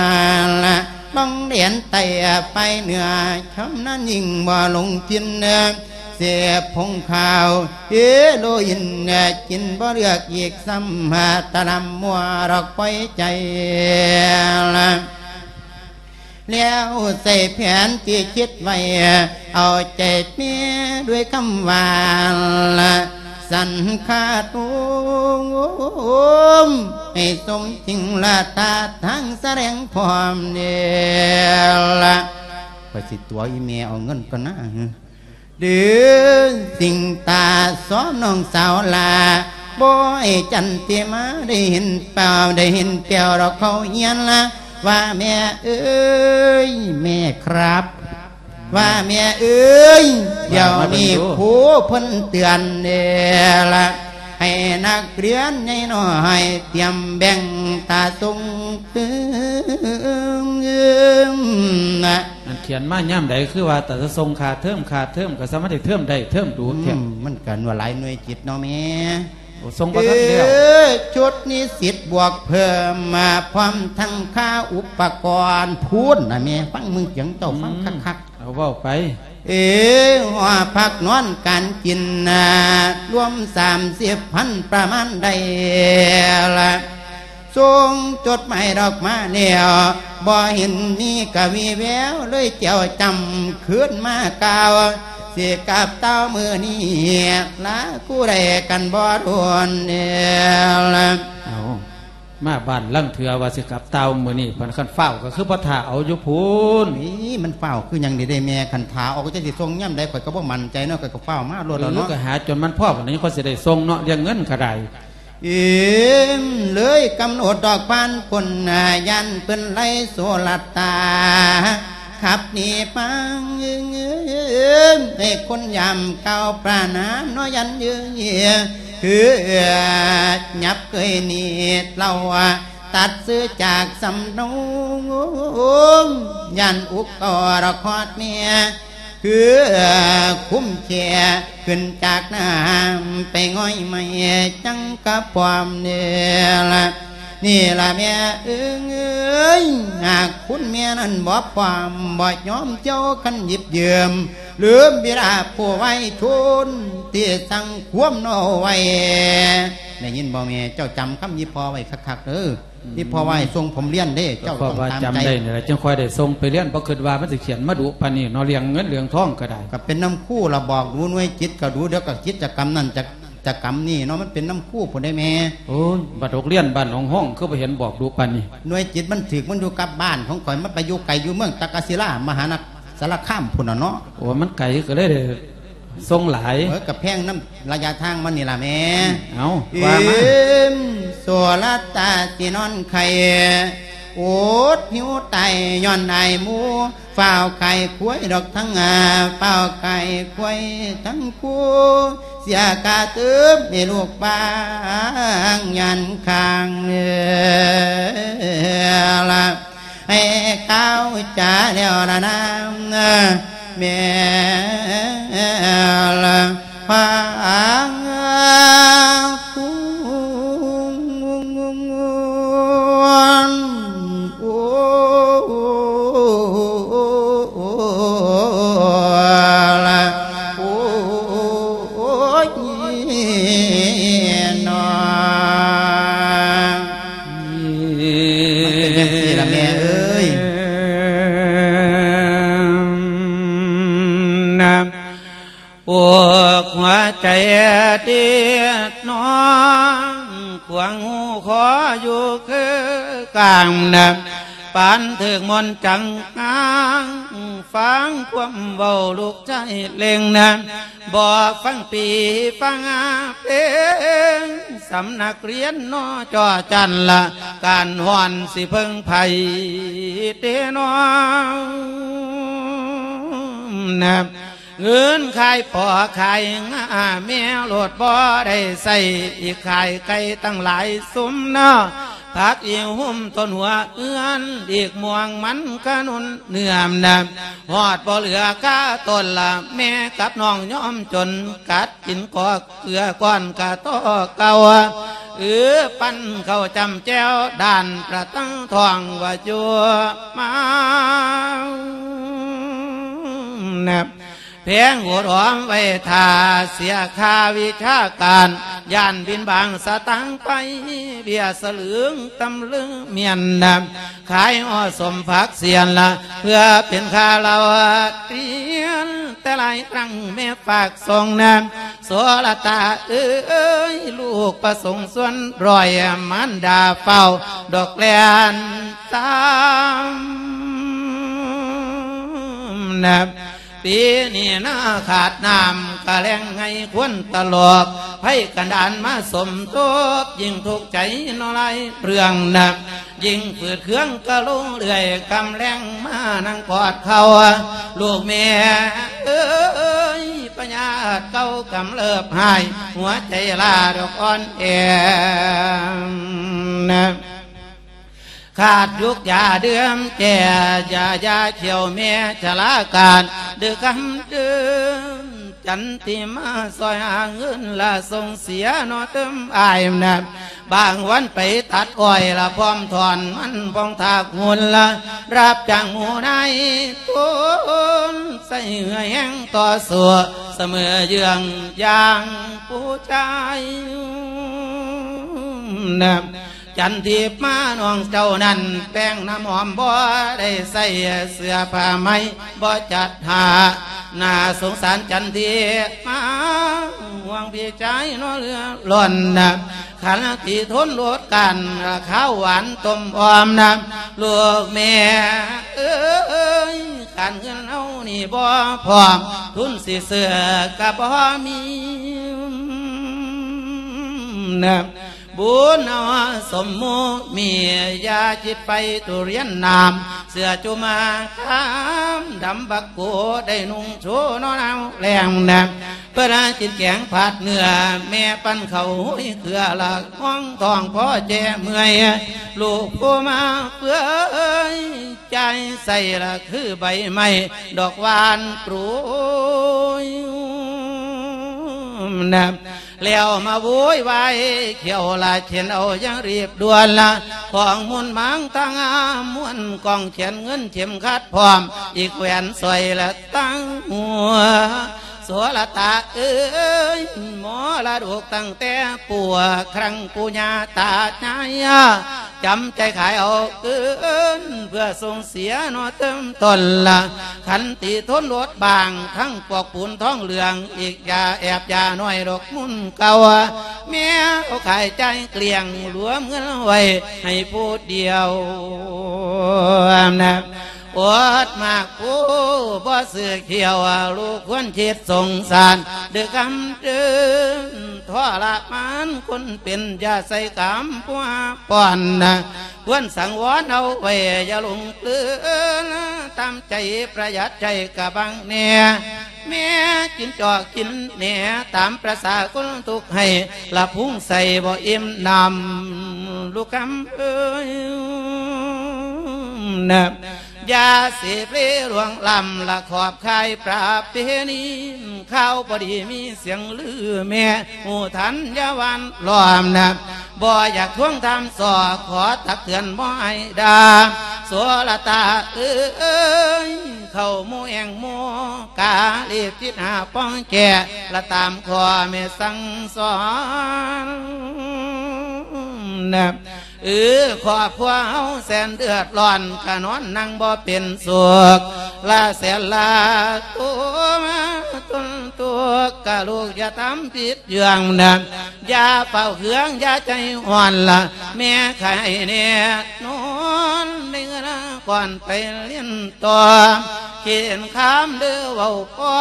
ລະ ຕ້ອງແດນໃຕ້ໄປເໜືອ ຊຳນານຍິ່ງບໍ່ຫຼົງຖິ່ນ ເສບຜົງຂາວ ເຮໂຣອິນ ກິນບໍ່ເລືອກອີກຊ້ຳ ຕະລຳມົວດອກປ່ອຍໃຈລະ ແລ້ວໃສ່ແຜນທີ່ຄິດໄວ້ ເອົາໃຈແມ່ດ້ວຍຄຳຫວານ ສັນຄາຕຸມ ໃຫ້ສົມຈິງລະ ທ່າທາງສະແດງພ້ອມເດລະ ຂ້ອຍຊິຕົວະອີແມ່ເອົາເງິນກ່ອນນາ. ດືສິ່ງຕາສອນນ້ອງສາວຫຼ້າ ບໍ່ໃຫ້ຈັນຕິມາໄດ້ເຫັນແປວ ໄດ້ເຫັນແປວດອກເຂົາຮຽນລະ ວ່າແມ່ເອີຍ ແມ່ຄັບ ວ່າແມ່ເອີຍ ດຽວນີ້ຄູເພິ່ນເຕືອນແດ່ລະ ໃຫ້ນັກຮຽນໃຫຍ່ນ້ອຍຕຽມແບ່ງຕາສົ່ງເຕີມນະ. ອັນຂຽນມາຍາມໃດຄືວ່າແຕ່ຈະສົ່ງຄ່າເທີມ ຄ່າເທີມ ກໍສາມາດໄດ້ເທີມໄດ້ເທີມດູແທ້. ອືມ ມັນກໍວ່າຫຼາຍໜ່ວຍຈິດເນາະແມ່. ໂອ້ ສົ່ງບໍ່ທັນແລ້ວ ເອີ ຊຸດນິສິດບວກເພີ່ມມາ ພ້ອມທັງຄ່າອຸປະກອນ ພຸ້ນນະແມ່ ຟັງເບິ່ງ ສຽງເຈົ້າຟັງ ອືມ ຄັກໆ ເອົາເວົ້າໄປ ເອີ ຫໍພັກນອນການກິນນະ ລວມສາມສິບພັນ ປະມານໄດ້ລະ ສົ່ງຈົດໝາຍດອກມາແລ້ວ ບໍ່ເຫັນມີກະວີແວວ ເລີຍແຈວຈຳຄືນມາກ່າວ ຊິກັບເຕົ້າມື້ນີ້ ລາຜູ້ໃດກັນບໍ່ດົນເດລະ ເອົາ ມາບ້ານລາງເທື່ອວ່າຊິກັບເຕົ້າມື້ນີ້ ພັນຄັນຟ້າວກໍຄືບໍ່ຖ້າເອົາຢູ່ພຸ້ນ ນີ້ມັນຟ້າວຄືຫຍັງນີ້ເດ້ແມ່ ຄັນຖ້າເອົາກໍຈັກຊິສົ່ງຍາມໃດ ຂ້ອຍກໍບໍ່ໝັ້ນໃຈເນາະ ຂ້ອຍກໍຟ້າວມາໂລດແລ້ວເນາະ ເອີ ກໍຫາຈົນມັນພໍ ບັດນີ້ຂ້ອຍຊິໄດ້ສົ່ງເນາະ ເລື່ອງເງິນກໍໄດ້ ເອີ ເລີຍກຳນົດດອກຜ່ານຄົນ ຢ້ານເພິ່ນໄລ່ໂຊລັດຕາ ຂັບໜີໄປ ໃຫ້ຄົນຢາມກ່າວປານາເນາະ ຢ້ານເອີຍ ຄືຫຍັບເຄີຍໜີເຫຼົ່າ ຕັດຊື່ຈາກສຳນວນ ຢ້ານອຸກກໍລະຄອດເມຍ ຄືຄຸ້ມແຄ່ຂຶ້ນຈາກນ້ຳ ໄປງ່ອຍໄມ້ຈັງກະປ້ອມນີ້ລະ ນີ້ລະແມ່ເອີຍ ຫາກຄຸນແມ່ນັ້ນບໍ່ພ້ອມ ບໍ່ຍອມເຈົ້າຄັນຢິບຢືມ ລືມບິດາຜູ້ໄວຊົນ ທີ່ສັ່ງຄວາມເນາະໄວ້ ໄດ້ຍິນບໍ່ແມ່ ເຈົ້າຈຳຄຳອີ່ພໍ່ໄວ້ຄັກໆເດີ. ອີ່ພໍ່ວ່າໃຫ້ສົ່ງຜົມຮຽນເດ້ ເຈົ້າຕ້ອງຕາມໃຈ ເພາະວ່າຈຳໄດ້ນີ້ລະ ຈຶ່ງຄ່ອຍໄດ້ສົ່ງໄປຮຽນ ບໍ່ຄິດວ່າມັນຊິຂຽນມາດຸປານນີ້ເນາະ ເລື່ອງເງິນເລື່ອງທອງກໍໄດ້ ກໍເປັນນຳຄູລະ ບອກດູ ໜ່ວຍຈິດກໍດູ ດຽວກໍກິດຈະກຳນັ້ນ ຈະ ຈະກຳນີ້ເນາະ ມັນເປັນນຳຄູພຸ້ນເດ້ແມ່. ໂອ້ຍ ບັດໂຮງຮຽນບ້ານໜອງຮອງ ຄືບໍ່ເຫັນບອກດຸປານນີ້ ໜ່ວຍຈິດມັນຖືກ ມັນຢູ່ກັບບ້ານຂອງຂ້ອຍ ມັນໄປຢູ່ໄກ ຢູ່ເມືອງຕັກກະສິລາ ມະຫານະ ສາລະຄາມພຸ້ນນະເນາະ. ໂອ້ ມັນໄກກໍເລີຍໄດ້ສົ່ງຫຼາຍ ເອີ ກໍແພງນຳໄລຍະທາງມັນນີ້ລະແມ່. ເອົ້າ ວ່າມາ ເອີມ ໂສລະຕາຊິນອນໄຂ້ ອົດຫິວຕາຍຍ້ອນອາຍໝູ່ ຟ້າວຂາຍຄວາຍດອກທັງ ຟ້າວຂາຍຄວາຍທັງຄູ່ ເສຍຄ່າເຕີມໃຫ້ລູກບາງ ຢ້ານຄ້າງເອີລະ ໃຫ້ກ່າວຈາແລ້ວລະນາ ແມ່ລະ ພາຄຸນ ໂອ້ລະ ໂອ້ຍ ໂອ້ຍ ໂອ້ຍ ໂອ້ຍ ໂອ້ຍ ໂອ້ຍ ໂອ້ຍ ໂອ້ຍ ມັນເປັນຈັ່ງຊີ້ລະແມ່ເອີຍ ນະ ປວກຫົວໃຈຕິດນ້ອງ ຂວາງຫູຂໍຢູ່ຄືກາງນະ ປານຖືກມົນຈັງຫາງ ຟັງຄວາມເວົ້າລູກຊາຍເລັ່ງນະ ບໍ່ຟັງປີຟັງເພງ ສຳນັກຮຽນນໍຈໍຈັນລະ ການຮ້ອນຊິເພິ່ງໃຜເດນໍ ນະ ເງິນຂາຍພໍ່ຂາຍງາແມ່ໂລດບໍ່ໄດ້ໃຊ້ ອີກຂາຍໄກ່ຕັ້ງຫຼາຍຊຸມເນາະ ຜັກອີຫຸ້ມຕົ້ນຫົວເຮືອນ ອີກມ່ວງມັນຂະໜູນເນື້ອມນະ ຮອດບໍ່ເຫຼືອຄາຕົ້ນລະ ແມ່ກັບນ້ອງຍອມຈົນ ກັດກິນກໍເກືອກ້ອນກະຕໍ່ເກົ່າ ເອີ ປັ້ນເຂົ້າຈ້ຳແຈ່ວ ດ້ານປະຕັງທ້ອງວ່າຢູ່ມາ ນະ ແພງໂຫດຫອມໄວ້ຖ້າເສຍຄ່າວິຊາການ ຢ້ານບິນບາງສະຕາງໄປ ເບ້ຍສະຫຼຶງຕຳລຶງມຽນນະ ຂາຍຫໍ່ສົມຜັກເສຍນລະ ເພື່ອເປັນຄ່າເລົ່າຮຽນ ແຕ່ຫຼາຍຄັ້ງແມ່ຝາກສົ່ງນະ ໂສລະຕາເອີຍ ລູກປະສົງຊວນຮ້ອຍ ມານດາເຝົ້າດອກແລ່ນຕາມນະ ປີນີ້ນາຂາດນ້ຳກະແລ້ງໄຫງຄວນຕະຫຼອກ ໄພກັນດານມາສົມທົບ ຍິ່ງທຸກໃຈເນາະຫຼາຍເລື່ອງນະ ຍິ່ງຝືດເຄືອງກະລົງເລື້ອຍ ຄ່ຳແລງມານັ່ງກອດເຂົ່າ ລູກແມ່ເອີຍ ພະຍາດເກົ່າກຳເລີບຮ້າຍ ຫົວໃຈລ້າດອກອ່ອນແອນະ ຂາດຢຸກຢາເດືອມແກ່ ຢາຢາຂຽວແມ່ຊະລາການ ດື້ຄຳເດີນ ຈັນຕິມາຊ່ອຍຫາເງິນລະສົ່ງເສຍເນາະເຕີມອ້າຍນະ ບາງວັນໄປຕັດອ້ອຍລະພ້ອມຖອນມັນ ພ້ອມຖາກຫຸ່ນລະຮັບຈ້າງໝູ່ນາຍ ທົນໃຊ້ເຫື່ອແຮງຕໍ່ສູ້ ສະເໝີເຍືອງຢ່າງຜູ້ຊາຍນະ. ຈັນທິບມານ້ອງເຈົ້ານັ້ນ ແປ້ງນ້ຳຫອມບໍ່ໄດ້ໃຊ້ ເສື້ອຜ້າໄໝບໍ່ຈັດຫາ ໜ້າສົງສານຈັນທິບມາ ຫ່ວງພີ່ຊາຍເນາະເຫຼືອລ້ອນນະ ຂັນຕິທົນອົດກັ້ນ ຄາວຫວານຕົ້ມອ້ອມນະ ລູກແມ່ເອີຍ ການເງິນເຮົານີ້ບໍ່ພ້ອມ ທຶນຊິຊື້ກໍບໍ່ມີນະ. ບຸນເອົາສົມມຸມີ ຢ່າຈິດໄປທຸລຽນນ້ຳ ເສື້ອຈຸມາຄາມດຳບັກໂກ ໄດ້ນຸ່ງໂຊນອນເອົາແລງນະ ເພິ່ນກິນແກງຜັດເນື້ອ ແມ່ປັ້ນເຂົ້າຫຸຍເກືອລະ ຫ້ອງທ້ອງພໍແຈເມື່ອຍ ລູກຜູ້ມາເປື່ອຍ ໃຈໃສ່ລະຄືໃບໄມ້ ດອກຫວານໂປຣຍນະ ແລ້ວມາໂວຍວາຍ ຂ້ຽວລະເຂັນເອົາຢ່າງຮີບດ່ວນລະ ຂອງມຸນໝາງຕາງາມ ມ້ວນກ້ອງແຂນເງິນເຂັມຂັດພ້ອມ ອີກແຫວນສ້ອຍລະຕາງຫົວ ໂສລະຕາເອີຍ ມໍລະດົກຕັ້ງແຕ່ປູ່ຄັ້ງປູ່ຍ່າຕາຍາຍ ຈຳໃຈຂາຍເອົາຄືນ ເພື່ອສົ່ງເສຍເນາະເຕີມຕົ້ນລະ ຂັນຕິທົນອົດບາງ ທັງປອກປູນທອງເຫຼືອງ ອີກຢ່າແອບຢ່ານ້ອຍດອກມຸນເກົ່າ ແມ່ເອົາຂາຍຈ່າຍເກລ້ຽງ ລວມເງິນໄວ້ໃຫ້ຜູ້ດຽວນະ. ອົດມາກຜູ້ບໍ່ຊື້ຂ້ຽວ ລູກຄວນຄິດສົງສານ ເດີກຳເດີນ ທໍລະມານຄົນເປັນ ຢ່າໃສ່ກຳປົວປ້ອນນະ ຄວນສັງວອນເອົາໄວ້ ຢ່າຫຼົງເລີນ ຕາມໃຈປະຢັດໃຈກະບັງແດ່ ແມ່ກິນຈອກກິນແໜ ຕາມປະສາຄົນທຸກໃຫ້ ລະພຸງໃສ່ບໍ່ອີ່ມນ້ຳ ລູກຄຳເອີຍນະ ຢ່າເສເພລວງລ້ຳ ລະຂອບຄາຍປະເພນີ ຂ່າວບໍ່ດີມີສຽງລື ແມ່ຮູ້ທັນຢ່າຫວ່ານລ້ອມນະ ບໍ່ຢາກທວງຖາມສໍ້ ຂໍຕັກເຕືອນບໍ່ໃຫ້ດ່າ ໂສລະຕາເອີຍ ເຂົ້າໝູ່ແອ່ງໝູ່ກາ ລີບຈິດຫາປ້ອງແກ່ ລະຕາມຂໍ້ແມ່ສັ່ງສອນນະ. ເອີ ຄອບຄົວເຮົາແສນເດືອດຮ້ອນ ກະນອນນັ່ງບໍ່ເປັນສຸກ ລະແສນລະໂຕມາຕົນທຸກ ກະລູກຢ່າທຳຜິດເລື່ອງນະ ຢ່າເຝົ້າເຄືອງ ຢ່າໃຈຮ້ອນລະ ແມ່ໃຫ້ແນ່ນອນ ໄດ້ເງິນກ້ອນໄປລຽນຕໍ່ ເຂນຄາມເດີເວົ້າພໍ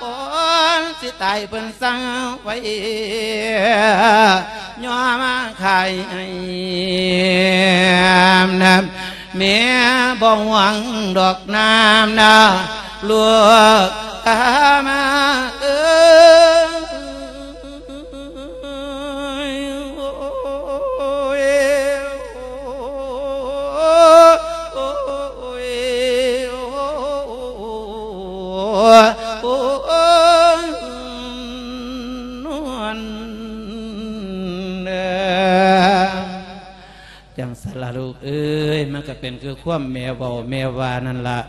ກ່ອນຊິຕາຍເພິ່ນສັ່ງໄວ້ ຍອມຂາຍໃຫ້ນະ ແມ່ບໍ່ຫວງດອກນ້ຳນະ ລູກຕາມາເອີຍ ໂອ້ຍ ໂອ້ຍ ໂອ້ຍ ໂອ້ຍ ນວນເອີ ຈັ່ງຊັ້ນລະລູກເອີຍ ມັນກະເປັນຄືຄວາມແມ່ເວົ້າແມ່ວ່ານັ້ນລະ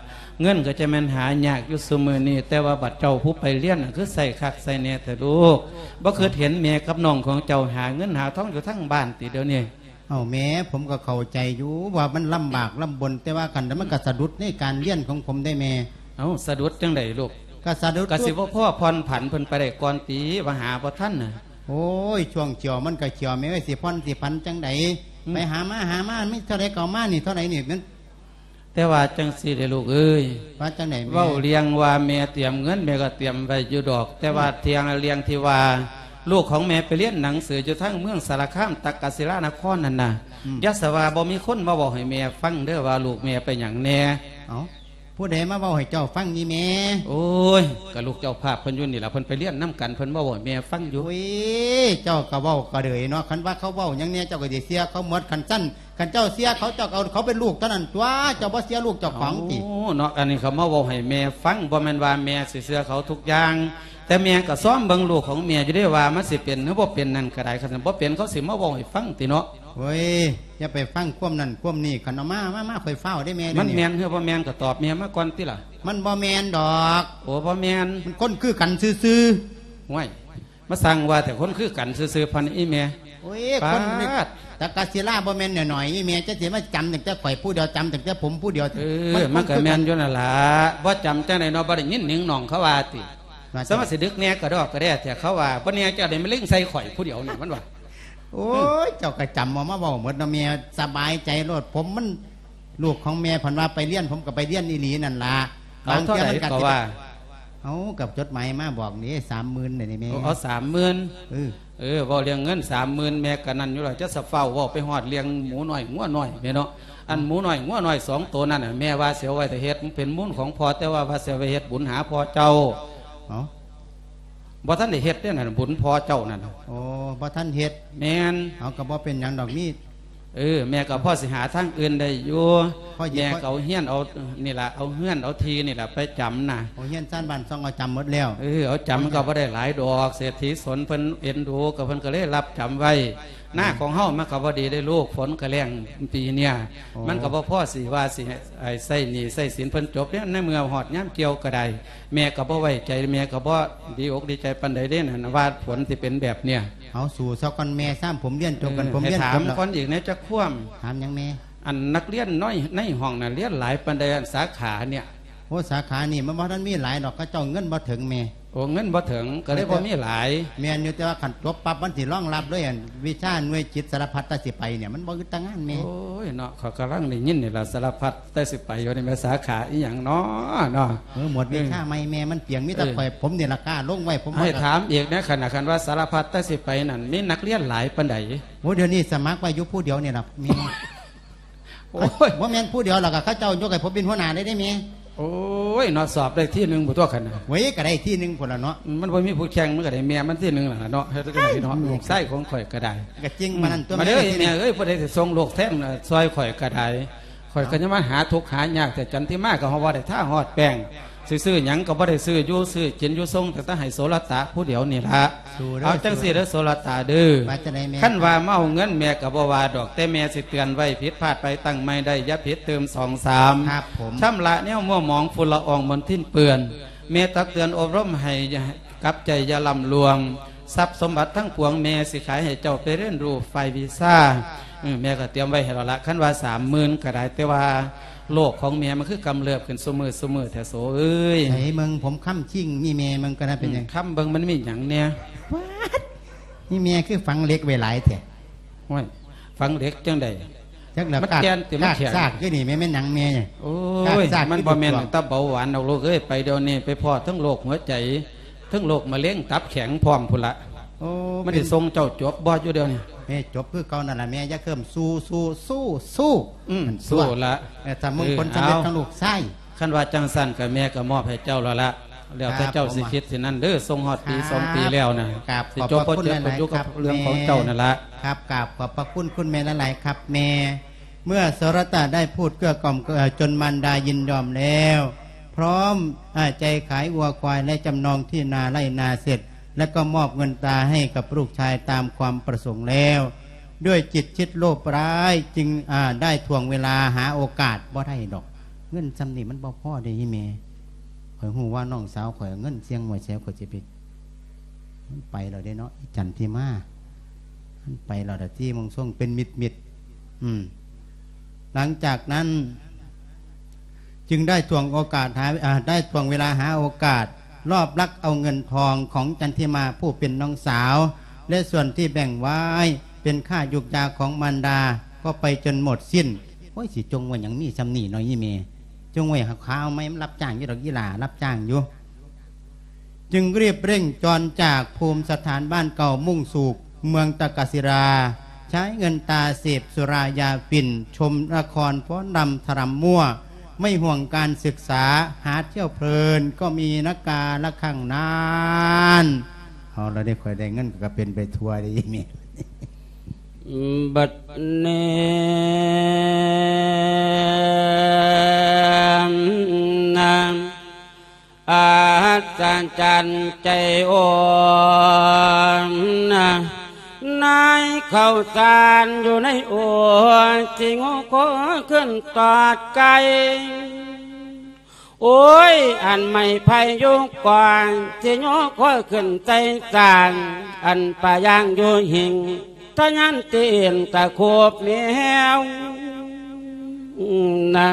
ເງິນກະຈະແມ່ນຫາຍາກຢູ່ຊຸມື້ນີ້ ແຕ່ວ່າບັດເຈົ້າຜູ້ໄປລຽນນະ ຄືໃຊ້ຄັກໃຊ້ແນ່ແທ້ລູກ ບໍ່ຄິດເຫັນແມ່ກັບນ້ອງຂອງເຈົ້າຫາເງິນຫາທອງຢູ່ທາງບ້ານຕິດຽວນີ້? ເອົ້າແມ່ ຜົມກະເຂົ້າໃຈຢູ່ວ່າມັນລຳບາກລຳບົນ ແຕ່ວ່າຄັນມັນກະສະດຸດໃນການລຽນຂອງຜົມເດ້ແມ່. ເອົ້າ ສະດຸດຈັ່ງໃດລູກ? ກະສະດຸດ ກະຊິບໍ່ພໍຜ່ອນຜັນເພິ່ນໄປໄດ້ກ່ອນຕິ ວ່າຫາບໍ່ທັນນະ. ໂອ້ຍ ຊ່ວງຂຽວມັນກະຂຽວແມ່ເອີຍ ຊິຜ່ອນຊິຜັນຈັ່ງໃດ? ອືມ ໄປຫາມາ ຫາມາ ມີເທົ່າໃດກະເອົາມາ ນີ້ເທົ່າໃດນີ້ມັນ ແຕ່ວ່າຈັ່ງຊີ້ເດ້ລູກເອີຍ ວ່າຈັ່ງໃດແມ່? ເວົ້າເລື່ອງວ່າແມ່ຕຽມເງິນ ແມ່ກະຕຽມໄວ້ຢູ່ດອກ ແຕ່ວ່າ ອືມ ທຽງເລື່ອງທີ່ວ່າ ລູກຂອງແມ່ໄປລຽນໜັງສືຢູ່ທາງເມືອງສາລະຄາມ ຕັກກະສິລານະຄອນຫັ້ນນະ ອືມ ຢ່າສະວ່າບໍ່ມີຄົນມາເວົ້າໃຫ້ແມ່ຟັງເດີ ວ່າລູກແມ່ໄປຫຍັງແດ່. ເອົ້າ ຜູ້ໃດມາເວົ້າໃຫ້ເຈົ້າຟັງນີ້ແມ່? ໂອ້ຍ ກະລູກເຈົ້າພາບເພິ່ນຢູ່ນີ້ລະ ເພິ່ນໄປລຽນນຳກັນ ເພິ່ນມາເວົ້າໃຫ້ແມ່ຟັງຢູ່. ໂອ້ຍ ເຈົ້າກະເວົ້າກະເດີຍເນາະ ຄັນວ່າເຂົາເວົ້າຫຍັງແດ່ ເຈົ້າກະຊິເຊື່ອເຂົາໝົດ ຄັນຊັ້ນ ຄັນເຈົ້າເຊື່ອເຂົາ ເຈົ້າກະເອົາເຂົາເປັນລູກເທົ່ານັ້ນຕົວະ ເຈົ້າບໍ່ເຊື່ອລູກເຈົ້າຂອງຕິ? ເອົ້າ ເນາະ ອັນນີ້ເຂົາມາເວົ້າໃຫ້ແມ່ຟັງ ບໍ່ແມ່ນວ່າແມ່ຊິເຊື່ອເຂົາທຸກຢ່າງ ແຕ່ແມ່ກໍຊອມເບິ່ງລູກຂອງແມ່ຢູ່ເດ້ ວ່າມັນຊິເປັນ ຫຼື ບໍ່ເປັນນັ້ນກໍໄດ້. ຄັນບໍ່ເປັນ ເຂົາຊິມາເວົ້າໃຫ້ຟັງຕິເນາະ. ໂອ້ຍ ຢ່າໄປຟັງຄວາມນັ້ນຄວາມນີ້. ຄັນເອົາມາ ມາ ມາ ຂ້ອຍຟ້າວເດ້ແມ່. ມັນແມ່ນ ຫຼື ບໍ່ແມ່ນ ກໍຕອບແມ່ມາກ່ອນຕິລະ. ມັນບໍ່ແມ່ນດອກ. ໂອ້ ບໍ່ແມ່ນ. ມັນຄົນຄືກັນຊື່ໆ. ໂອ້ຍ ມາສ້າງວ່າແຕ່ຄົນຄືກັນຊື່ໆ ພັນອີແມ່. ໂອ້ຍ ຄົນ ປາດ ຕະກະສິລາບໍ່ແມ່ນໜ້ອຍໆ ອີແມ່ ຈະຊິມາຈຳຕັ້ງແຕ່ຂ້ອຍຜູ້ດຽວ ຈຳຕັ້ງແຕ່ຜົມຜູ້ດຽວ. ເອີ ມັນ ມັນກໍແມ່ນຢູ່ນັ້ນລະ. ບໍ່ຈຳຈັ່ງໃດເນາະ ບໍ່ໄດ້ຍິນໜິງໜອງເຂົາວ່າຕິ. ວ່າ ສາມາດຊິດຶກແດ່ກະດອກກະແດ່ແທ້ ເຂົາວ່າ ບໍ່ແນ່ເຈົ້າໄດ້ມາເລັງໃສ່ຂ້ອຍຜູ້ດຽວນີ້ ມັນວ່າ. ໂອ້ຍ ເຈົ້າກໍຈຳເອົາມາເວົ້າໝົດເນາະແມ່ ສະບາຍໃຈໂລດ. ຜົມມັນ ລູກຂອງແມ່ເພິ່ນວ່າໄປຮຽນ ຜົມກໍໄປຮຽນອີ່ຫຼີນັ້ນລະ. ເອົາເທົ່າໃດກໍວ່າ. ເອົາ ກັບຈົດໝາຍມາບອກນີ້ ສາມໝື່ນນີ້ແມ່. ເອົາສາມໝື່ນ. ເອີ ເອີ ເວົ້າເລື່ອງເງິນສາມໝື່ນ ແມ່ກໍນັ້ນຢູ່ແລ້ວ ຈະສະຟ້າວເວົ້າໄປຮອດເລື່ອງໝູນ້ອຍງົວນ້ອຍແມ່ເນາະ. ອັນໝູນ້ອຍງົວນ້ອຍສອງໂຕນັ້ນນະ ແມ່ວ່າຊິເອົາໄວ້ຖ້າເຮັດ ມັນເປັນມູນຂອງພໍ່ ແຕ່ວ່າ ວ່າຊິເອົາໄວ້ເຮັດບຸນຫາພໍ່ເຈົ້າ. ເອົ້າ ບໍ່ທັນໄດ້ເຮັດເດ້ນັ້ນ ບຸນພໍ່ເຈົ້ານັ້ນ. ໂອ້ ບໍ່ທັນເຮັດ. ແມ່ນ. ເອົາ ກໍບໍ່ເປັນຫຍັງດອກ ມີ ເອີ ແມ່ກໍພໍຊິຫາທາງອື່ນໄດ້ຢູ່. ແມ່ກໍເອົາເຮືອນເອົານີ້ລະ ເອົາເຮືອນເອົາທີ່ນີ້ລະໄປຈຳນະ. ໂອ້ ເຮືອນຊານບ້ານຊ່ອງເອົາຈຳໝົດແລ້ວ. ເອີ ເອົາຈຳກໍບໍ່ໄດ້ຫຼາຍດອກ ເສດຖີສົນເພິ່ນເອັນດູ ກໍເພິ່ນກໍເລີຍຮັບຈຳໄວ້. ນາຂອງເຮົາມັນກໍບໍ່ດີເດ້ລູກ ຝົນກໍແລ້ງປີເນີ້ຍ. ໂອ້ ມັນກໍບໍ່ພໍຊິວ່າຊິໃຫ້ໃຊ້ໜີ້ໃຊ້ສິນເພິ່ນຈົບເດ້. ໃນເມື່ອຮອດຍາມກ່ຽວກໍໄດ້ ແມ່ກໍບໍ່ໄວ້ໃຈ ແມ່ກໍບໍ່ດີອົກດີໃຈປານໃດເດ້ນັ້ນ ວ່າຜົນຊິເປັນແບບເນີ້ຍ. ເອົາ ສູ້ຊະກ່ອນແມ່ ຊ້ຳຜົມຮຽນຈົບກັນ ເອີ ຜົມຮຽນຈົບແລ້ວ. ໃຫ້ຖາມກ່ອນອີກແດ່ຈັກຄວາມ. ຖາມຫຍັງແມ່? ອັນນັກຮຽນໃນ ໃນຫ້ອງນັ້ນຮຽນຫຼາຍປານໃດ ອັນສາຂາເນີ້ຍ? ໂອ້ ສາຂານີ້ມັນບໍ່ທັນມີຫຼາຍດອກ ເຂົາເຈົ້າເງິນບໍ່ເຖິງແມ່. ໂອ້ ເງິນບໍ່ເຖິງກໍເລີຍບໍ່ມີຫຼາຍ. ແມ່ນຢູ່ ແຕ່ວ່າຄັນຈົບປັບມັນຊິຮອງຮັບເລີຍ ອັນວິຊາໜ່ວຍຈິດສາລະພັດແຕ່ຊິໄປເນີ້ຍ ມັນບໍ່ອຶດຕາງານແມ່. ໂອ້ຍເນາະ ຂ້ອຍກຳລັງໄດ້ຍິນນີ້ລະ ສາລະພັດແຕ່ຊິໄປຢູ່ນີ້ແມ່ ສາຂາອີ່ຫຍັງເນາະ ເນາະ. ເອີ ໝົດ ເອີ ວິຊາໃໝ່ແມ່ ມັນປ່ຽງ ມີແຕ່ ເອີ ຂ້ອຍ ຜົມນີ້ລະກ້າລົງໄວ້ ຜົມ ໃຫ້ຖາມອີກແດ່ ຄັນ ຄັນວ່າສາລະພັດແຕ່ຊິໄປນັ້ນ ມີນັກຮຽນຫຼາຍປານໃດ? ໂອ້ ດຽວນີ້ສະໝັກໄວ້ຢູ່ຜູ້ດຽວນີ້ລະແມ່. ໂອ້ຍ ບໍ່ແມ່ນຜູ້ດຽວດອກ ເຂົາເຈົ້າຍົກໃຫ້ຜົມເປັນຫົວໜ້າເລີຍເດ້ແມ່. ໂອ້ຍເນາະ ສອບໄດ້ທີໜຶ່ງພຸ້ນຕົວະຄັນນະ. ໂອ້ຍ ກໍໄດ້ທີໜຶ່ງພຸ້ນລະເນາະ. ມັນບໍ່ມີຜູ້ແຂ່ງ ມັນກໍໄດ້ແມ່ມັນທີໜຶ່ງລະເນາະ. ເຮັດຈັ່ງໃດເນາະ ລູກຊາຍຂອງຂ້ອຍກໍໄດ້. ກໍຈິງປານນັ້ນຕົວະແມ່. ມາເດີແມ່ເອີຍ ຜູ້ໃດຊິສົ່ງລູກແທນຊ່ອຍຂ້ອຍກໍໄດ້. ຂ້ອຍກໍຍັງມາຫາທຸກຫາຍາກແຕ່ ຈັນທິມາກໍເຮົາບໍ່ໄດ້ທາຮອດແປ້ງ ຊິຊື້ຫຍັງກໍບໍ່ໄດ້ຊື້ ຢູ່ຊື້ກິນຢູ່ສົ່ງຕັ້ງແຕ່ໃຫ້ໂສລະຕະຜູ້ດຽວນີ້ລະ. ເອົາຈັ່ງຊີ້ເດີໂສລະຕະເດີ ວ່າຈັ່ງໃດແມ່? ຄັນວ່າມາເອົາເງິນແມ່ກໍບໍ່ວ່າດອກ ແຕ່ແມ່ຊິເຕືອນໄວ້ ຜິດພາດໄປຕັ້ງໃໝ່ໄດ້ ຢ່າຜິດຕື່ມສອງສາມ. ຄັບຜົມ. ຊຳລະແນວມົວໝອງຝຸ່ນລະອອງມົນທິນເປື້ອນ ແມ່ຕັກເຕືອນອົບຮົມໃຫ້ ກັບໃຈຢ່າລ້ຳລວງ ຊັບສົມບັດທັງປວງແມ່ຊິຂາຍໃຫ້ເຈົ້າໄປຮຽນຮູ້ຝ່າຍວິຊາ. ເອີ ແມ່ກໍຕຽມໄວ້ໃຫ້ແລ້ວລະ ຄັນວ່າສາມໝື່ນກໍໄດ້ ແຕ່ວ່າໂລກຂອງແມ່ມັນຄືກຳເລິບຂຶ້ນຊຸມື້ ຊຸມື້ແທ້ໂສເອີຍ. ໃສເບິ່ງຜົມຄຳຄີງນີ້ແມ່ ເບິ່ງກໍໄດ້ເປັນຫຍັງ? ອືມ ຄຳເບິ່ງມັນມີຫຍັງແດ່? ປາດ ນີ້ແມ່ຄືຝັງເຫຼັກໄວ້ຫຼາຍແທ້. ໂອ້ຍ ຝັງເຫຼັກຈັ່ງໃດ? ຈັກແລ້ວ ມັນແກ່ນຕິ ມັນແຂງ ກາກຊາກຢູ່ນີ້ແມ່ນຫຍັງແມ່? ໂອ້ຍ ມັນບໍ່ແມ່ນແຕ່ເບົາຫວານດອກລູກເອີຍ ໄປດຽວນີ້ໄປພໍ້ທັງໂລກຫົວໃຈ ເຖິງໂລກມະເຮັງຕັບແຂງພ້ອມພຸ້ນລະ. ໂອ້ ມັນຊິສົ່ງເຈົ້າຈົບບໍ່ຢູ່ດຽວນີ້? ແມ່ຈົບຄືເກົ່ານັ້ນລະແມ່ ຢ່າເຄີມ ສູ້ ສູ້ ສູ້ ສູ້. ອືມ ສູ້ລະ. ເອີ ຖ້າມຸງຜົນສຳເລັດຂອງລູກຊາຍ. ຄັນວ່າຈັ່ງຊັ້ນກໍແມ່ກໍມອບໃຫ້ເຈົ້າແລ້ວລະ ແລ້ວແຕ່ເຈົ້າຊິຄິດຊິນັ້ນເດີ. ສົ່ງຮອດປີສອງປີແລ້ວນະ ຊິຈົບບໍ່ຈົບກໍຢູ່ກັບເລື່ອງຂອງເຈົ້ານັ້ນລະ. ຄັບ ກາບຂອບພະຄຸນຄຸນແມ່ຫຼາຍໆ ຄັບແມ່. ເມື່ອໂສລະຕະໄດ້ພູດເກື້ອກ່ອມ ເອີ ຈົນມານດາຍິນຍອມແລ້ວ ພ້ອມ ອາ ໃຈຂາຍງົວຄວາຍ ແລະ ຈຳນອງທີ່ນາໄຮ່ນາເສັດ ແລະ ກໍມອບເງິນຕາໃຫ້ກັບລູກຊາຍຕາມຄວາມປະສົງແລ້ວ ດ້ວຍຈິດຄິດໂລບຮ້າຍ ຈຶ່ງ ອາ ໄດ້ຖ່ວງເວລາຫາໂອກາດ ບໍ່ໄດ້ດອກ ເງິນຊ່ຳນີ້ມັນບໍ່ພໍເດ້ອີ່ແມ່. ຂ້ອຍຮູ້ວ່ານ້ອງສາວຂ້ອຍເງິນສ່ຽງມວຍແຊວ ຂ້ອຍຊິໄປ ມັນໄປແລ້ວເດ້ເນາະ ອີ່ຈັນທິມາ ມັນໄປແລ້ວດາ ທີ່ມອງຊົງເປັນມິດໆ. ອືມ ຫຼັງຈາກນັ້ນ ຈຶ່ງໄດ້ຖ່ວງໂອກາດຫາ ອາ ໄດ້ຖ່ວງເວລາຫາໂອກາດ ລອບລັກເອົາເງິນທອງຂອງຈັນທິມາຜູ້ເປັນນ້ອງສາວ ແລະ ສ່ວນທີ່ແບ່ງໄວ້ເປັນຄ່າຢູກຢາຂອງມານດາ ກໍໄປຈົນໝົດສິ້ນ. ໂອ້ຍ ຊິຈົ່ງໄວ້ຫຍັງ ມີຊ່ຳນີ້ເນາະອີ່ແມ່ ຈົ່ງໄວ້ຫາຄາວໃໝ່ ມັນຮັບຈ້າງຢູ່ດອກ ອີ່ຫຼ້າຮັບຈ້າງຢູ່. ຈຶ່ງรีบเร่งจรจากภูมิสถานบ้านเก่ามุ่งสู่เมืองตากศิลา ใช้เงินตาเสพสุรายาฝิ่น ชมละครฟ้อนรำถรำมั่ว ไม่ห่วงการศึกษา หาเที่ยวเพลินก็มีนะกาละครั้งนั้น. เอาละเด้ ข้อยได้เงินก็เป็นไปทั่วเด้ บัดนี้ อาสา ຈັນໃຈອ່ອນນະ ນາຍເຂົ້າສານຢູ່ໃນໂອ ຊິງູຄໍຂຶ້ນຕອດໄກ່. ໂອ້ຍ ອັນໄມ້ໄຜ່ຢູ່ກ່ອນ ຊິໂຍຄໍຂຶ້ນໃສ່ສ້າງ ອັນປາຍ່າງຢູ່ຫິງ ທະຍານຕີນຕະໂຂບແມວນະ.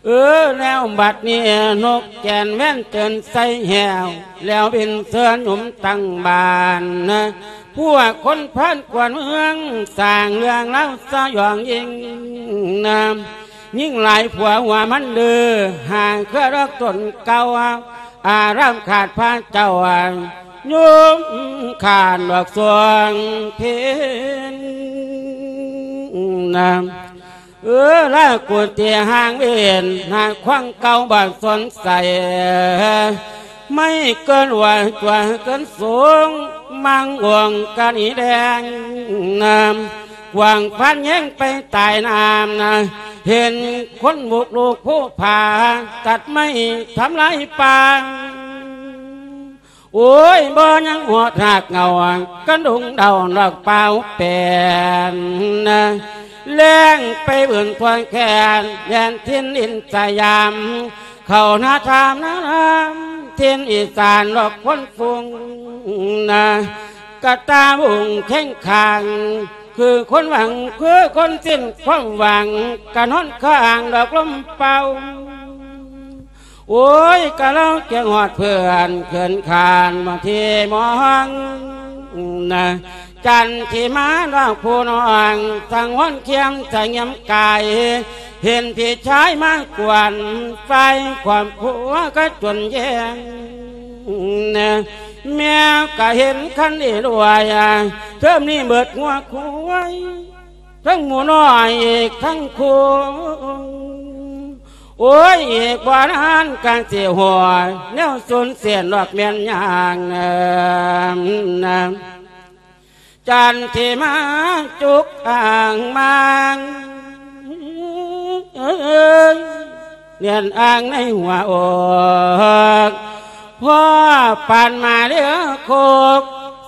ເອີ ແລ້ວບັດນີ້ນົກແກ່ນແວ່ນເຕີນໃສ່ແຫ້ວ ແລ້ວບິນເຊີນຫຍຸມຕັ້ງບ້ານນະ. ພວກຄົນພານກວນເມືອງ ສ້າງເລື່ອງລາວສະຫຍອງຍິ່ງນະ. ຍິງຫຼາຍຜົວຫົວມັນດື້ ຫາເຄືອດອກຕົ້ນເກົ່າ ອາລາມຂາດພະເຈົ້າ ໂຍມຂານດອກສວງເພັນນະ. ເອີ ລາກຸຕິຫ່າງເວນ ນາຄວັງເກົ່າບໍ່ສົນໃສ ໄມ້ເກີນວ່າຕົວເກີນສູງ ມັງອວງກະໜີແດງນະ. ກວາງພັນແຍງໄປຕາຍນ້ຳນະ ເຫັນຄົນບຸກລຸກພູຜາ ຕັດໄມ້ທຳລາຍປ່າ. ໂອ້ຍ ບໍ່ຍັງຮອດຮາກເຫງົາ ກະດຸງເດົາດອກເປົ່າແປນນະ. ແລ່ນໄປບືນທົ່ວແຄນ ແດນຖິ່ນດິນສະຫຍາມ ເຂົ້ານາທາມນາລາມ ຖິ່ນອີສານດອກຄົນຟຸງນະ. ກະຕາວຸງແຂງຂັງ ຄືຄົນຫວັງ ຄືຄົນສິ້ນຄວາມຫວັງ ກະນອນຄ້າງດອກລົມເປົ່າ. ໂອ້ຍ ກະລາວແກງຮອດເພື່ອນ ເຂືອນຂານມາທີ່ມອງນະ. ຈັນທິມານ້ອງຜູ້ນ້ອງ ສັງວອນຄຽມສະຫງຽມກາຍ ເຫັນພີ່ຊາຍມາກວນ ຝ່າຍຄອບຄົວກະຈົນແຍງນະ. ແມ່ກະເຫັນຄັນອີລວຍ ເທີມນີ້ເບິດງົວຄວາຍ ທັງໝູນ້ອຍອີກທັງຄູ່. ໂອ້ຍ ອີກບໍ່ນານກະຊິຫົວ ແນວສູນເສຍນອກແມ່ນຍ່າງນະ. ຈັນທິມາຈຸກອ່າງມາງ ເອີຍ ເນຍນອ່າງໃນຫົວອອກ ພໍປານມາເຫຼືອຄົກ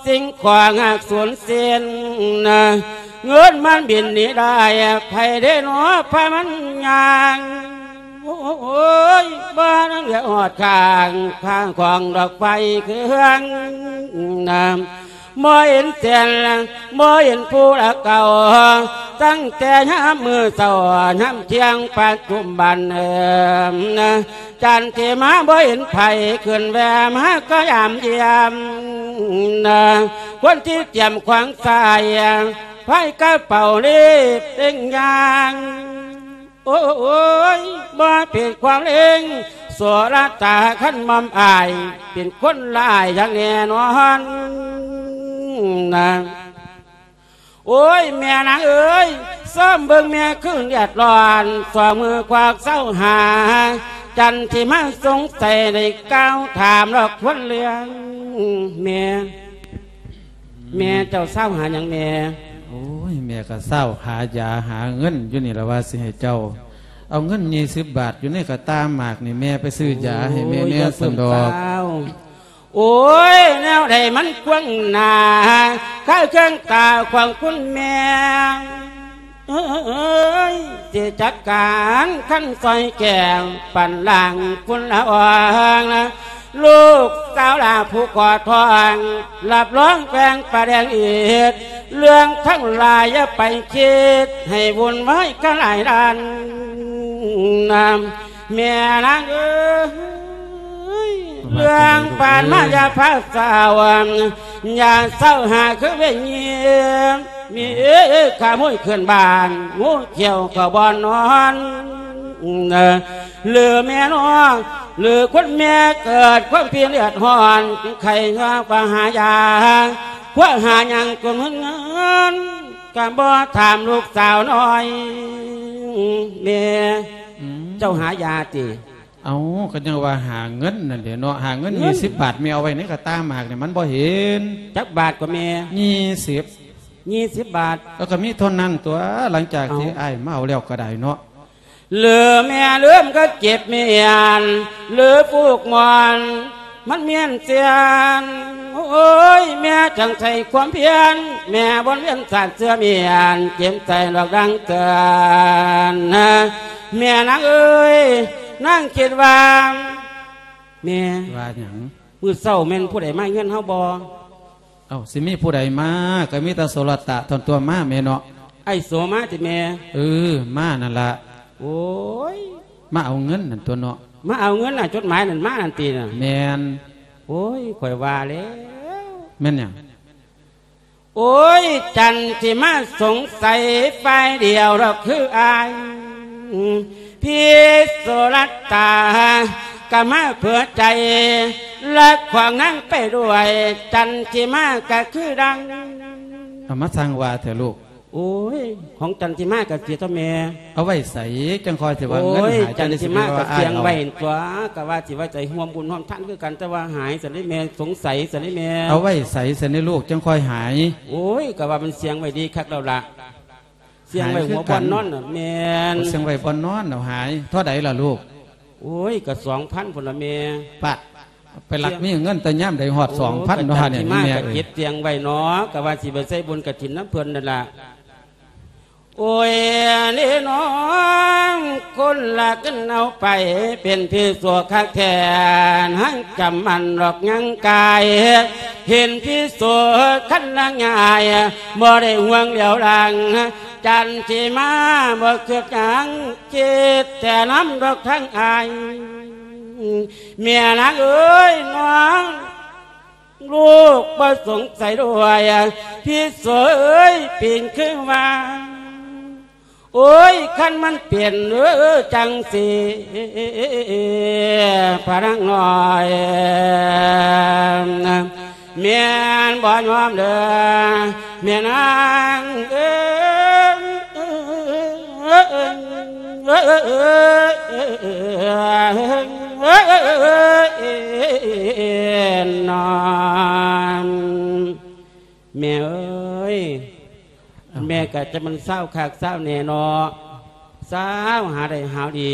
ສິ່ງຂອງຫາກສູນສິ້ນນະ. ເງິນມັນບິນໜີໄດ້ ໃຜເດເນາະພາມັນຍ່າງ. ໂອ້ຍ ບໍ່ທັນເຫຼືອຮອດຂ້າງ ຂ້າງຂອງດອກໄຟເຄື່ອງນະ. ບໍ່ເຫັນແສງ ບໍ່ເຫັນຜູ້ລະເກົ່າ ຕັ້ງແຕ່ຍາມມື້ເຊົ້າ ຍາມທ່ຽງປັດຈຸບັນເອີ ນະ. ຈັນທິມາບໍ່ເຫັນໃຜ ຂຶ້ນແວ່ມາກໍຢາມຢ້ຽມນະ. ຄົນທີ່ຕຽມຂວາງຊ້າຍ ພາຍກະເປົາລີບເລັ່ງຍ່າງ. ໂອ້ຍ ບໍ່ເປັນຄວາມເລັງ ໂສລະຕາຄັນໝ່ອມອ້າຍ ເປັນຄົນລະອາຍຢ່າງແນ່ນອນນະ. ໂອ້ຍ ແມ່ນາງເອີຍ ຊອມເບິ່ງແມ່ຄືເດືອດຮ້ອນ ສອງມືຄວັກເຊົາຫາ. ຈັນທິມາສົງໄສໄດ້ກ່າວຖາມລອກຄວນເລື່ອງ ແມ່ ແມ່ເຈົ້າເຊົາຫາຫຍັງແມ່? ໂອ້ຍ ແມ່ກໍເຊົາຫາຢາຫາເງິນຢູ່ນີ້ລະ ວ່າຊິໃຫ້ເຈົ້າເອົາເງິນຍີ່ສິບບາດຢູ່ໃນກະຕ່າໝາກນີ້ ແມ່ໄປຊື້ຢາໃຫ້ແມ່ແດ່ຊັ້ນດອກ. ໂອ້ຍ ແນວໃດມັນກວ້າງໜາ ຄາເຄື່ອງຕາຂອງຄຸນແມ່ ເອີຍ ຊິຈັດການຄັນຊອຍແກງ ປັນລ້າງຝຸ່ນລະອອງ ລູກສາວຫຼ້າຜູ້ຂໍທອງ ຮັບຮອງແປງປາແດງອີກ ເລື່ອງທັງຫຼາຍຢ່າໄປຄິດ ໃຫ້ວຸ່ນວາຍກັນຫຼາຍດ້ານນະ ແມ່ນາງເອີຍ ເລື່ອງຜ່ານມາຢ່າພາເສົ້າ ຢ່າເສົ້າຫາຄືເວຍີ ມີຂະໂມຍຂຶ້ນບ້ານ ງູຂຽວເຂົ້າບ່ອນນອນ ຫຼືແມ່ນ້ອງ ຫຼືຄົນແມ່ເກີດຄວາມພິເລືອດຮ້ອນ ໄຂ້ເຫື່ອກວ່າຫາຢາ ຄວາມຫາຫຍັງກໍເງິນ ກໍບໍ່ຖາມລູກສາວນ້ອຍ ແມ່ ອືມ ເຈົ້າຫາຢາຕິ? ເອົ້າ ກໍຍັງວ່າຫາເງິນນັ້ນແຫຼະເນາະ ຫາເງິນ ເງິນ ຍີ່ສິບບາດ ແມ່ເອົາໄວ້ໃນກະຕ່າໝາກນີ້ ມັນບໍ່ເຫັນ. ຈັກບາດກໍແມ່? ຍີ່ສິບ. ຍີ່ສິບບາດ. ເອີ ກໍມີເທົ່ານັ້ນຕົວະ ຫຼັງຈາກທີ່ ເອົ້າ ອ້າຍມາເອົາແລ້ວກໍໄດ້ເນາະ. ຫຼືແມ່ລືມກໍເຈັບມ້ຽນ ຫຼືຜູກມ່ອນ ມັນມຽນເສຍນ ໂອ້ຍ ແມ່ຈັ່ງໃຊ້ຄວາມພຽນ ແມ່ວົນວຽນສາດເຊື່ອມຽນ ເຈັບໃຈດອກດັງເຕືອນ ແມ່ນາງເອີຍ ນາງຄິດວ່າ ແມ່ ວ່າຫຍັງ? ມື້ເຊົ້າແມ່ນຜູ້ໃດມາເຮືອນເຮົາບໍ່? ເອົ້າ ຊິມີຜູ້ໃດມາ ກໍມີແຕ່ໂສລະຕະທ່ອນຕົວະມາແມ່ເນາະ. ອ້າຍໂສມາຕິແມ່? ເອີ ມານັ້ນລະ. ໂອ້ຍ ມາເອົາເງິນນັ້ນຕົວະເນາະ. ມາເອົາເງິນນະ ຈົດໝາຍນັ້ນມານັ້ນຕິນະ? ແມ່ນ. ໂອ້ຍ ຂ້ອຍວ່າແລ້ວ. ແມ່ນຫຍັງ? ໂອ້ຍ ຈັນທິມາສົງໄສຝ່າຍດຽວດອກຄືອ້າຍ ພີ່ໂສລະຕາກໍມາເຜືອໃຈ ແລະຂວາງນາງໄປດ້ວຍ ຈັນທິມາກໍຄືດັ່ງ ເອົາມາສ້າງວ່າແທ້ລູກ. ໂອ້ຍ ຂອງຈັນທິມາກໍເສຍຕົວະແມ່. ເອົາໄວ້ໃສ? ຈັ່ງຄ່ອຍຊິວ່າເງິນ ໂອ້ຍ ຫາຍ ຈັນທິມາກໍສ່ຽງໄວ້ຕົວະ ກໍວ່າຊິໄວ້ໃຈຮ່ວມບຸນຮ່ວມທານຄືກັນ ແຕ່ວ່າຫາຍຊັ້ນເດ້ແມ່ ສົງໄສຊັ້ນເດ້ແມ່. ເອົາໄວ້ໃສຊັ້ນເດ້ລູກ ຈັ່ງຄ່ອຍຫາຍ? ໂອ້ຍ ກໍວ່າມັນສ່ຽງໄວ້ດີຄັກແລ້ວລະ ສ່ຽງໄວ້ຫົວບ່ອນນອນນະ. ແມ່ນ. ໂອ້ ສ່ຽງໄວ້ບ່ອນນອນເອົາຫາຍ. ເທົ່າໃດລະລູກ? ໂອ້ຍ ກໍສອງພັນພຸ້ນລະແມ່. ປາດ ໄປລັກມີເງິນແຕ່ຍາມໃດຮອດສອງພັນເນາະ ໂອ້ຍ ຫານີ້ແມ່ເອີຍ. ເກັບສ່ຽງໄວ້ເນາະ ກະວ່າຊິໄປໃສ່ບຸນກະຖິນນຳເພິ່ນນັ້ນລະ. ໂອ້ຍ ເນນ້ອງ ຄົນລະກັນເອົາໄປ ເປັນພິໂສຄັກແທ້ ຫັ້ງຈຳໝັ້ນດອກຍັງກາຍ ເຫັນພິໂສຄັນລະງ່າຍ ບໍ່ໄດ້ຫ່ວງຫຼຽວຫຼັງ ຈັນທິມາບໍ່ຄິດຫຍັງ ຄິດແຕ່ນຳດອກທາງອ້າຍ. ແມ່ນາງເອີຍ ນ້ອງລູກບໍ່ສົງໄສດ້ວຍ ພິໂສເອີຍ ເປັນຄືວ່າ ໂອ້ຍ ຄັນມັນເປັນ ເອີ ຈັ່ງຊີ້ ພະນາງນ້ອຍ ແມ່ນບໍ່ຍອມເດີ ແມ່ນາງເອີຍ ນອນ ແມ່ເອີຍ ເອົ້າ ແມ່ກໍຈະມັນຊາວຄັກຊາວແນ່ເນາະ ຊາວຫາໄດ້ຫາດີ.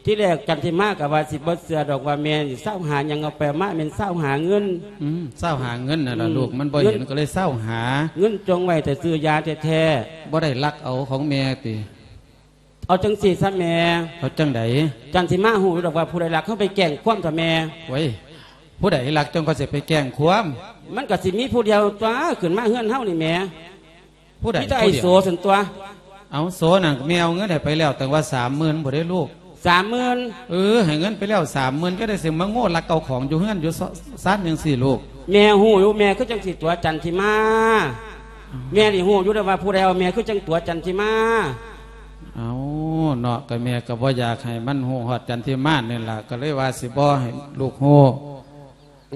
ທີແລກຈັນທິມາກໍວ່າຊິບໍ່ເຊື່ອດອກວ່າແມ່ຊິຊາວຫາຫຍັງ ເອົາໄປເອົາມາແມ່ນຊາວຫາເງິນ. ອືມ ຊາວຫາເງິນນັ້ນລະ ອືມ ລູກ ມັນບໍ່ເຫັນ ເງິນ ກໍເລີຍຊາວຫາ. ເງິນຈົ່ງໄວ້ແຕ່ຊື້ຢາແທ້ໆ. ບໍ່ໄດ້ລັກເອົາຂອງແມ່ຕິ? ເອົາຈັ່ງຊີ້ຊະແມ່. ເອົາຈັ່ງໃດ? ຈັນທິມາຮູ້ຢູ່ດອກວ່າຜູ້ໃດລັກ ເຮົາໄປແຈ້ງຄວາມຊະແມ່. ໂອ້ຍ ຜູ້ໃດລັກຈັ່ງຂ້ອຍຊິໄປແຈ້ງຄວາມ? ມັນກໍຊິມີຜູ້ດຽວຕົວະ ຂຶ້ນມາເຮືອນເຮົານີ້ແໝ່. ຜູ້ໃດ? ມີແຕ່ໄອ້ໂສຊັ້ນຕົວະ. ເອົາ ໂສນັ້ນແມ່ເອົາເງິນໃຫ້ໄປແລ້ວຕັ້ງວ່າສາມໝື່ນພຸ້ນເດ້ລູກ. ສາມໝື່ນ? ເອີ ໃຫ້ເງິນໄປແລ້ວສາມໝື່ນ ຈັ່ງໃດຊິມາໂງ່ລັກເອົາຂອງຢູ່ເຮືອນຢູ່ຊານຈັ່ງຊີ້ລູກ. ແມ່ຮູ້ຢູ່ ແມ່ຄືຈັ່ງຊິຕົວະຈັນທິມາ. ເອົ້າ ແມ່ນີ້ຮູ້ຢູ່ແລ້ວວ່າຜູ້ໃດເອົາ ແມ່ຄືຈັ່ງຕົວະຈັນທິມາ. ເອົ້າ ເນາະ ກໍແມ່ກໍບໍ່ຢາກໃຫ້ມັນຮູ້ຮອດຈັນທິມານີ້ລະ ກໍເລີຍວ່າຊິບໍ່ໃຫ້ລູກຮູ້.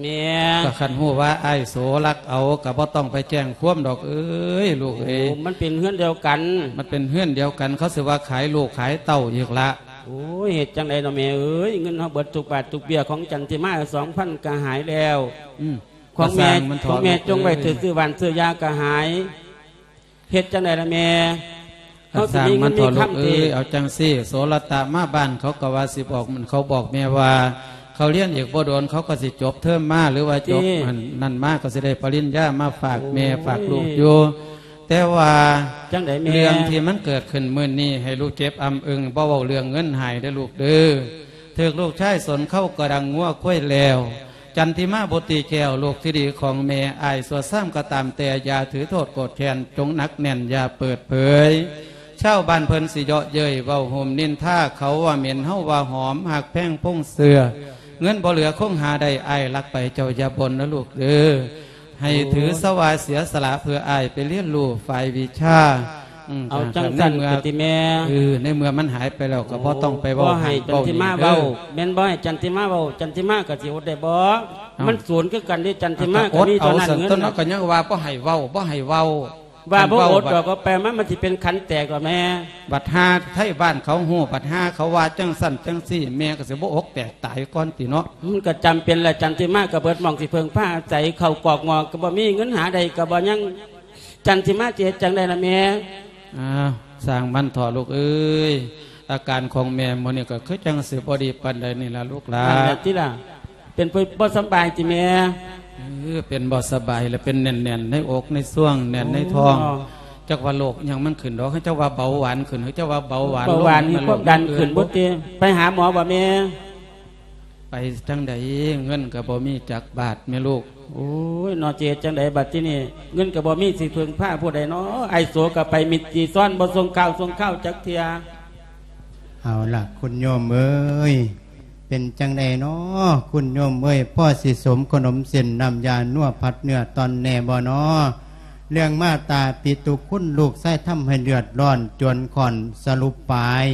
ແມ່ ກໍຄັນຮູ້ວ່າອ້າຍໂສລັກເອົາ ກໍບໍ່ຕ້ອງໄປແຈ້ງຄວາມດອກເອີຍ ລູກເອີຍ. ໂອ້ ມັນເປັນເຮືອນດຽວກັນ. ມັນເປັນເຮືອນດຽວກັນ ເຂົາຊິວ່າຂາຍລູກຂາຍເຕົ້າອີກລະ. ໂອ້ຍ ເຮັດຈັ່ງໃດເນາະແມ່ເອີຍ ເງິນເຮົາເບິດທຸກບາດທຸກເບ້ຍ ຂອງຈັນທິມາສອງພັນກໍຫາຍແລ້ວ. ອືມ ຂອງແມ່ ຂອງແມ່ຈົ່ງໄວ້ຊື້ບ້ານຊື້ຢາກໍຫາຍ. ເຮັດຈັ່ງໃດລະແມ່? ເຮົາຊິມີເງິນມີຄຳຕິ? ເອົາຈັ່ງຊີ້ ໂສລະຕະມາບ້ານເຂົາກໍວ່າຊິບອກ ເຂົາບອກແມ່ວ່າ ເຂົາຮຽນອີກບໍ່ດົນ ເຂົາກໍຊິຈົບເທີມມາ ຫຼືວ່າຈົບ ອັນນັ້ນມາ ກໍຊິໄດ້ປະລິນຍາມາຝາກແມ່ ໂອ້ຍ ຝາກລູກຢູ່. ແຕ່ວ່າ ຈັ່ງໃດແມ່? ເລື່ອງທີ່ມັນເກີດຂຶ້ນມື້ນີ້ ໃຫ້ລູກເຈັບອຳອຶງ ບໍ່ເວົ້າເລື່ອງເງິນໃຫ້ເດີລູກເດີ. ຖືກລູກຊາຍສົນເຄົ້າກໍດັງງົວຄວາຍແລ້ວ. ຈັນທິມາບຸດຕີແກ້ວ ລູກທີ່ດີຂອງແມ່ ອ້າຍຊົ່ວຊາມກໍຕາມແຕ່ ຢ່າຖືໂທດໂກດແຄ້ນ ຈົ່ງໜັກແໜ້ນ ຢ່າເປີດເຜີຍ. ຊາວບ້ານເພິ່ນຊິເຍາະເຍີ້ຍ ເວົ້າໂຫມນິນທາ ເຂົາວ່າເໝັນ ເຮົາວ່າຫອມ ຮັກແພງພົງເຊື້ອ ເງິນບໍ່ເຫຼືອຄົງຫາໄດ້ ອ້າຍລັກໄປ ເຈົ້າຢ່າບົ່ນນະລູກເດີ. ໃຫ້ຖືຊະວ່າເສຍສະຫຼະ ເພື່ອອ້າຍໄປຮຽນຮູ້ຝ່າຍວິຊາ. ອືມ ເອົາຈັ່ງຊັ້ນ ໃນເມື່ອ ກະຕິແມ່ ເອີ ໃນເມື່ອມັນຫາຍໄປແລ້ວ ກໍບໍ່ຕ້ອງໄປເວົ້າ ບໍ່ໃຫ້ຈັນທິມາເວົ້າ ແມ່ນບໍ່ໃຫ້ຈັນທິມາເວົ້າ ຈັນທິມາກໍຊິອົດໄດ້ບໍ່? ເອົ້າ ມັນສູນຄືກັນເດ້ ຈັນທິມາກໍມີເທົ່ານັ້ນ ເງິນນະ. ກໍຍັງວ່າບໍ່ໃຫ້ເວົ້າ ບໍ່ໃຫ້ເວົ້າ ວ່າບໍ່ອົດດອກ ກໍແປມາ ມັນຊິເປັນຂັນແຕກດອກແມ່. ບັດຫາໄທບ້ານເຂົາຮູ້ ບັດຫາເຂົາວ່າຈັ່ງຊັ້ນຈັ່ງຊີ້ ແມ່ກໍຊິບໍ່ອົກແຕກຕາຍກ່ອນຕິເນາະ. ມັນກໍຈຳເປັນລະ ຈັນທິມາກໍເບິດໝ່ອງຊິເພິ່ງພາອາໄສ ເຂົ້າກອກໝໍ້ກໍບໍ່ມີ ເງິນຫາໄດ້ກໍບໍ່ຍັງ ຈັນທິມາຈະເຮັດຈັ່ງໃດລະແມ່? ອ້າວ ຊ່າງມັນເຖາະລູກເອີຍ ອາການຂອງແມ່ມື້ນີ້ກໍຄືຈັ່ງຊິບໍ່ດີປານໃດນີ້ລະລູກຫຼານ. ນັ້ນແຫຼະຕິລະ. ເປັນຜູ້ບໍ່ສະບາຍຕິແມ່? ເອີ ເປັນບໍ່ສະບາຍ ແລະເປັນແໜ້ນໆໃນອົກໃນຊ່ວງ ແໜ້ນໃນທ້ອງ. ໂອ້ ຈັກວ່າໂລກຫຍັງມັນຂຶ້ນດອກ ເຂົາເຈົ້າວ່າເບົາຫວານຂຶ້ນ ເຂົາເຈົ້າວ່າເບົາຫວານ ເບົາຫວານ ລົງ ມີຄວາມດັນຂຶ້ນບໍ່ຕິ? ໄປຫາໝໍບໍ່ແມ່? ໄປຈັ່ງໃດ ເງິນກໍບໍ່ມີຈັກບາດແມ່ລູກ. ໂອ້ຍ ເນາະ ຊິເຮັດຈັ່ງໃດບັດທີນີ້ ເງິນກໍບໍ່ມີ ຊິເພິ່ງພາຜູ້ໃດເນາະ? ອ້າຍໂສກໍໄປມິດຈີຊອນ ບໍ່ສົ່ງຂ່າວສົ່ງຄາວຈັກເທື່ອ. ເອົາລະ ຄຸນໂຍມເອີຍ ເປັນຈັ່ງໃດເນາະ ຄຸນໂຍມເອີຍ ພໍຊິສົມຂະໜົມເສັ້ນນ້ຳຢານົວພັດເນື້ອຕ່ອນແດ່ບໍ່ເນາະ? ເລື່ອງມາຕາປິຕຸຄຸນ ລູກຊາຍທຳໃຫ້ເດືອດຮ້ອນ ຈວນຂ້ອນສະຫຼຸບປາຍ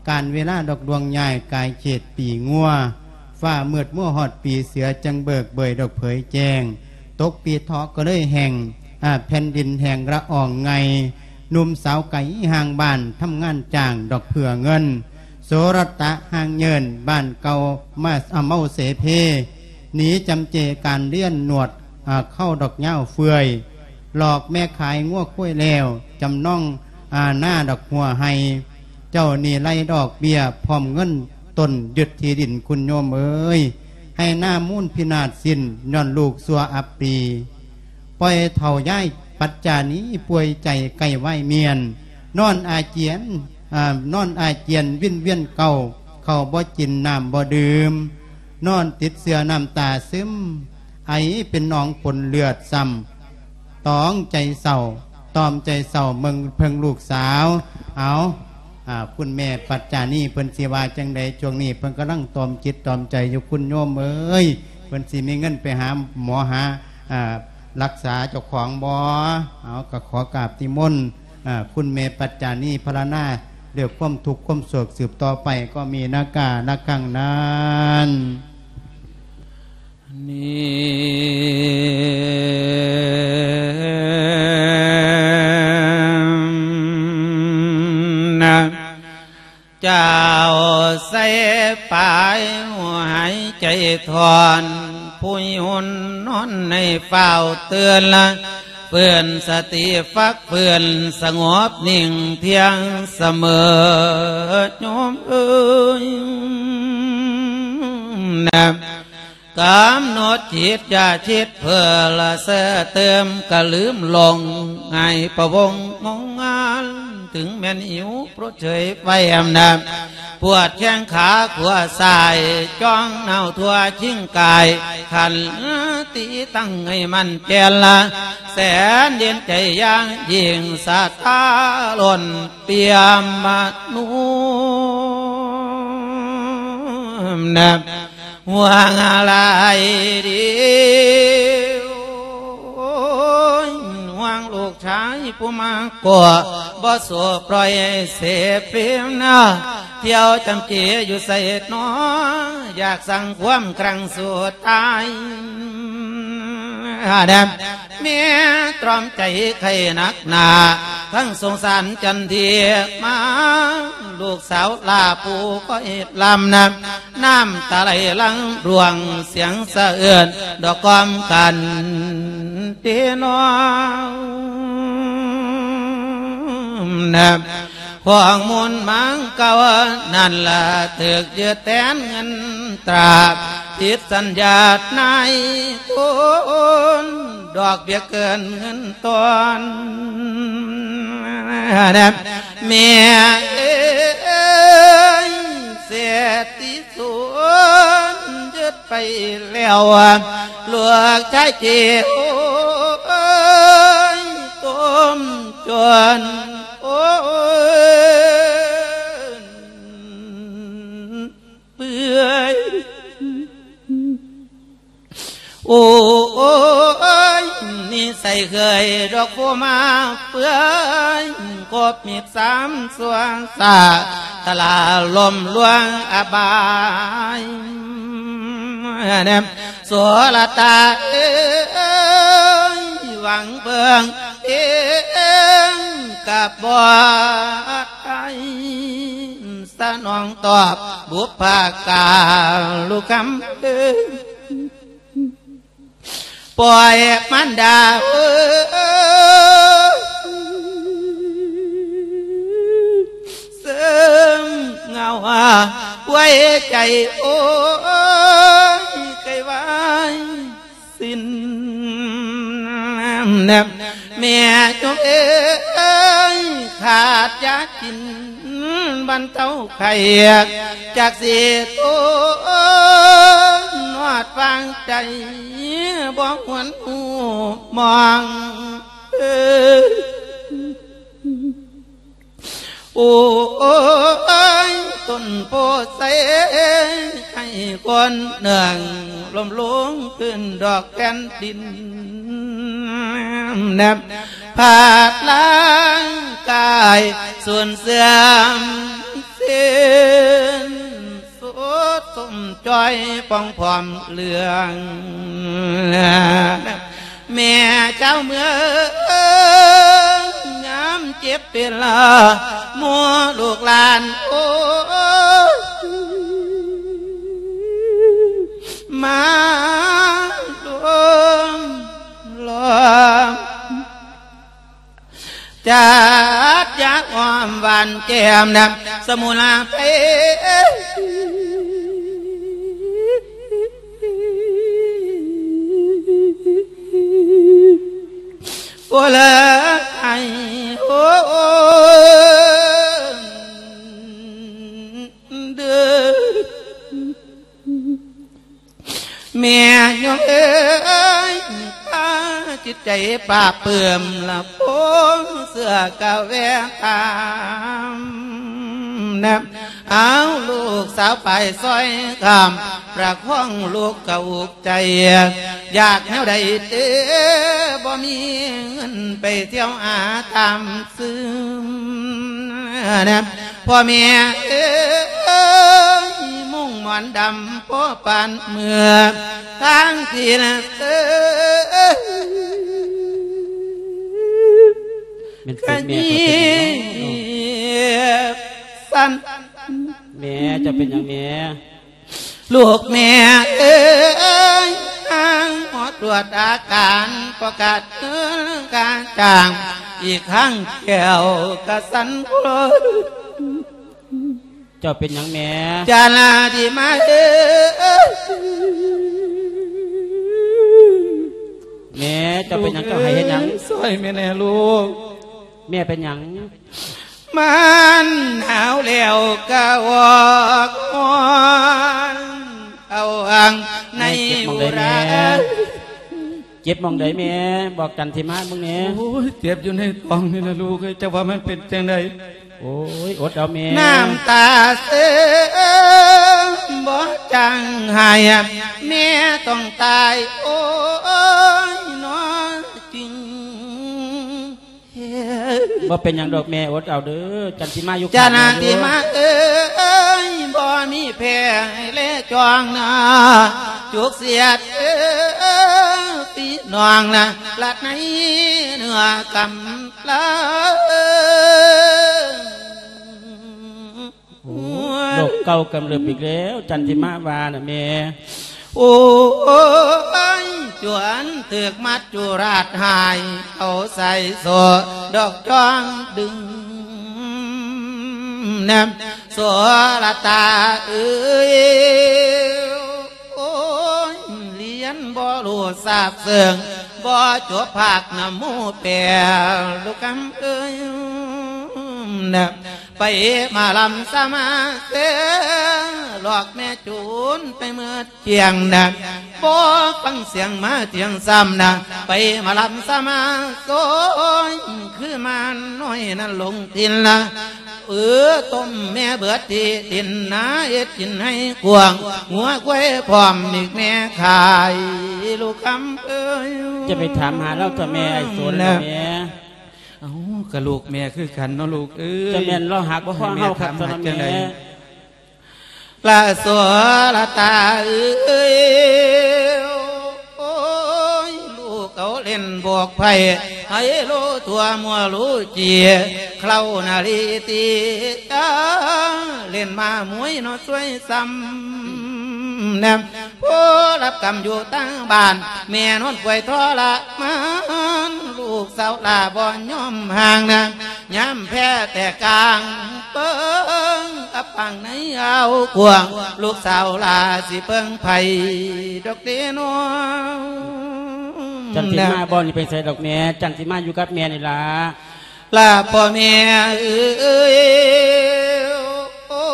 ການເວລາດອກດວງຍ້າຍ ກາຍເຂດປີງົວ ຟ້າມືດມົວຮອດປີເສືອ ຈັ່ງເບີກເບີຍດອກເຜີຍແຈ້ງ ຕົກປີເຖາະກໍເລີຍແຫ້ງ ອາ ແຜ່ນດິນແຫ້ງລະອອງໄງ ໜຸ່ມສາວໄກຫ່າງບ້ານ ທຳງານຈ້າງດອກເພື່ອເງິນ ໂສລະຕະຫ່າງເຍີນ ບ້ານເກົ່າມາ ອາ ເມົາເສເພ ໜີຈຳເຈການລຽນ ນວດ ອາ ເຄົ້າດອກຍາວເຟື່ອຍ ຫຼອກແມ່ຂາຍງົວຄວາຍແລ້ວ ຈຳນອງ ອາ ນາດອກຫົວໄຮ່ ເຈົ້າໜີ້ໄລ່ດອກເບ້ຍ ພ້ອມເງິນຕົ້ນຍຶດທີ່ດິນ ຄຸນໂຍມເອີຍ ໄຮ່ນາມູນພິນາດສິ້ນ ຍ້ອນລູກຊົ່ວອັບປີ. ປ່ອຍເຖົ້າຍາຍປັດຈານີປ່ວຍໃຈໃກ້ວາຍມຽນ ນອນອາຈຽນ ອາ ນອນອາຈຽນວິນວຽນເກົາ ເຂົ້າບໍ່ກິນນ້ຳບໍ່ດື່ມ ນອນຕິດເຊື້ອນ້ຳຕາຊຶມ ໄອເປັນໜອງປົນເລືອດຊ້ຳ ຕອງໃຈເສົ້າ ຕອມໃຈເສົ້າເບິ່ງເພິ່ງລູກສາວ. ເອົາ ອາ ຄຸນແມ່ປັດຈານີເພິ່ນຊິວ່າຈັ່ງໃດ? ຊ່ວງນີ້ເພິ່ນກຳລັງຕອມຈິດຕອມໃຈຢູ່ ຄຸນໂຍມເອີຍ ເພິ່ນຊິມີເງິນໄປຫາໝໍຫາ ອາ ລັກສາເຈົ້າຂອງບໍ່? ເອົາ ກໍຂໍກາບນິມົນ ອາ ຄຸນແມ່ປັດຈານີພາລະນາ ດ້ວຍຄວາມທຸກຄວາມໂສກ ສືບຕໍ່ໄປກໍມີນາການະຄັງນັ້ນ. ນີ້ນະ ເຈົ້າໃສ່ປາຍຫົວຫາຍໃຈທອນ ຜູ້ຍູນນອນໃຫ້ຟ້າວຕື່ນລະ ຟື້ນສະຕິຟັກຟື້ນສະຫງົບນິ່ງທ່ຽງສະເໝີ ໂຍມເອີຍນະ. ກຳນົດຈິດຢ່າຄິດເພີ້ລະເຊີເຕີມ ກະລືມລົງໃຫ້ພະວົງງົງງານ ເຖິງແມ່ນຫິວໂພດເຊີຍໄຟອຳນາດ ປວດແຂ້ງຂາຂວາຊ້າຍ ຈ້ອງໜາວທົ່ວຈິງກາຍ ຂັນຕິຕັ້ງໃຫ້ໝັ້ນແກ່ນລະ ແສນເຢັນໃຈຢ່າງຍິ່ງ ສັດທາລົ້ນປ່ຽມມະນຸ ນະ ຫວງຫຼາຍດີ ຫວງລູກຊາຍຜູ້ມາກໍບໍ່ສູ້ປ່ອຍເສເປັນນະ ທ່ຽວຈຳເຈຢູ່ໃສນໍ ຢາກສ້າງຄວາມຄັ້ງສຸດທ້າຍ ແມ່ຕຣອມໃຈໄຂ້ໜັກໜາ ທັງສົງສານຈັນທີມາ ລູກສາວຫຼ້າຜູ້ກໍເຮັດລຳນະ ນ້ຳຕາໄຫຼຫຼັ່ງຫຼວງ ສຽງສະເອື້ອນດອກກອມກັນເດນອມນະ ຂອງມູນມັງເກົ່ານັ້ນລະ ຖືກຍຶດແທນເງິນຕາ ຜິດສັນຍານາຍທຶນ ດອກເບ້ຍເກີນເງິນຕ້ອນ ແມ່ເອີຍ ເສດຕິ ສູນຍຶດໄປແລ້ວ ລູກຊາຍເຈໂອຍ ຕົ້ມຈົນໂອຍເປື່ອຍ ໂອຍ ນິໄສເຄີຍດອກໂພມາເປື່ອຍ ກົບມິດສາມສ່ວນສາ ຕະຫຼາລົມລວງອະບາຍ ໂສລະຕາເອີຍ ຫວັງເບິ່ງເອງກະບໍ່ໄດ້ ສະໜອງຕອບບຸບພາກາລຸຄຳເອີຍ ປ່ອຍມານດາເອີຍ ເສີມເຫງົາຫາໄວ້ໃຈໂອຍ ໄກ ແມ່ໂຍມເອີຍ ຂາດຢາກິນບັນເທົາໄຂ້ ຈັກຊິທົນຮອດຟາງໃຈ ບໍ່ຫວນຮູ້ມອງ ເອີ ໂອ້ຍ ຕົ້ນໂພໄຊ ໃຫ້ຄົນໜຶ່ງລົ້ມລົງພື້ນດອກແຜ່ນດິນ ແນບພາດຮ່າງກາຍສູນເສື່ອມສິ້ນ ສຸດໂຊມຈ່ອຍປ່ອງຜອມເຫຼືອງ ແມ່ຊາວເມືອງ ຍາມເຈັບເປັນລະ ໝູ່ລູກຫຼານ ໂອ້ຍ ມາລວມລ້ອມ ຈັດຢາອ້ອມຫວານແກ້ມນຳສະໝຸນໄພ ໂອ້ລະໄອໂອເດີ ແມ່ໂຍມເອີຍ ພາຈິດໃຈປາບປື້ມ ລະປົງເຊື່ອກະແວະຖາມນຳ ເອົາລູກສາວໄປຊ່ອຍຂ້າມ ປະຄອງລູກກະອຸກໃຈ ຢາກແນວໃດເຕີ ບໍ່ມີເງິນໄປທ່ຽວຫາຕາມ ຊຶມນະ ພໍ່ແມ່ເອີຍ ມຸ້ງໝອນດຳພໍປານເມື່ອ ທາງທີ່ນະເອີຍ ແມ່ນເຈັບແມ່ ຂະຍິບ ເຈົ້າເປັນຫຍັງເນາະ ສັ່ນ ແມ່ ເຈົ້າເປັນຫຍັງແມ່? ລູກແມ່ເອີຍ ທາງໝໍກວດອາການ ປະກາດເງິນຄ່າຈ້າງ ອີກທັງແກ້ວກະສັ່ນໂຄລ ເຈົ້າເປັນຫຍັງແມ່? ຈານາທິມາເອີຍ ແມ່ ເຈົ້າເປັນຫຍັງ? ເຈົ້າໃຫ້ເຮັດຫຍັງ? ຊ່ອຍແມ່ແດ່ລູກ ແມ່ເປັນຫຍັງ? ມັນໜາວແລ້ວກະອອກຮ້ອນ ເອົາອັງໃນ ແມ່ເຈັບໝ່ອງໃດແມ່? ເຈັບໝ່ອງໃດແມ່? ບອກຈັນທິມາເບິ່ງແດ່. ໂອ້ຍ ເຈັບຢູ່ໃນທ້ອງນີ້ລະລູກເອີຍ ເຈົ້າວ່າມັນເປັນຈັ່ງໃດ? ໂອ້ຍ ອົດເອົາແມ່. ນ້ຳຕາເສີມບໍ່ຈາງໄຫ້ ແມ່ຕ້ອງຕາຍ ໂອ້ຍ ໜໍຈິງ ບໍ່ເປັນຫຍັງດອກແມ່ ອົດເອົາເດີ ຈັນທິມາຢູ່ ຈັນທິມາເອີຍ ບໍ່ມີແພ້ແລຈອງນາ ຈຸກສຽດເອີຍ ພີ່ນ້ອງນະ ລັດໃນເນື້ອກຳລາ ໂອ້ ໂລກເກົ່າກຳເລິບອີກແລ້ວ ຈັນທິມາວ່ານະແມ່. ໂອ້ຍ ຈວນຖືກມັດຈຸລາດຫາຍ ເອົາໃສ່ໂສ້ດອກຈອງດຶງ ແນມໂສລະຕາເອີຍ ໂອ້ຍ ລຽນບໍ່ຮູ້ຊາບເຊິ່ງ ບໍ່ຈົບພາກນຳໝູ່ແປ ລູກຄຳເອີຍ ນະ ໄປມາລຳສະມາເສ ຫຼອກແມ່ຈູນໄປເໝິດກຽງນະ ບໍ່ຟັງສຽງມາທຽງຊ້ຳນະ ໄປມາລຳສະມາໂສຍ ຄືມານ້ອຍນັ້ນຫຼົງຖິ່ນນະ ເອີ ຕົ້ມແມ່ເບີດທີ່ດິນນາ ເຮັດກິນໃຫ້ກວ້າງ ງົວຄວາຍພ້ອມອີກແມ່ຂາຍ ລູກຄຳເອີຍ. ຈະໄປຖາມຫາລາວຕົວະແມ່ ອ້າຍໂສນນະແມ່. ເອົ້າ ກະລູກແມ່ຄືກັນເນາະລູກເອີຍ ຈະແມ່ນລາວຮັກບໍ່ພໍເຮົາຄັກຊັ້ນນະແມ່. ລະໂສລະຕາເອີຍ ໂອ້ຍ ລູກເອົາຫຼິ້ນບອກໄພ ໄຮໂລທົ່ວມົວລູເຈຍ ເຄົ້ານາລີຕີ ເລ່ນມ້າມວຍເນາະຊ່ວຍຊ້ຳແນມ ໂພລະກັມຢູ່ທາງບ້ານ ແມ່ນອນປ່ວຍທໍລະມານ ລູກສາວຫຼ້າບໍ່ຍອມຫ່າງນາ ຍາມແພ້ແຕກກາງເປິງ ອັບປາງໃນອາວກວ້າງ ລູກສາວຫຼ້າຊິເພິ່ງໃຜດອກເດນ້ອງ. ຈັນຊິມາບໍ່ນີ້ໄປໃສດອກແມ່ ຈັນຊິມາຢູ່ກັບແມ່ນີ້ລະ. ລາພໍ່ແມ່ເອີຍ ໂອ້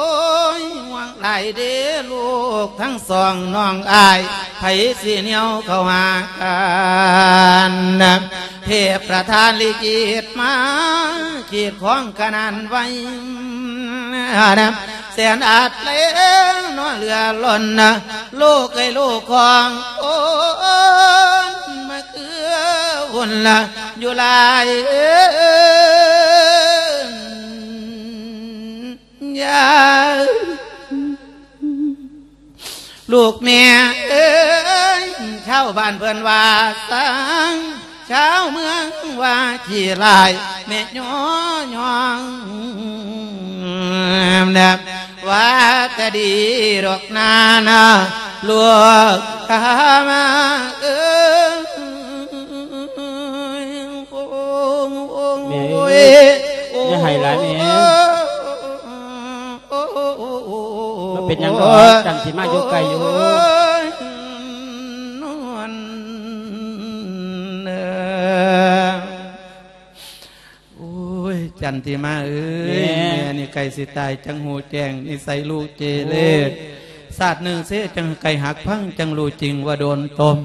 ຍ ຫ່ວງຫຼາຍເດ້ລູກທັງສອງນ້ອງອ້າຍ ໃຜຊິແນວເຂົ້າຫາກັນ ເທບປະທານລິຂິດມາ ຂີດຂອງຂະໜານໄວ້ ແສນອາດແລເນາະເຫຼືອລົ້ນ ລູກເອີຍລູກຂອງຄົນ ມາເກືອວຸ່ນລະຢູ່ຫຼາຍ ເອີ ຢ່າ ລູກແມ່ເອີຍ ຊາວບ້ານເພິ່ນວ່າສັງ ຊາວເມືອງວ່າຂີ້ຮ້າຍ ແມ່ຍໍຍ້ອງ ວ່າກະດີດອກນານາ ລູກຂ້າມາເອີຍ ແມ່ເອີຍ ຢ່າໄຫ້ຫຼາຍແມ່. ບໍ່ເປັນຫຍັງດອກ ຈັນຊິມາຢູ່ໃກ້ຢູ່. ໂອ້ຍ ຈັນທິມາເອີຍ ແມ່ ແມ່ນີ້ໃກ້ຊິຕາຍ ຈັ່ງຮູ້ແຈ້ງນິໄສລູກເກເລ ໂອ້ຍ ຊາດໜຶ່ງເສ ຈັ່ງໃກ້ຫັກພັງ ຈັ່ງຮູ້ຈິງວ່າໂດນຕົ້ມ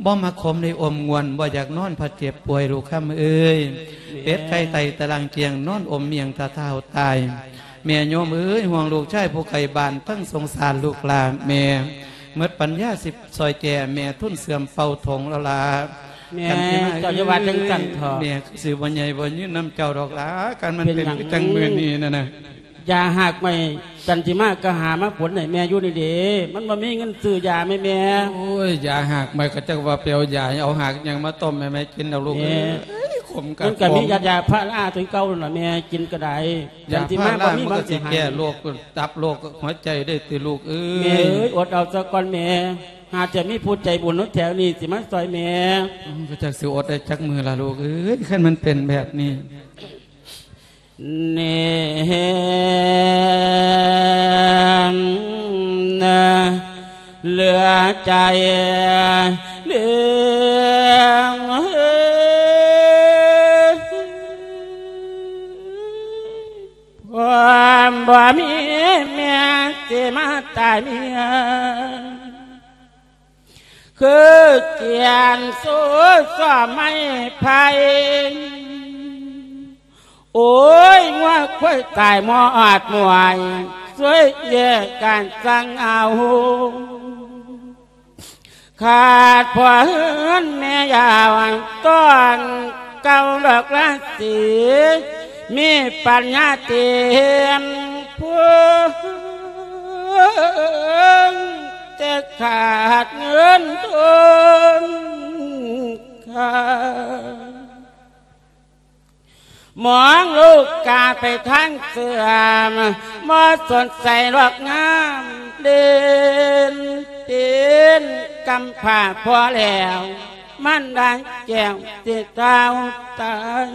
ບໍ່ມັກຂົມໄດ້ອົມງວນ ບໍ່ຢາກນອນພັດເຈັບປ່ວຍ ລູກຄຳເອີຍ ແມ່ ເປັດໄກ່ໄຕ່ຕະລາງກຽງ ນອນອົມມ້ຽງຕາທ້າວຕາຍ ແມ່ໂຍມເອີຍ ຫ່ວງລູກຊາຍຜູ້ໄກບ້ານ ທັງສົງສານລູກຫຼ້າແມ່ ໝົດປັນຍາຊິຊ່ອຍແກ່ແມ່ ທຶນເສື່ອມເປົ່າຖົງແລ້ວລະ ແມ່ ຈັນທິມາເອີຍ ເຈົ້າຢ່າວ່າຈັ່ງຊັ້ນເຖາະ ແມ່ຄືຊິບໍ່ໃຫຍ່ບໍ່ຍືນນຳເຈົ້າດອກລະ ຄັນມັນເປັນ ເປັນຫຍັງ ຄືຈັ່ງມື້ນີ້ນັ້ນນະ ຢາຮາກໄມ້ ຈັນທິມາກໍຫາມາປົນໃຫ້ແມ່ຢູ່ນີ້ເດ້ ມັນບໍ່ມີເງິນຊື້ຢາແມ່ ແມ່. ໂອ້ຍ ຢາຮາກໄມ້ກໍຈັກວ່າໄປເອົາຢາ ເອົາຮາກຫຍັງມາຕົ້ມໃຫ້ແມ່ກິນດອກລູກເອີຍ ແມ່ ເອີຍ ຂົມກະ ມັນກໍມີ ຂມ ຢາ ຢາພາລາຕົວເກົ່ານັ້ນລະແມ່ ກິນກໍໄດ້ ຢາ ຈັນທິມາ ພາລາ ບໍ່ມີ ມັນກໍຊິແກ້ໂລກຕັບໂລກຫົວໃຈໄດ້ຕິລູກເອີຍ ແມ່ເອີຍ ອົດເອົາຊະກ່ອນແມ່ ຫາຈະມີຜູ້ໃຈບຸນຢູ່ແຖວນີ້ຊິມາຊ່ອຍແມ່ ອືມ ກໍຈັກຊິອົດໄດ້ຈັກມື້ລະລູກເອີຍ ຄັນມັນເປັນແບບນີ້ ແນມເຫຼືອໃຈເຫຼືອ ຄວາມບໍ່ມີແມ່ຊິມາຕາຍເມຍ ຄືກຽນສູ້ຊ້ອມໄມ້ໄຜ່ ໂອ້ຍ ງົວຄວາຍຕາຍໝອດໝວຍ ຊ່ວຍແຍກກັນສັ່ງເອົາ ຂາດພໍ່ເຮືອນແມ່ຍາວ ຕອນເກົ່າດອກລາສີ ມີປັນຍາຕຽມພວງ ແຕ່ຂາດເງິນທຶນຄ່າ ມອງລູກກາໄປທາງເສື່ອມ ບໍ່ສົນໃຈດອກງາມເດັ່ນ ເປັນກຳພ້າພໍແລ້ວ ມັນໄດ້ແກ້ວຊິເຕົາຕາຍ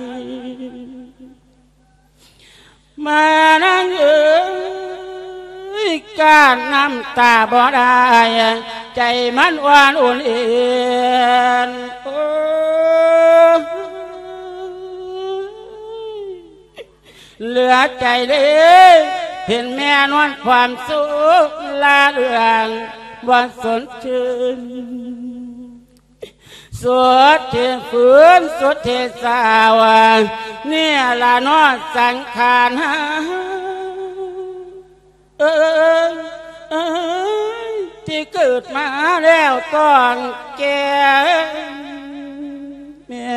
ມານາງເອີຍ ກັ້ນນ້ຳຕາບໍ່ໄດ້ ໃຈມັນອ່ອນອຸ່ນເອັນ ໂອ້ຍ ເຫຼືອໃຈເລີຍ ເຫັນແມ່ນອນຄວາມສຸກລະເລື່ອງ ບໍ່ສົນຊື່ນ ສຸດທີ່ຝືນ ສຸດທີ່ສາວ ນີ້ລະເນາະສັງຂານເຮົາ ເອີຍ ເອີຍ ທີ່ເກີດມາແລ້ວຕ້ອງແກ່ ແມ່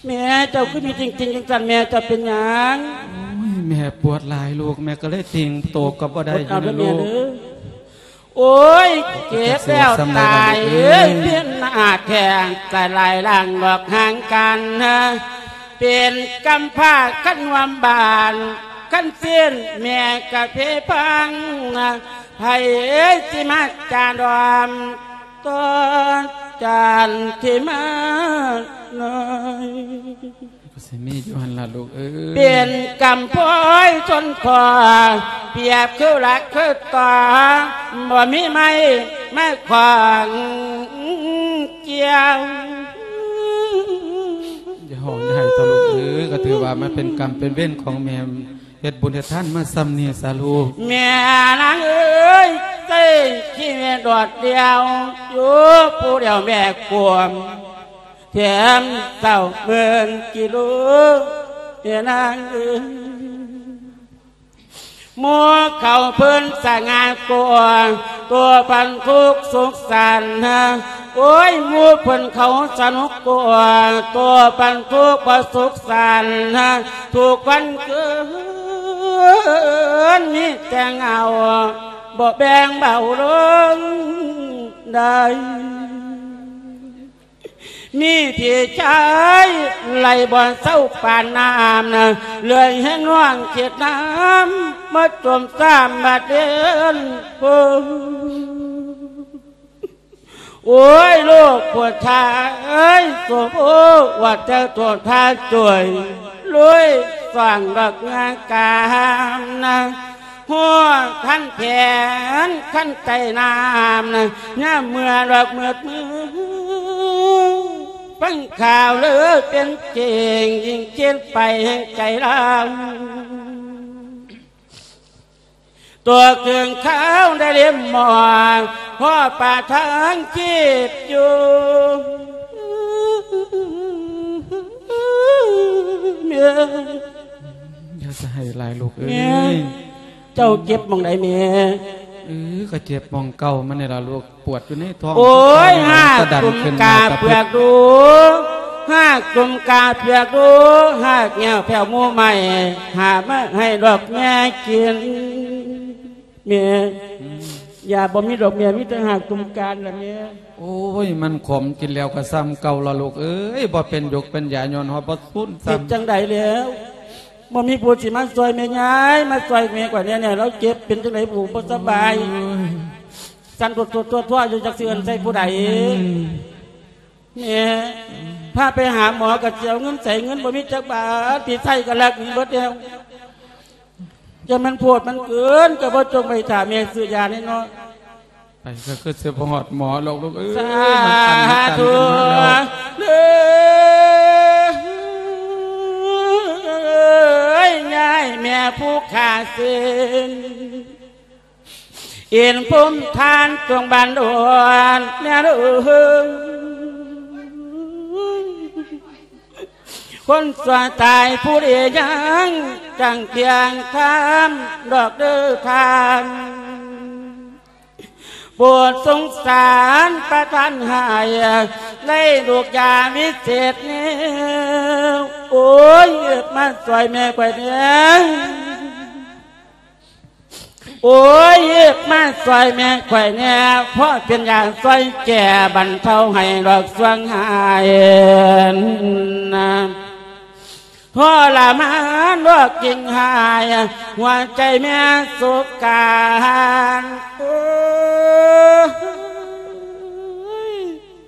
ແມ່ ເຈົ້າຄືມີຈິງໆ ຈັ່ງຊັ້ນ ແມ່ ເຈົ້າເປັນຫຍັງ? ໂອ້ຍ ແມ່ປວດຫຼາຍລູກ ແມ່ກໍເລີຍຕີງໂຕກໍບໍ່ໄດ້ ອົດເອົາເດີແມ່ເດີ ຢູ່ນະລູກ ໂອ້ຍ ເຈັບແລ້ວຕາຍເອີຍ ເປັນໜ້າແຂ້ງຕາຍຫຼາຍລ່າງດອກຫ່າງກັນ ເປັນກຳພ້າຄັນຮ່ວມບ້ານ ຄັນຊີ້ນແມ່ກະເພພັງ ໃຜຊິມາຈາດອມ ຕໍ່ຈານທີ່ມານ້ອຍ ກໍຊິມີຢູ່ຫັ້ນລະລູກເອີຍ ເປັນກຳພ້ອຍຊົນພໍ່ ປຽບຄືຫຼັກຄືຕໍ່ ບໍ່ມີໄມ້ມາຂວາງ ດຽວ ຢ່າຮ້ອງ ຢ່າໄຫ້ເຖົ້າລູກເອີຍ ກໍຖືວ່າມັນເປັນກຳເປັນເວນຂອງແມ່ ເຮັດບຸນເຮັດທານມາສ່ຳນີ້ຊະລູກ. ແມ່ນາງເອີຍ ໃຊ້ຊີວິດໂດດດ່ຽວ ຢູ່ຜູ້ດຽວແບກຄວາມ ແຖມເສົ້າເໝືອນກິໂລ ແມ່ນາງເອີຍ. ໝູ່ເຂົາເພິ່ນສະຫງ່າກວ່າ ຕົວະປັນທຸກສຸກສັນ ໂອ້ຍ ໝູ່ເພິ່ນເຂົາສະໜຸກກວ່າ ຕົວະປັນທຸກບໍ່ສຸກສັນ ທຸກວັນຄືນມີແຕ່ເຫງົາ ບໍ່ແບ່ງເບົາລົງໄດ້. ມີພີ່ຊາຍໄຫຼບໍ່ເຊົາປານນ້ຳນະ ເລື່ອຍແຮງນ້ອງເຂດນ້ຳ ມາຈົມຊ້ຳມາເດນໂພ. ໂອ້ຍ ລູກຜູ້ຊາຍ ໂສໂພ ວ່າແຕ່ຕົວທ່ານຊ່ວຍ ລຸຍສ້າງດອກງາກາມນະ ຮອດຄັນແຂນຄັນໃຕ້ນ້ຳນະ ຍາມເມື່ອດອກມືດມື ຟັງຂ່າວເລີເປັນເກັ່ງ ຍິ່ງຄິດໄປແຫ່ງໃຈລາວ ຕົວເຄື່ອງຂາວໄດ້ເລັມໝໍ້ ພໍປາທາງຈີບຢູ່ ແມ່. ຢ່າສະໃຫ້ຫຼາຍລູກເອີຍ. ແມ່ ເຈົ້າເຈັບໝ່ອງໃດແມ່? ເອີ ກໍເຈັບໝ່ອງເກົ່າມັນນີ້ລະລູກ ປວດຢູ່ໃນທ້ອງ. ໂອ້ຍ ຫາກຕຸ່ມກາເປືອກດູ ຫາກຕຸ່ມກາເປືອກດູ ຫາກແງ່ວແພ້ວໝູໄມ້ ຫາມາໃຫ້ດອກແມ່ກິນ. ແມ່ ຢາບໍ່ມີດອກແມ່ ມີແຕ່ຫາກຕຸ່ມກາລະແມ່. ໂອ້ຍ ມັນຂົມ ກິນແລ້ວກໍສ່ຳເກົ່າລະລູກເອີຍ ບໍ່ເປັນຢົກເປັນຢາ ຍ້ອນເຮົາບໍ່ສູນຊ້ຳ. ເຮັດຈັ່ງໃດແລ້ວ ບໍ່ມີຜູ້ຊິມາຊ່ອຍແມ່ຍາຍ ມາຊ່ອຍແມ່ຂ້ອຍແດ່ແນ່ ລາວເຈັບເປັນຈັ່ງໃດ ຜູ້ບໍ່ສະບາຍ ໂອ້ຍ ສັ່ນຕົວໆໆຢູ່ ຈັກຊິເອີ້ນໃສ່ຜູ້ໃດ. ອືມ ແມ່ ພາໄປຫາໝໍກໍຊິເອົາເງິນໃສ ເງິນບໍ່ມີຈັກບາດ ທີ່ໃຊ້ກໍລັກໜີເບິດແລ້ວ. ຢ່າມັນໂພດມັນເກີນ ກໍບໍ່ຈົ່ງໄປຖ້າແມ່ຊື້ຢາແນ່ເນາະ. ໄປກໍຄືຊິບໍ່ຮອດໝໍດອກລູກເອີຍ. ສາທຸເດີຍາຍແມ່ຜູ້ຂ້າເສັນ ເອັນພູມທານຕົງບ້ານດອນແນວເດີ. ຄົນຊົ່ວຕາຍຜູ້ດີຍັງຈັງພຽງທຳດອກເດີທ່ານ ໂປດສົງສານປະທານໃຫ້ໄດ້ລູກຢາວິເສດແນວ. ໂອ້ຍ ມາຊ່ອຍແມ່ຂ້ອຍແດ່. ໂອ້ຍ ມາຊ່ອຍແມ່ຂ້ອຍແດ່ ເພາະເປັນຢາຊ່ອຍແກ້ບັນເທົາໃຫ້ດອກສ່ວງຫາຍນະ ທໍລະມານດອກຈິງຫາຍ ຫົວໃຈແມ່ໂສການ. ໂອ້ຍ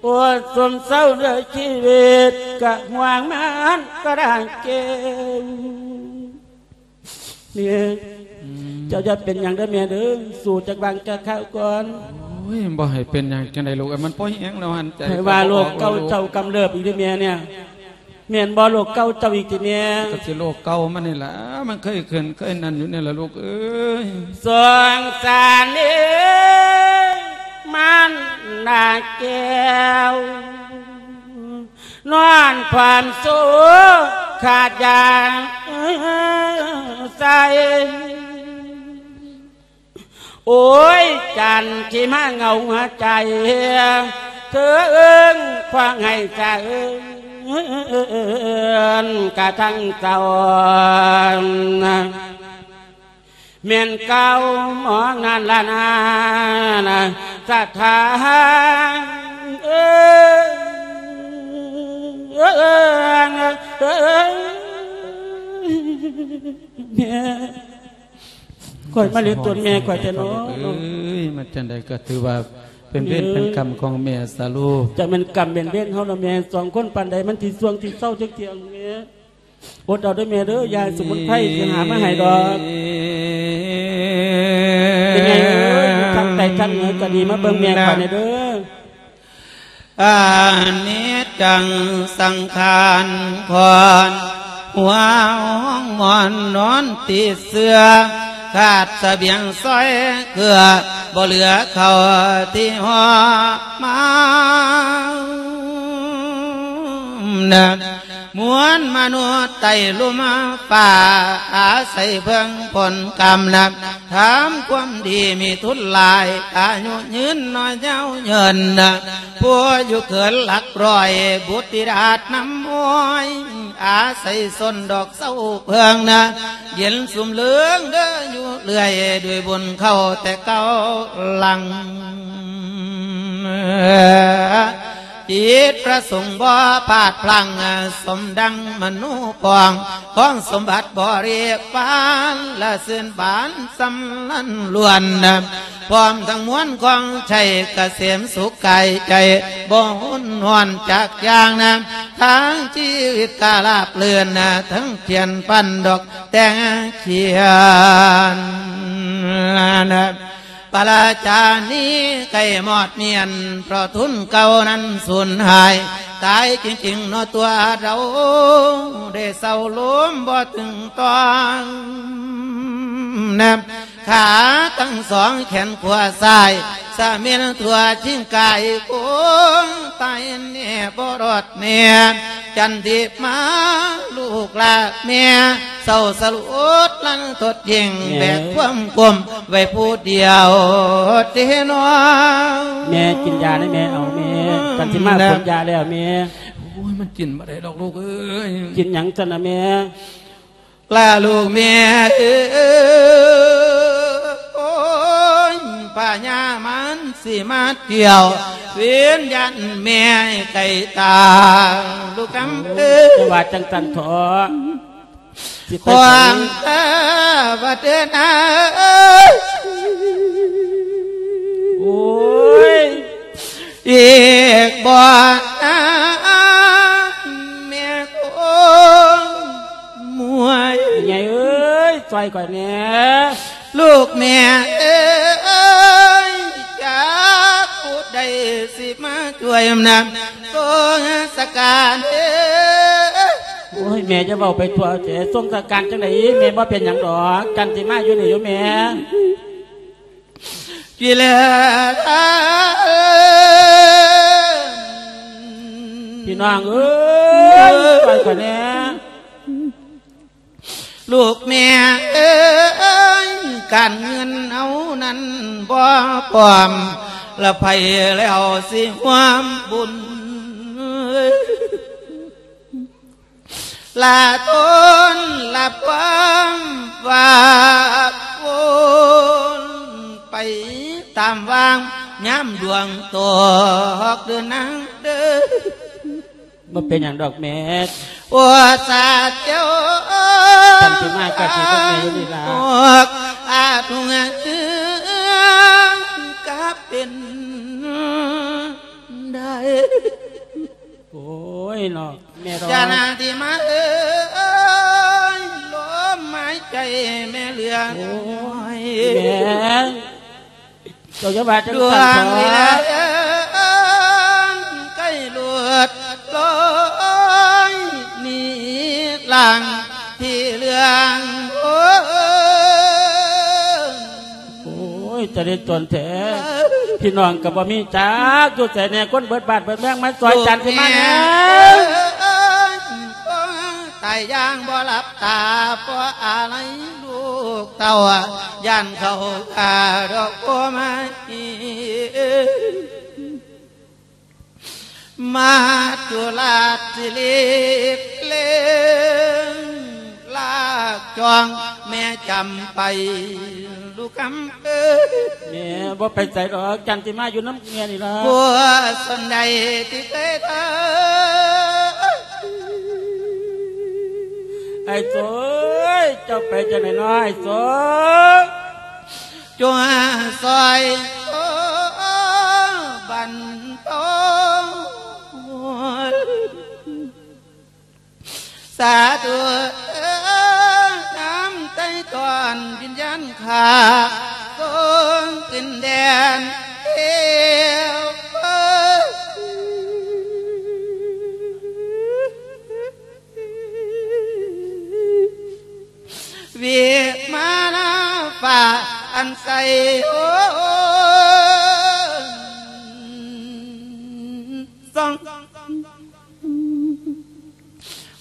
ໂອ້ຍ ສົມເສົ້າເດີຊີວິດ ກະຫວງມັນກະດາງແກ້ວ. ແມ່ ອືມ ເຈົ້າຢ່າເປັນຫຍັງເດີແມ່ເດີ ສູ້ຈັກຫວ່າງຈັກຄາວກ່ອນ. ໂອ້ຍ ບໍ່ໃຫ້ເປັນຫຍັງຈັ່ງໃດລູກເອີຍ ມັນພໍແຮງແລ້ວຫັ້ນ. ໃຈ ໃຜວ່າໂລກເກົ່າເຈົ້າກຳເລີບອີກເດີແມ່ເນຍ. ແມ່ນບໍ່ ໂລກເກົ່າເຈົ້າອີກຕິແມ່? ກໍຊິໂລກເກົ່າມັນນີ້ລະ ມັນເຄີຍຂຶ້ນເຄີຍນັ້ນຢູ່ນີ້ລະລູກເອີຍ. ສົງສານເອີຍ ມານດາແກ້ວ ນອນຄວາມໂສກຂາດຢາໃສ່. ໂອ້ຍ ຈັນທີ່ມາເຫງົາຫົວໃຈ ເທີງຄວາງໃຫ້ສະເອີນກະທັງເຈົ້າ ແມ່ນເກົ່າໝອງນັ້ນລະນາ ສະຖານເອີຍ ແມ່ ຂ້ອຍມາເລີຍຕົນແມ່ຂ້ອຍແທ້ເນາະ. ເອີຍ ມັນຈັ່ງໃດກໍຖືວ່າເປັນເວນເປັນກຳຂອງແມ່ຊະລູກ. ຈັກແມ່ນກຳແມ່ນເວນເຮົາລະແມ່ ສອງຄົນປານໃດມັນຊິຊ່ວງຊິເຊົາຈັກເທື່ອແມ່. ອົດເອົາເດີ້ແມ່ເດີ້ ຢາສະໝຸນໄພຊິຫາມາໃຫ້ດອກ. ເປັນໄງເອີຍ ຢູ່ທາງໃຕ້ທາງເໜືອກໍດີ ມາເບິ່ງແມ່ຂ້ອຍແດ່ເດີ້. ອະນິດຈັງສັງຂານຄອນ ຫົວຫ້ອງໝອນນອນຕິດເຊື້ອ ຂາດສະບຽງຊອຍເກືອ ບໍ່ເຫຼືອເຂົ້າທີ່ຫໍ່ມານະ ມວນມະນຸດໄຕ່ລຸ່ມຟ້າ ອາໄສເພິ່ງຜົນກຳນະ ທຳຄວາມດີມີທຶນຫຼາຍ ອາຍຸຍືນນ້ອຍຍາວເຍີນນະ ຜູ້ຢູ່ເກີນຫຼັກຮ້ອຍ ບຸດຕິດາດນຳຫ້ອຍ ອາໄສຊົນດອກເຊົາເພິ່ງນະ ເຢັນຊຸ່ມເຫຼືອງເດີຢູ່ເລື້ອຍ ດ້ວຍບຸນເຂົ້າແຕ່ເກົ່າຫຼັງ. ຈິດປະສົງບໍ່ພາດພລັ້ງ ສົມດັ່ງມະໂນປອງ ຂອງສົມບັດບໍລິວານ ລະຊື່ນບານສຳລັນລ້ວນ ພ້ອມທັງມວນຂອງໄຊ ກະເສມສຸກກາຍໃຈ ບໍ່ຮຸນຮ້ອນຈັກຢ່າງນະ ທັງຊີວິດກະລາບລື່ນນະ ທັງທຽນປັ້ນດອກແຕ່ງຂຽນນະ. ປະລາຈານີໄກ່ມອດມຽນ ເພາະທຶນເກົ່ານັ້ນສູນຫາຍ ຕາຍຈິງໆເນາະຕົວເຮົາ ໄດ້ເຊົາລົມບໍ່ເຖິງຕ້ອງນະ ຂາທັງສອງແຂນຂວາຊ້າຍ ສະເໝັນທົ່ວຈິງກາຍໂກງ ຕາຍແນ່ບໍ່ລອດແນ່ ຈັນທິມາລູກຫຼານແມ່ ເສົ້າສະຫຼົດລັນທົດຍິ່ງ ແບກຄວາມກົມໄວ້ຜູ້ດຽວເດ້ນ້ອງ. ແມ່ກິນຢາໄດ້ແມ່ ເອົາແມ່ ກັນຊິມາ ແມ່ ຝົນຢາແລ້ວແມ່. ໂອ້ຍ ມັນກິນບໍ່ໄດ້ດອກລູກເອີຍ. ກິນຫຍັງຊັ້ນນະແມ່? ລາລູກແມ່ເອີຍ ໂອ້ຍ ພະຍາມານຊິມາທ່ຽວ ວິນຍານແມ່ໃກ້ຕາ ລູກຄຳເອີຍ ຈະວ່າຈັ່ງຊັ້ນເຖາະ ຊິໄປໃສ ຂວາງຕາບໍ່ເດີນນາ ໂອ້ຍ ອີກບໍ່ນານແມ່ຄົງເມື່ອຍ ແມ່ໃຫຍ່ເອີຍ ຊ່ອຍຂ້ອຍແດ່ ລູກແມ່ເອີຍ ຈັກຜູ້ໃດຊິມາຊ່ວຍນຳ ສົງສະການເອີຍ. ໂອ້ຍ ແມ່ຢ່າເວົ້າໄປທົ່ວແທ້ ສົງສະການຈັ່ງໃດ ແມ່ບໍ່ເປັນຫຍັງດອກ ຈັນຊິມາຢູ່ນີ້ຢູ່ແມ່. ກິເລສາ ພີ່ນ້ອງເອີຍ ຊ່ອຍຂ້ອຍແດ່ ລູກແມ່ເອີຍ ການເງິນເຮົານັ້ນບໍ່ພ້ອມ ລະໃຜແລ້ວຊິຮ່ວມບຸນ ລະທົນລະຄວາມວ່າວົນໄປຕາມຫວ່າງ ຍາມດວງຕົກເດີນນາງເດີ. ບໍ່ເປັນຫຍັງດອກແມ່ ໂອສາເຈົ້າ ຄັນຊິມາກໍຊິເບິ່ງແມ່ຢູ່ນີ້ລະ ອາດຫວງເຮືອງກະເປັນໄດ້ ໂອ້ຍເນາະ ແມ່ດອກ ຈານາທີ່ມາເອີຍ ລົມຫາຍໃຈແມ່ເຫຼືອ ໂອ້ຍ ນ້ອຍ ແມ່ ເຈົ້າຢ່າວ່າຈັ່ງຊັ້ນເຖາະ ດວງວິໄລເອີຍ ໃກ້ຫຼຸດລອຍໜີຫຼັງ ທີ່ເລື່ອງ ໂອ້ຍ ໂອ້ຍ ຈະໄດ້ຕົນແທ້ ພີ່ນ້ອງກໍບໍ່ມີຈັກ ຢູ່ໃສແດ່ ຄົນເບິດບ້ານເບິດເມືອງ ມາຊ່ອຍ ລູກ ຈັນຊິມາແດ່ ແມ່ເອີຍ ຕາຍຢ່າງບໍ່ຫຼັບຕາ ເພາະອາໄລລູກເຕົ້າ ຢ້ານເຂົາຂ້າດອກໂພໄມ້ ມາຈຸລາດຊິລີບເລງ ລາກຈອງແມ່ຈຳໄປ ລູກຄຳເອີຍ ແມ່ບໍ່ໄປໃສດອກ ຈັນຊິມາຢູ່ນຳແມ່ນີ້ລະ ຜົວສົນໃດທີ່ເຄີຍເດີ ອ້າຍໂສຍ ເຈົ້າໄປຈັ່ງໃດເນາະອ້າຍໂສຍ? ຈົ່ງຊ່ອຍໂຕບັນເທົາ ສາທຸເອີຍ ນຳໄຖ່ຖອນວິນຍານຂ້າ ສົ່ງຂຶ້ນແດນເທວ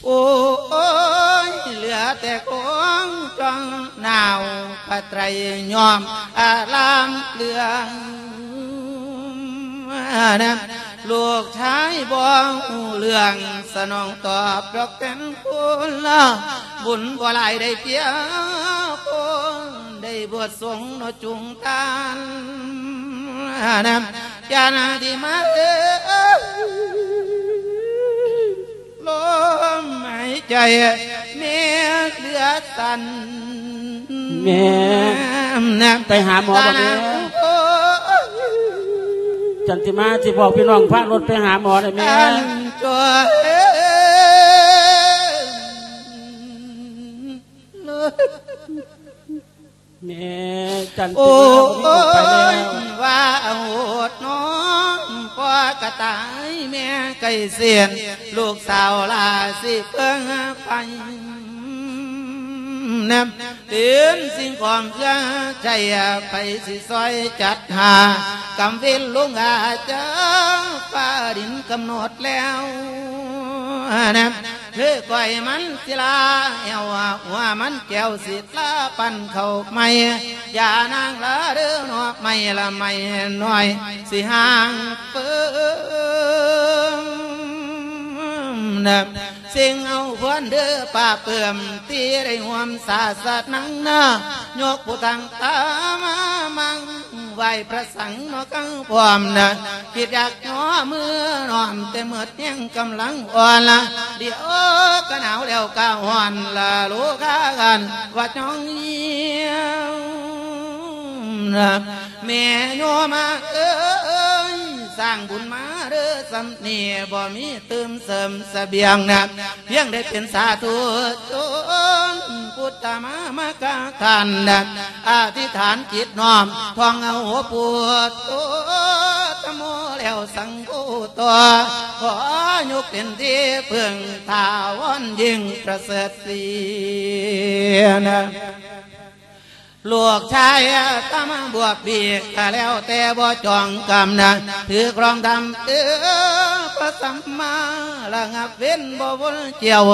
ໂອ້ຍ ເຫຼືອແຕ່ຄວາມຈ້ອງໜາວ ພະໄຕຣຍອມອາລາມເຫຼືອງນະ ລູກຊາຍບໍ່ຮູ້ເລື່ອງ ສະໜອງຕອບດອກແຕ່ນຄຸນລະ ບຸນບໍ່ຫຼາຍໄດ້ເປຍຄົນ ໄດ້ບວດສົງເນາະຈຸງທ່ານນະ ຢ່ານາທີ່ມາເອີຍ ລົມຫາຍໃຈແມ່ເຫຼືອສັ້ນ ແມ່ ໄປຫາໝໍບໍ່ແມ່? ຈັນທິມາ ຊິບອກພີ່ນ້ອງພາລົດໄປຫາໝໍໄດ້ແມ່. ອັນຈ້ອຍ ແມ່ຈັນ ໂອ້ຍ ວ່າໂຫດນ້ອງ ພໍ່ກະຕາຍແມ່ໄກ່ເສນ ລູກສາວຫຼ້າຊິເບິ່ງໄປນຳ ເປັນສິ່ງຂອງເພື່ອໃຊ້ ໃຜຊິຊ່ອຍຈັດຫາ ກຳເວັນລົງອາຈາ ຟ້າດິນກຳນົດແລ້ວນະ ຄືກ້ອຍມັນສິລາແອວ ຫົວມັນແກ້ວສິລາປັນເຂົ້າໃໝ່ ຢ່ານາງລະເດີເນາະ ໄມ້ລະໄມ້ນ້ອຍ ຊິຫ່າງເປີ້ມນະ ເສັງເອົາພອນເດີປາເປີ້ມ ທີ່ໄດ້ຮ່ວມສາສະໜັງນະ ຍົກຜູ້ຕັ້ງຕາມາມັງ ໄຫວ້ພະສັງເນາະກັງພ້ອມນະ ຄິດຢາກຍໍມືນ້ອມ ແຕ່ໝົດແຮງກຳລັງອ່ອນລະ ດຽວກະໜາວແລ້ວກະຮ້ອນລະ ໂລຄາກັນວ່າຈ້ອງຫຽວນະ ແມ່ໂຍມເອີຍ ສ້າງບຸນມາເດີສ່ຳນີ້ ບໍ່ມີຕື່ມເສີມສະບຽງນະ ພຽງໄດ້ເປັນສາທຸຊົນ ພຸດທະມາມະກະທ່ານນະ ອະທິຖານຈິດນ້ອມ ທ່ອງເອົາພຸດໂທທຳໂມແລ້ວສັງໂຄຕໍ່ ຂໍຍົກເປັນທີ່ເພິ່ງຖາວອນຍິ່ງປະເສີດສີນະ ລູກຊາຍຕາມາບວກບີກ ກະແລ້ວແຕ່ບໍ່ຈອງກຳນະ ຖືກລອງທຳເອີ ພະສຳມາລະງັບເວັ້ນບໍ່ວົນຈຽວ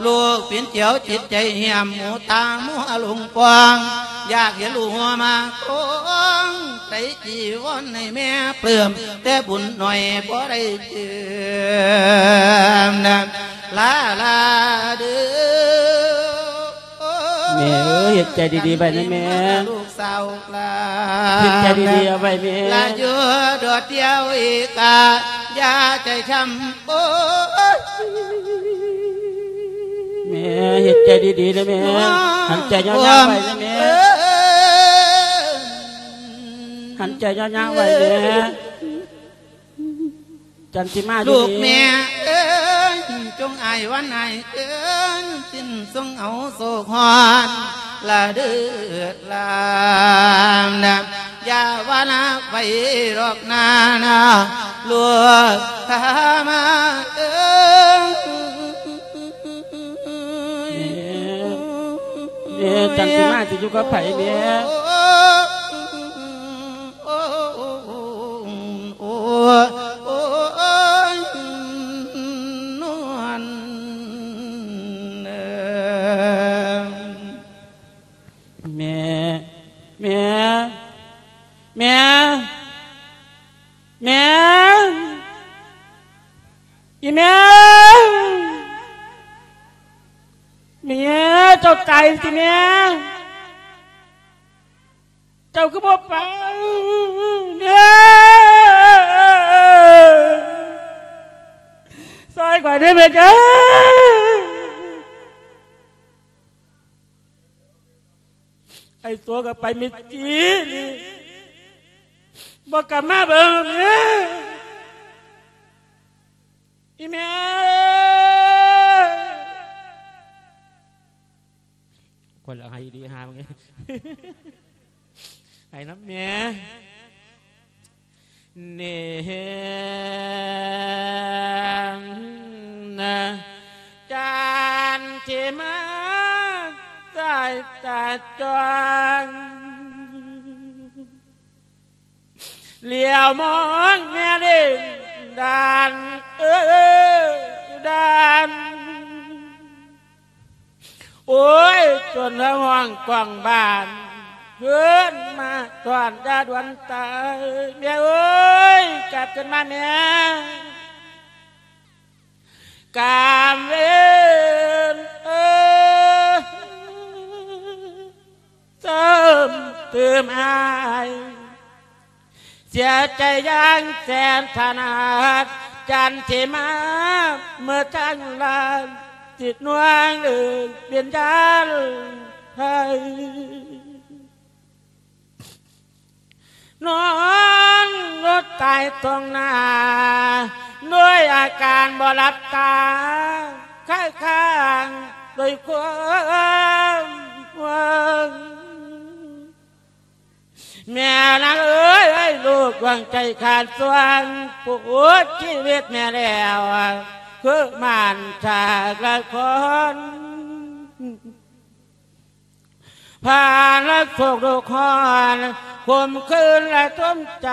ລູກປິ່ນຈຽວຈິດໃຈຫ້ຽມ ໝູຕາມົວຫຼົງປ່ອງ ຢາກເຫັນລູກຫົວມາກອງ ໃສ່ຈີວອນໃຫ້ແມ່ປຶ້ມ ແຕ່ບຸນໜ້ອຍບໍ່ໄດ້ເຈີມນະ ລາລາເດີ. ແມ່ເອີຍ ເຮັດໃຈດີໆໄວ້ນະແມ່ ລູກສາວຫຼານ ເຮັດໃຈດີໆເອົາໄວ້ແມ່ ລະຢູ່ໂດດດຽວອີກກະຢ່າໃຈຊ້ຳ ໂອ້ຍ ແມ່ເຮັດໃຈດີໆນະແມ່ ຫັນໃຈຍາວໆໄວ້ນະແມ່ ເອີຍ ຫັນໃຈຍາວໆໄວ້ແມ່ ຈັນທິມາ ລູກແມ່ເອີຍ ຈົ່ງອາຍວັນອາຍເອີຍ ສິ້ນຊົງເອົາໂສກຮ້ອນລະເດີຫຼານນະ ຢ່າວ່າລະໄປດອກນານະ ລູກຂ້າມາເອີຍ ແມ່ ແມ່ ຈັນທິມາຊິຢູ່ກັບໃຜແມ່? ໂອ້ ໂອ້ ໂອ້ ໂອ້ຍ ນວນເອີຍ ແມ່ ແມ່ ແມ່ ແມ່ ອີ່ແມ່ ແມ່ ເຈົ້າຕາຍຕິແມ່? ເຈົ້າຄືບໍ່ໄປ ແມ່ ຊ່ອຍຂ້ອຍເດີແມ່ເຈົ້າ. ໄອ້ຕົວກໍໄປມິດຈີນີ້ ບໍ່ກັບມາເບິ່ງແມ່ ອີ່ແມ່. ຄົນລະໄຫ້ດີຫາມຶງ ໄຫ້ນຳແມ່ ເນນະ ຈັນທິມາ ສາຍຕາຈ້ອງ ຫຼຽວມອງແມ່ເດ້ ດານເອີຍ ດານ. ໂອ້ຍ ຈົນລະຮ້ອງກ້ອງບ້ານ ເອີ້ນມາຕ້ອນຢ່າດ່ວນຕາຍ ແມ່ເອີຍ ກັບຄືນມາແມ່ ກາມເວນເອີຍ ເຕີມຕື່ມອ້າຍ ເສຍໃຈຢ່າງແສນສາຫັດ ຈັນທິມາເໝິດທັງລ້ານ ສິດໜ່ວງເອີຍ ເປັນຍານໄພ ນອນລົດຕາຍຕົງໜ້າ ດ້ວຍອາການບໍ່ຫຼັບຕາ ຄ້າຍຄາງດ້ວຍຄວາມຫວັງ ແມ່ນາງເອີຍ ເອີຍ ລູກດວງໃຈຂາດສວງ ປົວຊີວິດແມ່ແລ້ວ ຄືມານຈາກລະຄອນ ຜ່ານລະໂສກໂລກຮ້ອນ ຄົມຄືນລະຕົມໃຈ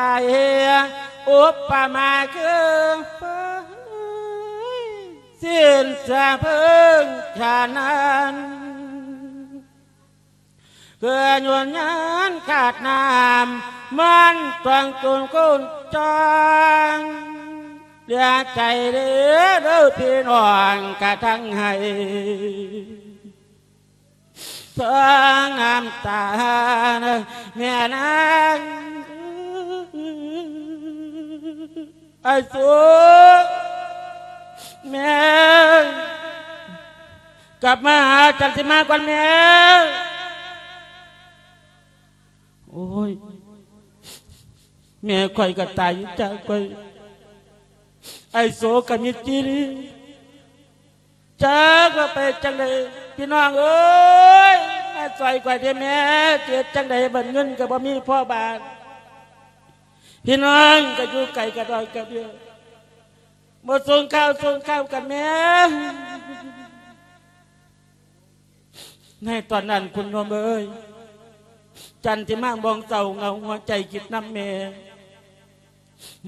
ອຸປະມາຄືເພິ່ນ ສິ້ນສະເພິ່ງຂະນັ້ນ ເພື່ອຍວນຍານຂາດນ້ຳ ມັນຕ້ອງຕົນຄົນຈອງ ເຫຼືອໃຈເດີ ເດີພີ່ນ້ອງກະທັງໃຫ້ ທັງນ້ຳຕາ ແມ່ນາງ ອ້າຍໂສ ແມ່ ກັບມາຫາຈັນທິມາກ່ອນແມ່ ໂອ້ຍ ແມ່ຂ້ອຍກໍຕາຍຢູ່ຈາກຂ້ອຍ ອ້າຍໂສກໍມິດຈີ່ ຈັກວ່າໄປຈັ່ງໃດ ພີ່ນ້ອງເອີຍ ມາຊ່ອຍຂ້ອຍແດ່ແມ່ ຊິເຮັດຈັ່ງໃດ ບັດເງິນກໍບໍ່ມີພໍບາດ ພີ່ນ້ອງກໍຢູ່ໄກກະດອຍກະເດືອ ບໍ່ສົ່ງຂ່າວສົ່ງຂ່າວກັນແມ່. ໃນຕອນນັ້ນຄຸນໂຍມເອີຍ ຈັນທິມາມອງເສົ້າເຫງົາຫົວໃຈຄິດນຳແມ່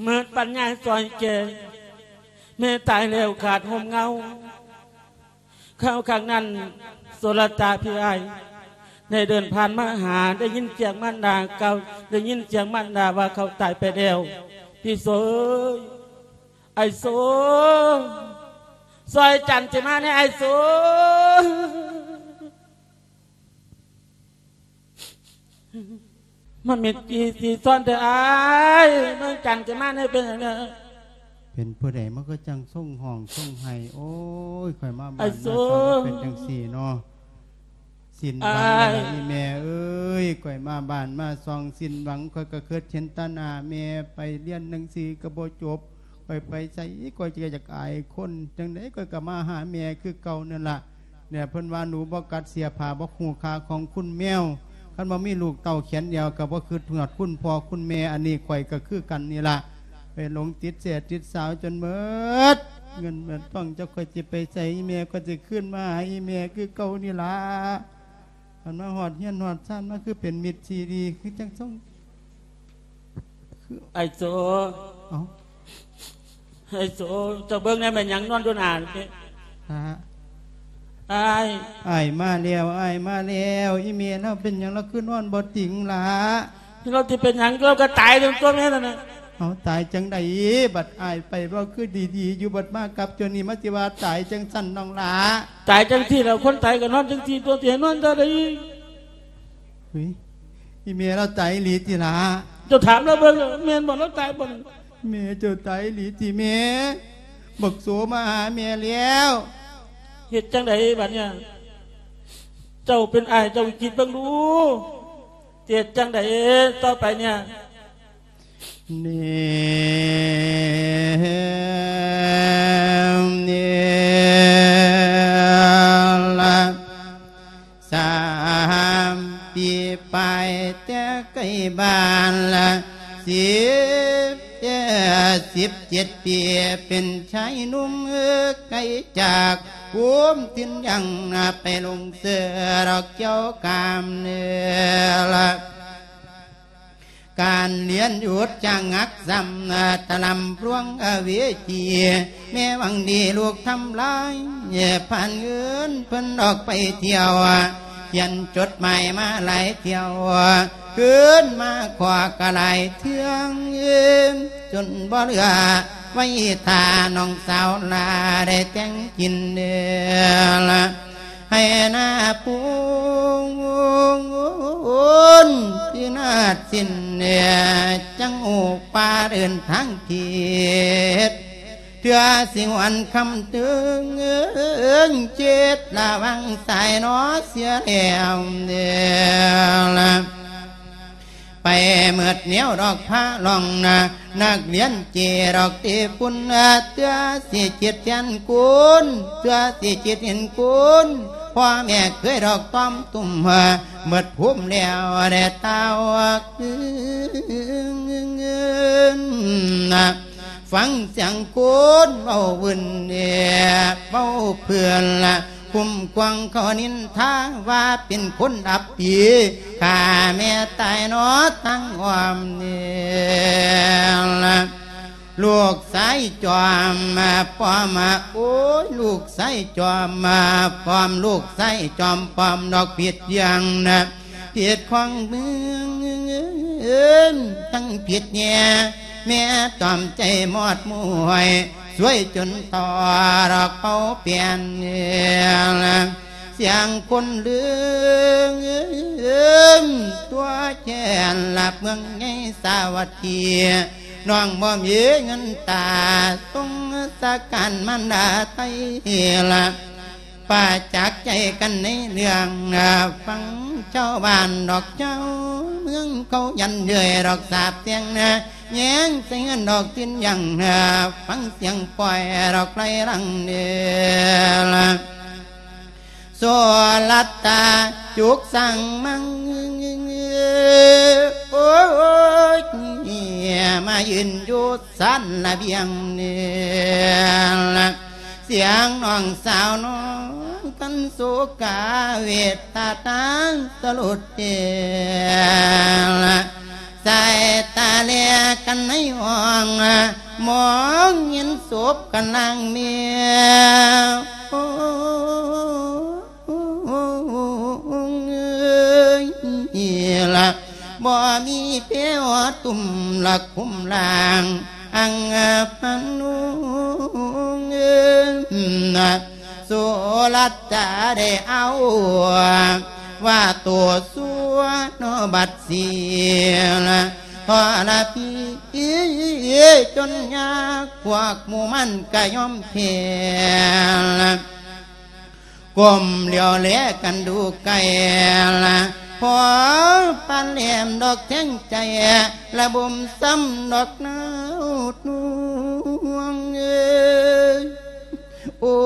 ເໝິດປັນຍາຊ່ອຍແກ່ ແມ່ຕາຍແລ້ວຂາດຮົ່ມເຫງົາ ຄາວຄັ້ງນັ້ນ ໂສລະຕາພີ່ອ້າຍ ໄດ້ເດີນຜ່ານມາຫາ ໄດ້ຍິນສຽງມານດາກ່າວ ໄດ້ຍິນສຽງມານດາວ່າເຂົາຕາຍໄປແລ້ວ ພີ່ໂສເອີຍ ອ້າຍໂສ ຊ່ອຍຈັນທິມາແດ່ອ້າຍໂສ ມາເມັດອີຊີຊອນແທ້ອ້າຍ ເມືອງຈັນທິມາແດ່ ເປັນຫຍັງແດ່? ເປັນຜູ້ໃດມັນກໍຈັ່ງຊົງຮ້ອງຊົງໄຫ້ ໂອ້ຍ ຂ້ອຍມາບ້ານມາຊ່ອງເປັນຈັ່ງຊີ້ເນາະ. ສິ້ນຫວັງແລ້ວລະອີ່ແມ່ເອີຍ ຂ້ອຍມາບ້ານມາຊ່ອງສິ້ນຫວັງ ຂ້ອຍກໍຄິດເຫັນແຕ່ໜ້າແມ່ ໄປຮຽນໜັງສືກໍບໍ່ຈົບ ຂ້ອຍໄປໃສຂ້ອຍກໍຢາກອາຍຄົນ ຈັ່ງໃດຂ້ອຍກໍມາຫາແມ່ຄືເກົ່ານັ້ນລະ. ແນວເພິ່ນວ່າໜູບໍ່ກັດເສຍຜ້າ ບໍ່ຮູ້ຄ່າຂອງຄຸນແມວ ຄັນບໍ່ມີລູກເຕົ້າແຂນດຽວ ກໍບໍ່ຄິດຮອດຄຸນພໍ່ຄຸນແມ່ ອັນນີ້ຂ້ອຍກໍຄືກັນນີ້ລະ ໄປຫຼົງຕິດແຊຕິດສາວຈົນເໝິດເງິນເໝິດທອງ ຈັກຂ້ອຍຊິໄປໃສ ອີ່ແມ່ຂ້ອຍຊິຄືນມາຫາອີ່ແມ່ຄືເກົ່ານີ້ລະ. ຄັນມາຮອດເຮືອນຮອດຊານມາ ຄືເປັນມິດທີ່ດີ ຄືຈັ່ງສົ່ງ ຄື ອ້າຍໂສ ເອົ້າ ອ້າຍໂສ ເຈົ້າເບິ່ງແດ່ ແມ່ນຫຍັງນອນຢູ່ໜ້ານີ້ ຫາ ອ້າຍ ອ້າຍມາແລ້ວ ອ້າຍມາແລ້ວ. ອີ່ແມ່ລາວເປັນຫຍັງ ລາວຄືນອນບໍ່ຕິງລະ? ລາວຊິເປັນຫຍັງ ລາວກໍຕາຍຕົວແມ່ນັ້ນນະ. ເອົາ ຕາຍຈັ່ງໃດ? ບັດອ້າຍໄປເວົ້າຄືດີໆຢູ່ ບັດມາກັບໂຕນີ້ ມາຊິວ່າຕາຍຈັ່ງຊັ້ນນ້ອງຫຼ້າ. ຕາຍຈັ່ງຊີ້ແຫຼະ ຄົນຕາຍກໍນອນຈັ່ງຊີ້ຕົວະ ຊິໃຫ້ນອນແນວໃດ? ຫຸຍ ອີ່ແມ່ລາວຕາຍອີ່ຫຼີຕິຫຼ້າ? ເຈົ້າຖາມລາວເບິ່ງ ແມ່ນບໍ່ ລາວຕາຍບໍ່? ແມ່ເຈົ້າຕາຍອີ່ຫຼີຕິແມ່? ບັກໂສມາຫາແມ່ແລ້ວ. ເຮັດຈັ່ງໃດບັດນີ້? ເຈົ້າເປັນອ້າຍເຈົ້າຄິດເບິ່ງດູ ຊິເຮັດຈັ່ງໃດຕໍ່ໄປນີ້? ນີ້ ນີ້ລະ ສາມປີປາຍແຕ່ໄກບ້ານລະ ສິບ ສິບເຈັດປີ ເປັນຊາຍໜຸ່ມໄກຈາກພູມຖິ່ນຍັງ ໄປຫຼົງເຊື່ອດອກແກ້ວກາມເນີລະ. ກ ການລຽນຢຸດຈະງັກຊ້ຳ ຕະລຳລວງອະເວຈີ ແມ່ຫວັງດີລູກທຳລາຍ ຜ່ານເງິນເພິ່ນອອກໄປທ່ຽວ ຂຽນຈົດໝາຍມາຫຼາຍທ່ຽວ ຄືນມາຂໍກະຫຼາຍເທື່ອ ຈົນບໍ່ເຫຼືອໄວ້ຖ້ານ້ອງສາວຫຼ້າໄດ້ແຕ່ງກິນເດີລະ ໃຫ້ໜ້າປູນພິນາດສິ້ນ ຈັ່ງອອກປ່າເດີນທາງທິດ ເທື່ອຊິຫວນຄ່ຳເຖິງເຈັດ ລະວັງສາຍໜໍເສຍແລ້ວເດີລະ ໄປເໝິດແນວດອກພາລອງນະ ນັກລຽນເຈດອກເຕປຸນ ເທື່ອຊິຈິດແທນກຸນ ເທື່ອຊິຈິດເຫັນຄຸນ ພໍ່ແມ່ເຄີຍດອກຕ້ອມຕຸ້ມ ເໝິດພູມແລ້ວແດ່ຕາວກຶນ ຟັງສຽງຄົນເວົ້າວືນແອບເວົ້າເພື່ອນລະ ຄຸ້ມຄວາງເຂົານິນທາວ່າເປັນຄົນອັບປີ ຂ້າແມ່ຕາຍເນາະທັງອ້ອມນີ້ລະ ລູກຊາຍຈອມປ້ອມ ໂອ້ຍ ລູກຊາຍຈອມປ້ອມ ລູກຊາຍຈອມປ້ອມ ດອກຜິດຢ່າງນະ ເຂດຂອງເມືອງ ທັງຜິດແຍ່ ແມ່ຕອມໃຈມອດມວຍ ຊ່ວຍຈົນຕໍ່ດອກເປົ່າປ່ຽນ ສຽງຄົນລືມ ຕົວແທນລາບເມືອງໃຫຍ່ສາວັດຖີ ນ້ອງບໍ່ມີເງິນຕາ ສົງສາການມານດາໄທລະ ປະຈັກໃຈກັນໃນເລື່ອງ ຟັງຊາວບ້ານດອກຊາວເມືອງ ເຂົາຢັນເຍີ້ຍດອກສາບແຊ່ງນະ ແຍງໃສ່ເງິນດອກຕິນຍັງ ຟັງສຽງປ່ອຍດອກໄຫຼຫຼັງເດີລະ ໂສລັດຕາຈຸກສັງມັງ ໂອ້ຍ ມາຢືນຢູ່ ຊານລະບຽງນີ້ລະ ສຽງນ້ອງສາວນ້ອງກັນໂສກາເວດຕາຕາສະຫຼຸດເດລະ ສາຍຕາແລກັນໃນຫ້ອງ ມອງເຫັນສົບກັນນາງແມວ ໂອ້ ເອີຍລະ ບໍ່ມີແພວຕຸ້ມລະຄຸ້ມລ່າງ ອັງພັນນຸງ ໂສລັດຈະໄດ້ເອົາ ວ່າໂຕຊົ່ວນອບັດສີລະ ທໍລະພີຈົນຍາກ ພວກໝູ່ມັນກະຍອມແພ້ລະ ກົ້ມຫຼຽວແລກັນດູໃກ້ລະ ພໍປານແຫຼມດອກແທງໃຈ ລະບົ່ມຊ້ຳດອກນາວນວງເອີຍ ໂອ້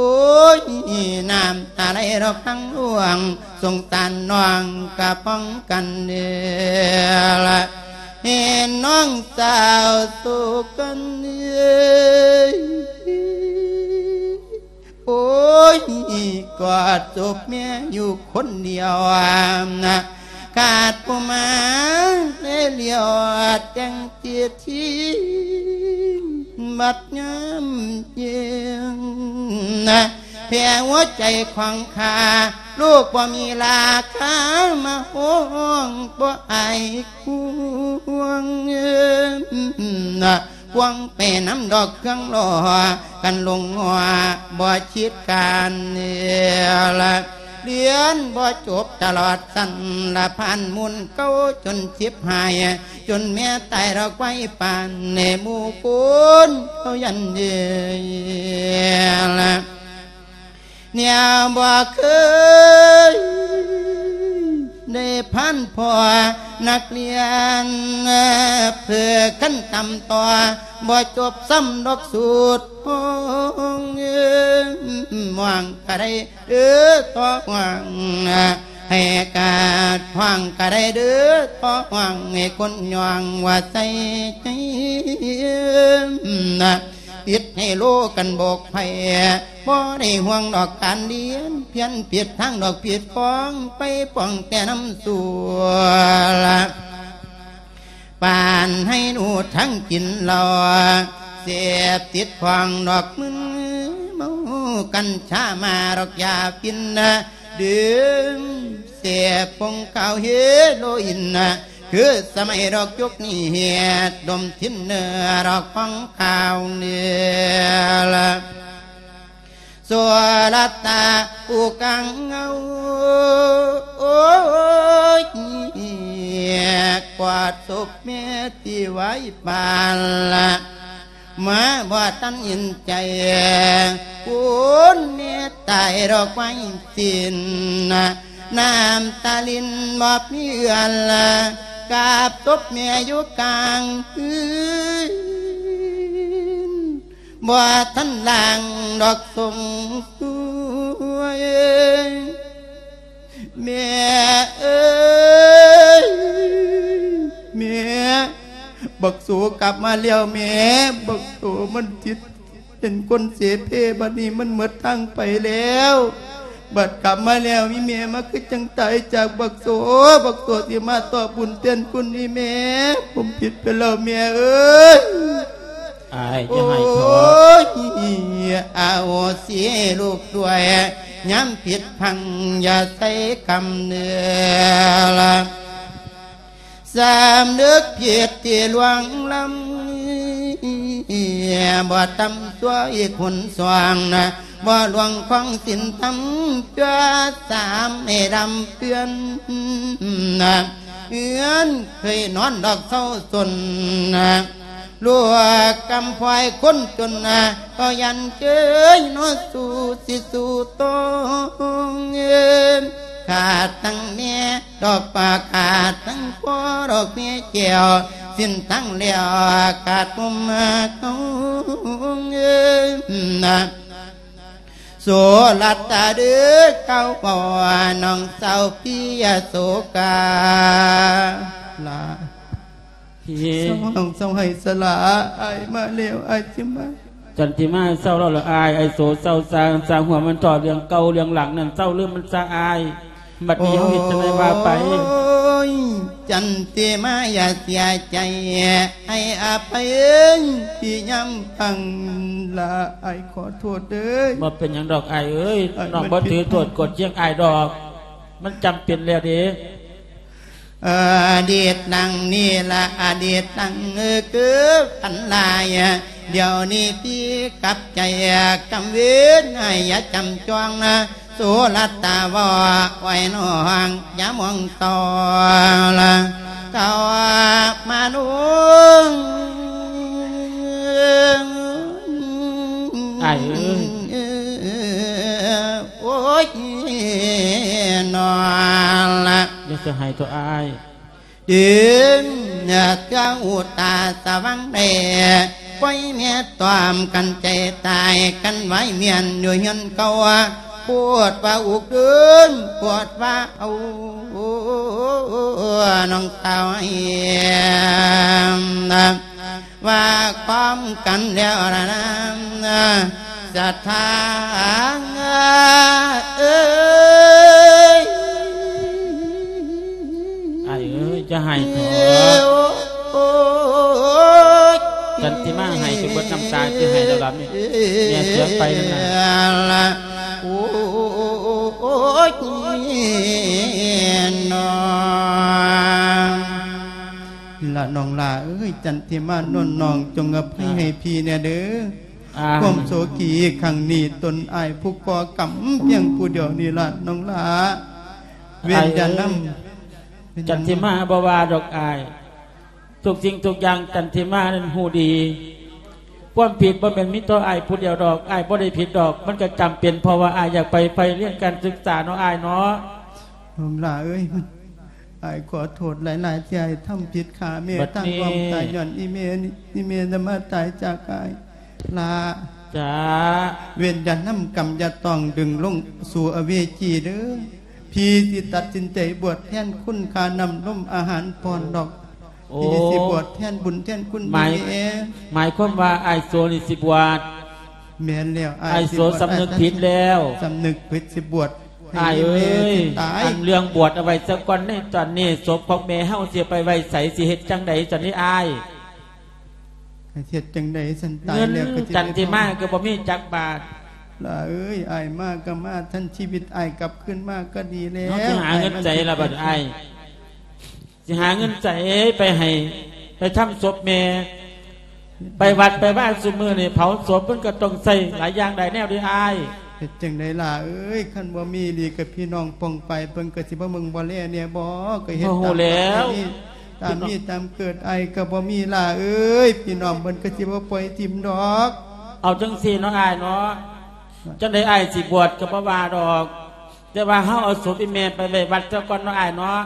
ຍ ນ້ຳຕາໄຫຼດອກທັງດວງ ສົງສານນ້ອງກະປ້ອງກັນເດີລະ ເຫັນນ້ອງສາວໂສກັນເອີຍ ໂອ້ຍ ກອດສົບແມ່ຢູ່ຄົນດຽວນະ ຂາດຜູ້ມາແລຫຼຽວແຕ່ງເຈດທີ ບັດຍາມເຢັນນະ ແຜ່ຫົວໃຈຂອງຂ້າ ລູກບໍ່ມີລາຄາມາຫ້ອງ ບໍ່ອາຍຄວງນະ ພວງໄປນຳດອກເຄື່ອງລໍ້ ກັນລົງງົວບໍ່ຄິດການເນລະ ລຽນບໍ່ຈົບຕະຫຼອດຊັ້ນລະ ຜ່ານມູນເກົ່າຈົນຊິບຫາຍ ຈົນແມ່ຕາຍດອກໄວປານ ໃນໝູ່ຄົນເຂົາຢັນເດລະ ແນວບໍ່ເຄີຍໄດ້ຜ່ານພໍນັກລຽນ ເພື່ອຂັ້ນຕ່ຳຕໍ່ ບໍ່ຈົບຊ້ຳດອກສູດຫ້ອງ ເອີ ຫ້ອງກະໄດ້ເດີຕໍ່ຫ້ອງ ໃຫ້ກາດຫ້ອງກະໄດ້ເດີຕໍ່ຫ້ອງ ໃຫ້ຄົນຍ່ອງວ່າໃສ່ໃຈ ປິດໃຫ້ໂລກັນໂບກໄພ ບໍ່ໄດ້ຫ່ວງດອກການລຽນ ພຽນຜິດທາງດອກຜິດຟອງ ໄປປ້ອງແຕ່ນຳສູ່ລະ ປານໃຫ້ໜູທັງກິນເຫຼົ້າ ເສບຕິດຂອງດອກມຶນເມົາ ກັນຊາມາດອກຢາຝິ່ນ ດື່ມເສບຜົງຂາວເຮໂຣອິນ ຄືສະໄໝດອກຍຸກນີ້ເຮັດດົມທິນເນີດອກຂອງຂາວເໜືອ ໂສລະຕາຜູ້ກາງເງົາ ໂອ້ຍ ກວາດສົບແມ່ທີ່ໄວ້ປານລະ ມາບໍ່ທັນເຫັນໃຈ ຄຸນແມ່ຕາຍດອກໄມ້ສິ້ນ ນ້ຳຕາລິນບໍ່ມີເອື້ອນລະ ກາບສົບແມ່ຢູ່ກາງຄືນ ບໍ່ທັນລ້າງດອກສົງສວຍ ແມ່ເອີຍ ແມ່ ບັກໂສກັບມາແລ້ວແມ່ ບັກໂສມັນຕິດເປັນຄົນເສເພ ບັດນີ້ມັນໝົດທາງໄປແລ້ວ ບັດກັບມາແລ້ວ ອີ່ແມ່ມາຄືຈັ່ງຕາຍຈາກບັກໂສ ບັກໂສຊິມາຕອບບຸນແທນຄຸນອີ່ແມ່ ຜົມຜິດໄປແລ້ວແມ່ເອີຍ. ອ້າຍ ຢ່າໄຫ້ເຖາະ ໂອ້ຍ ອະໂຫສິລູກດ້ວຍ ຍາມຜິດພລັ້ງຢ່າໃສ່ຄຳເໜືອ ສຳນຶກຜິດທີ່ລ່ວງລ້ຳ ບໍ່ຕ່ຳຊົ່ວອີກຫົນສອງນະ ບໍ່ລ່ວງຂອງສິນທຳ ເພື່ອສາມໃຫ້ດຳເຈື່ອນນະ ເຮືອນເຄີຍນອນດອກເຊົາຊົນນະ ລູກກຳພວຍຄົນຈົນນະ ກໍຢ້ານເຈີຍເນາະສູ່ຊິສູ່ໂຕງ ຂາດທັງແມ່ດອກປາ ຂາດທັງພໍ່ດອກແມ່ແກ້ວ ສິ້ນທັງແລ້ວຂາດມຸມເຮົາ ໂສລະຕາເດີ ເຈົ້າພໍ່ນ້ອງສາວພິຍາໂສກາ ຫຼ້າ ພີ່ ເຊົາຮ້ອງເຊົາໄຫ້ສະຫຼ້າ ອ້າຍມາແລ້ວ ອ້າຍຊິມາ ຈັນທິມາ ເຊົາເລົ່າລະອ້າຍ ອ້າຍໂສເຊົາຊາ ຊາຫົວມັນເຖາະ ເລື່ອງເກົ່າເລື່ອງຫຼັງນັ້ນ ເຊົາລືມມັນຊະອ້າຍ ບັດນີ້ເຮົາເຮັດຈັ່ງໃດວ່າໄປ ໂອ້ຍ ຈັນທິມາຢ່າເສຍໃຈ ໃຫ້ອະໄພພີ່ຍາມຟັງ ລະອ້າຍຂໍໂທດເດີ ບໍ່ເປັນຫຍັງດອກອ້າຍເອີຍ ອ້າຍ ນ້ອງບໍ່ຖືໂທດໂກດຄຽງອ້າຍດອກ ມັນຈຳເປັນແລ້ວເດ້. ອະດີດດັ່ງນີ້ລະ ອະດີດດັ່ງຄືຝັນລາຍ ດຽວນີ້ພີ່ກັບໃຈ ກຳເວັນໃຫ້ຢ່າຈຳຈອງນະ ໂສລະຕາເວົ້າໄວ້ນ້ອງ ຢ່າມອງຕໍ່ລະ ເຂົ້າມານຸ່ງ ອ້າຍເອີຍ ໂອ້ຍ ນອນລະ ຢ່າສະໄຫ້ໂຕອ້າຍ ດຶງເຄືອງອຸຕາສະຫວ່າງແດ່ ປ່ອຍແມ່ຕອມກັນໃຈຕາຍ ກັນໄວ້ແມ່ນຢູ່ເຮືອນເກົ່າ ໂພດວ່າອຸກເດີນ ໂພດວ່າເອົາ ນ້ອງສາວໃຫ້ ວ່າພ້ອມກັນແລ້ວລະນາ ສະຖາເອີຍ ອ້າຍເອີຍ ຢ່າໄຫ້ເຖາະ ໂອ້ຍ ຈັນທິມາໄຫ້ຈົນເບິດນ້ຳຕາ ຊິໄຫ້ແລ້ວລະແມ່ ແມ່ເສຍໄປນັ້ນນະ ໂອ້ຍ ນ້ອງ ລະນ້ອງຫຼ້າເອີຍ ຈັນທິມານວນນ້ອງ ຈົ່ງອະໄພໃຫ້ພີ່ແດ່ເດີ ຄວາມໂສກີຄັ້ງນີ້ ຕົນອ້າຍຜູ້ກໍ່ກຳພຽງຜູ້ດຽວນີ້ລະນ້ອງຫຼ້າ ເວນຢ່ານຳ ຈັນທິມາບໍ່ວ່າດອກອ້າຍ ທຸກສິ່ງທຸກຢ່າງຈັນທິມານັ້ນຮູ້ດີ ຄວາມຜິດບໍ່ແມ່ນມີຕໍ່ອ້າຍຜູ້ດຽວດອກ ອ້າຍບໍ່ໄດ້ຜິດດອກ ມັນກະຈຳເປັນ ເພາະວ່າອ້າຍຢາກໄປໄພຮຽນການສຶກສາເນາະອ້າຍເນາະ ນ້ອງຫຼ້າເອີຍ ອ້າຍຂໍໂທດຫຼາຍໆ ທີ່ອ້າຍທຳຜິດຂ້າແມ່ ຕັ້ງຄວາມຕາຍຍ້ອນອີ່ແມ່ນີ້ ອີ່ແມ່ນະມາຕາຍຈາກອ້າຍ ຫຼ້າ ຈ້າ ເວນຢ່ານຳກຳຢ່າຕ້ອງດຶງລົງສູ່ອະເວຈີເດີ ພີ່ຊິຕັດສິນໃຈບວດແທນຄຸນຄ່ານ້ຳນົມອາຫານຜ່ອນດອກ ໂອ້ ພີ່ຊິບວດແທນບຸນແທນຄຸນ ໝາຍ ແມ່ ໝາຍຄວາມວ່າອ້າຍໂສນີ້ຊິບວດ ແມ່ນແລ້ວ ອ້າຍ ອ້າຍໂສ ຊິບວດ ສຳນຶກຜິດແລ້ວ ສຳນຶກຜິດ ຊິບວດໃຫ້ ອ້າຍເອີຍ ຕາຍ ອັນເລື່ອງບວດເອົາໄວ້ຊະກ່ອນໃນຕອນນີ້ ສົບຂອງແມ່ເຮົາຊິໄປໄວ້ໃສ ຊິເຮັດຈັ່ງໃດຊັ້ນນີ້ອ້າຍ? ເຮັດຈັ່ງໃດຊັ້ນ ຕາຍແລ້ວກໍຊິ ເງິນຈັນທິມາກໍບໍ່ມີຈັກບາດ. ຫຼ້າເອີຍ ອ້າຍມາກໍມາ ທັນຊີວິດອ້າຍກັບຄືນມາກໍດີແລ້ວ. ເຮົາຊິຫາເງິນໃສລະບາດອ້າຍ? ຊິຫາເງິນໃສໄປໃຫ້ ໄປທຳສົບແມ່ ໄປວັດໄປວາ ຊຸມື້ນີ້ເຜົາສົບມັນກໍຕ້ອງໃຊ້ຫຼາຍຢ່າງຫຼາຍແນວເດ້ອ້າຍ. ເຮັດຈັ່ງໃດຫຼ້າເອີຍ ຄັນບໍ່ມີນີ້ກໍພີ່ນ້ອງປ້ອງປາຍເພິ່ນກໍຊິບໍ່ເບິ່ງບໍ່ແລແດ່ບໍ ກໍເຮັດຕາມ ຕາມມີຕາມເກີດ ອ້າຍກໍບໍ່ມີຫຼ້າເອີຍ ພີ່ນ້ອງເພິ່ນກໍຊິບໍ່ປ່ອຍຖິ້ມດອກ. ເອົາຈັ່ງຊີ້ເນາະອ້າຍເນາະ ຈັ່ງໃດອ້າຍຊິບວດກໍບໍ່ວ່າດອກ ແຕ່ວ່າເຮົາເອົາສົບອີ່ແມ່ໄປໄວ້ວັດຊະກ່ອນເນາະອ້າຍເນາະ.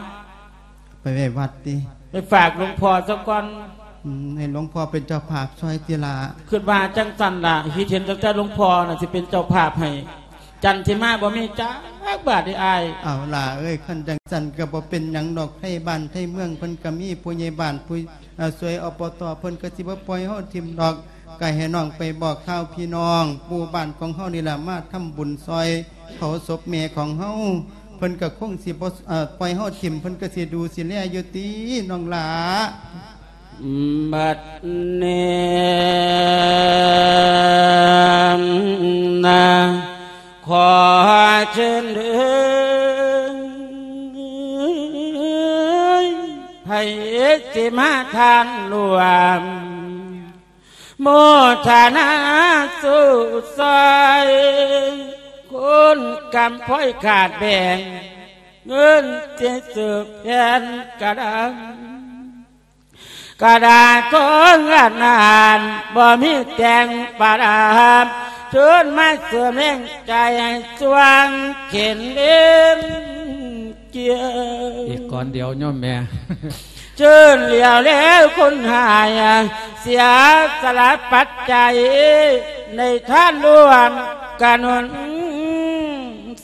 ໄປໄວ້ວັດຕິ? ໄປຝາກຫຼວງພໍ່ຊະກ່ອນ. ອືມ ໃຫ້ຫຼວງພໍ່ເປັນເຈົ້າພາບຊ່ອຍຕິລະ. ຄິດວ່າຈັ່ງຊັ້ນລະ ຄິດເຫັນຕັ້ງແຕ່ຫຼວງພໍ່ນະຊິເປັນເຈົ້າພາບໃຫ້ ຈັນທິມາບໍ່ມີຈັກບາດເດ້ອ້າຍ. ເອົາຫຼ້າເອີຍ ຄັນຈັ່ງຊັ້ນກໍບໍ່ເປັນຫຍັງດອກ ໄທບ້ານໄທເມືອງເພິ່ນກໍມີ ຜູ້ໃຫຍ່ບ້ານ ຜູ້ ເອີ ຊ່ວຍ ອບຕ ເພິ່ນກໍຊິບໍ່ປ່ອຍເຮົາຖິ້ມດອກ. ກໍໃຫ້ນ້ອງໄປບອກຂ່າວພີ່ນ້ອງ ໝູ່ບ້ານຂອງເຮົານີ້ລະ ມາທຳບຸນຊ່ອຍເຜົາສົບແມ່ຂອງເຮົາ ເພິ່ນກໍຄົງຊິບໍ່ ເອີ ປ່ອຍເຮົາຖິ້ມ ເພິ່ນກໍຊິດູຊິແລຢູ່ຕິນ້ອງຫຼ້າ. ບັດນີ້ນະ ຂໍເຊີນເດີ ໃຜຊິມາທານຮ່ວມ ໂມທະນາສູ້ຊ່ອຍ ຄຸນກຳພອຍຂາດແບ່ງ ເງິນຊິສືບແຜ່ນກະດານ ກະດານຂອງອານານ ບໍ່ມີແຕ່ງປະດັບ ເຊີນມາເສີມແຮງໃຈ ໃຫ້ຊ່ວງເຂັນເຫຼັ້ນ ເກຍ ອີກກ່ອນດຽວໂຍມແມ່ ເຊີນຫຼຽວແລຄົນຫາຍ ເສຍສະຫຼະປັດໄຈ ໃນທານຮ່ວມກະໜູນ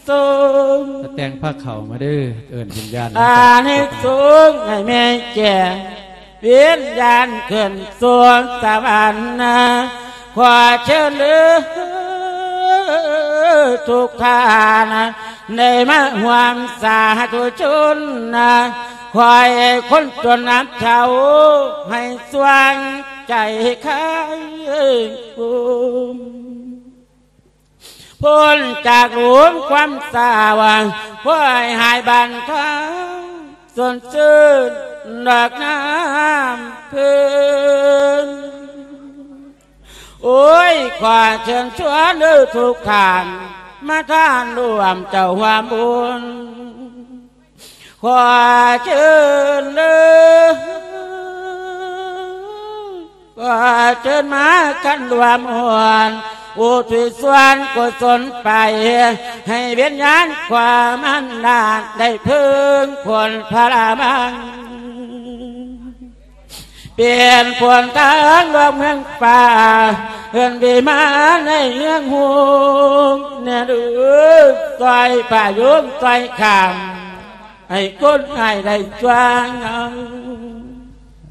ສົ່ງ ແຕ່ງພາເຂົ້າມາເດີ ເອີ້ນວິນຍານ ອານິສົງໃຫ້ແມ່ແກ່ ວິນຍານຂຶ້ນສູ່ສະຫວັນນະ ຂໍເຊີນເດີທຸກທ່ານ ໄດ້ມາຮ່ວມສາທຸຊົນນະ ຂໍໃຫ້ຄົນຈົນອັບເຊົາ ໃຫ້ຊ່ວງໃຈຄາຍໂຮມ ພົ້ນຈາກໂລກຄວາມເສົ້າ ຂໍໃຫ້ຫາຍບານທາງ ສົດຊື່ນດອກນ້ຳເພິ່ນ ໂອ້ຍ ຂໍເຊີນຊວນເດີທຸກທ່ານ ມາທານຮ່ວມເຈົ້າຮ່ວມບຸນ ຂໍເຊີນເດີ ຂໍເຊີນມາກັນຮ່ວມຮ່ວນ ອຸທິດສ່ວນກຸສົນໄປ ໃຫ້ວິນຍານຄວາມອຳນາດ ໄດ້ເພິ່ງພົ້ນພະລະມັງ ປ່ຽນພົ້ນທາງດອກເມືອງຟ້າ ເຮືອນວິມານໃນເມືອງຮຸ່ງ ແນ່ເດີ ຊ່ອຍພະຍຸງ ຊ່ອຍຄ້ຳ ໃຫ້ຄົນໃຫ້ໄດ້ຊ່ວງເອົາ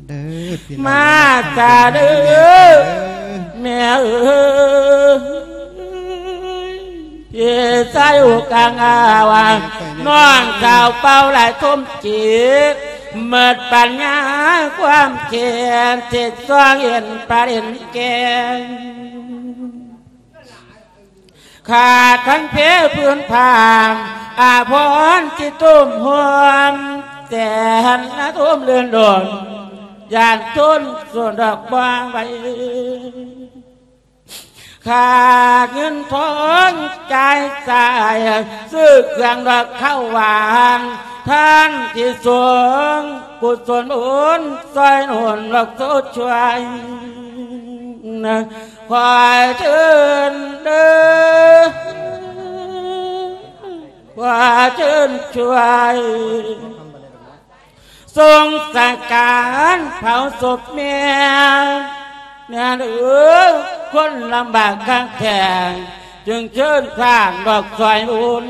ເດີພີ່ນ້ອງ ມາຊາເດີ ເດີ ແມ່ເອີຍ ພີ່ຊາຍອຸກາງອາວາ ນ້ອງສາວເປົ່າຫຼາຍສົມຈິດ ໝົດປັນຍາຄວາມຄິດ ຊິຊ່ອງເຫັນປະເດັນແກ່ງ ຂາດທັງເພພື້ນຜາ ອາພອນຊິຕຸ້ມຮ່ວມ ແສນລະຕຸ້ມເລື່ອນດົນ ຢ້ານຈົນສ່ວນດອກບໍ່ໄຫວ ຂາດເງິນທອງຈ່າຍສາຍ ຊື້ເຄື່ອງດອກເຂົ້າຫວານ ທ່ານທີ່ສົງກຸສົນບຸນ ຊ່ອຍໜູນດອກໂຊດຊ່ວຍ ຂໍເຊີນເດີ ຂໍເຊີນຊ່ວຍ ສົ່ງສັງຂານເຜົາສົບແມ່ ແມ່ເອີຍ ຄົນລຳບາກຄັກແທ້ ຈຶ່ງເຊີນທ່ານດອກຊ່ອຍບຸນ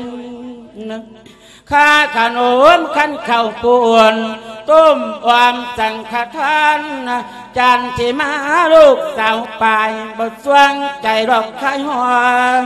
ຄ່າຂະໜົມຄັນເຂົ້າປຸ້ນ ຕົ້ມອອມສັງຄະທານ ຈັນທິມາລູກສາວປາຍ ບໍ່ຊ່ວງໃຈດອກຄາຍຮ້ອນ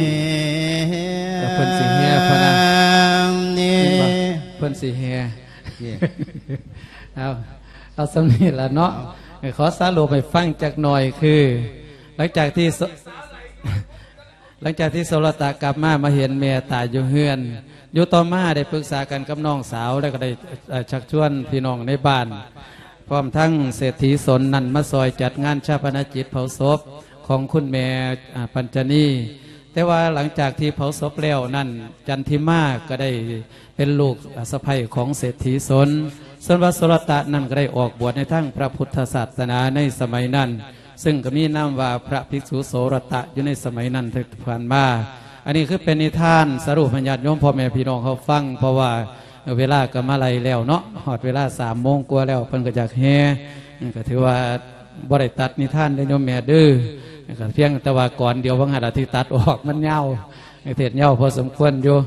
ເອີ ເພິ່ນຊິແຫ່ພະນະ ເຫັນບໍ່? ເພິ່ນຊິແຫ່ ເອີ ເອົາ ເອົາສ່ຳນີ້ລະເນາະ ຂໍສະຫຼຸບໃຫ້ຟັງຈັກໜ່ອຍ ຄື ຫຼັງຈາກທີ່ ສ- ຫຼັງຈາກທີ່ໂສລະຕະກັບມາ ມາເຫັນແມ່ຕາຍຢູ່ເຮືອນ ຢູ່ຕໍ່ມາໄດ້ປຶກສາກັນກັບນ້ອງສາວ ແລ້ວກໍໄດ້ ເອີ ຊັກຊວນພີ່ນ້ອງໃນບ້ານ ພ້ອມທັງເສດຖີສົນນັ້ນມາຊ່ອຍຈັດງານຊາປະນະກິດເຜົາສົບຂອງຄຸນແມ່ ອາ ປັນຈະນີ. ແຕ່ວ່າຫຼັງຈາກທີ່ເຜົາສົບແລ້ວນັ້ນ ຈັນທິມາກໍໄດ້ເປັນລູກ ອາ ສະໃພ້ຂອງເສດຖີສົນ ສ່ວນວ່າໂສລະຕະນັ້ນກໍໄດ້ອອກບວດໃນທາງພະພຸດທະສາສະໜາໃນສະໄໝນັ້ນ ເຊິ່ງກໍມີນາມວ່າພະພິກສຸໂສລະຕະຢູ່ໃນສະໄໝນັ້ນທີ່ຜ່ານມາ. ອັນນີ້ຄືເປັນນິທານສະຫຼຸບໃຫ້ຍາດໂຍມພໍ່ແມ່ພີ່ນ້ອງເຮົາຟັງ ເພາະວ່າເວລາກໍມາໄລ່ແລ້ວເນາະ ຮອດເວລາສາມໂມງກວ່າແລ້ວ ເພິ່ນກໍຢາກແຫ່ ກໍຖືວ່າບໍ່ໄດ້ຕັດນິທານເດີໂຍມແມ່ເດີ ກໍພຽງແຕ່ວ່າກ່ອນດຽວວ່າງຫັ້ນລະທີ່ຕັດອອກ ມັນຍາວ ເທດຍາວພໍສົມຄວນຢູ່.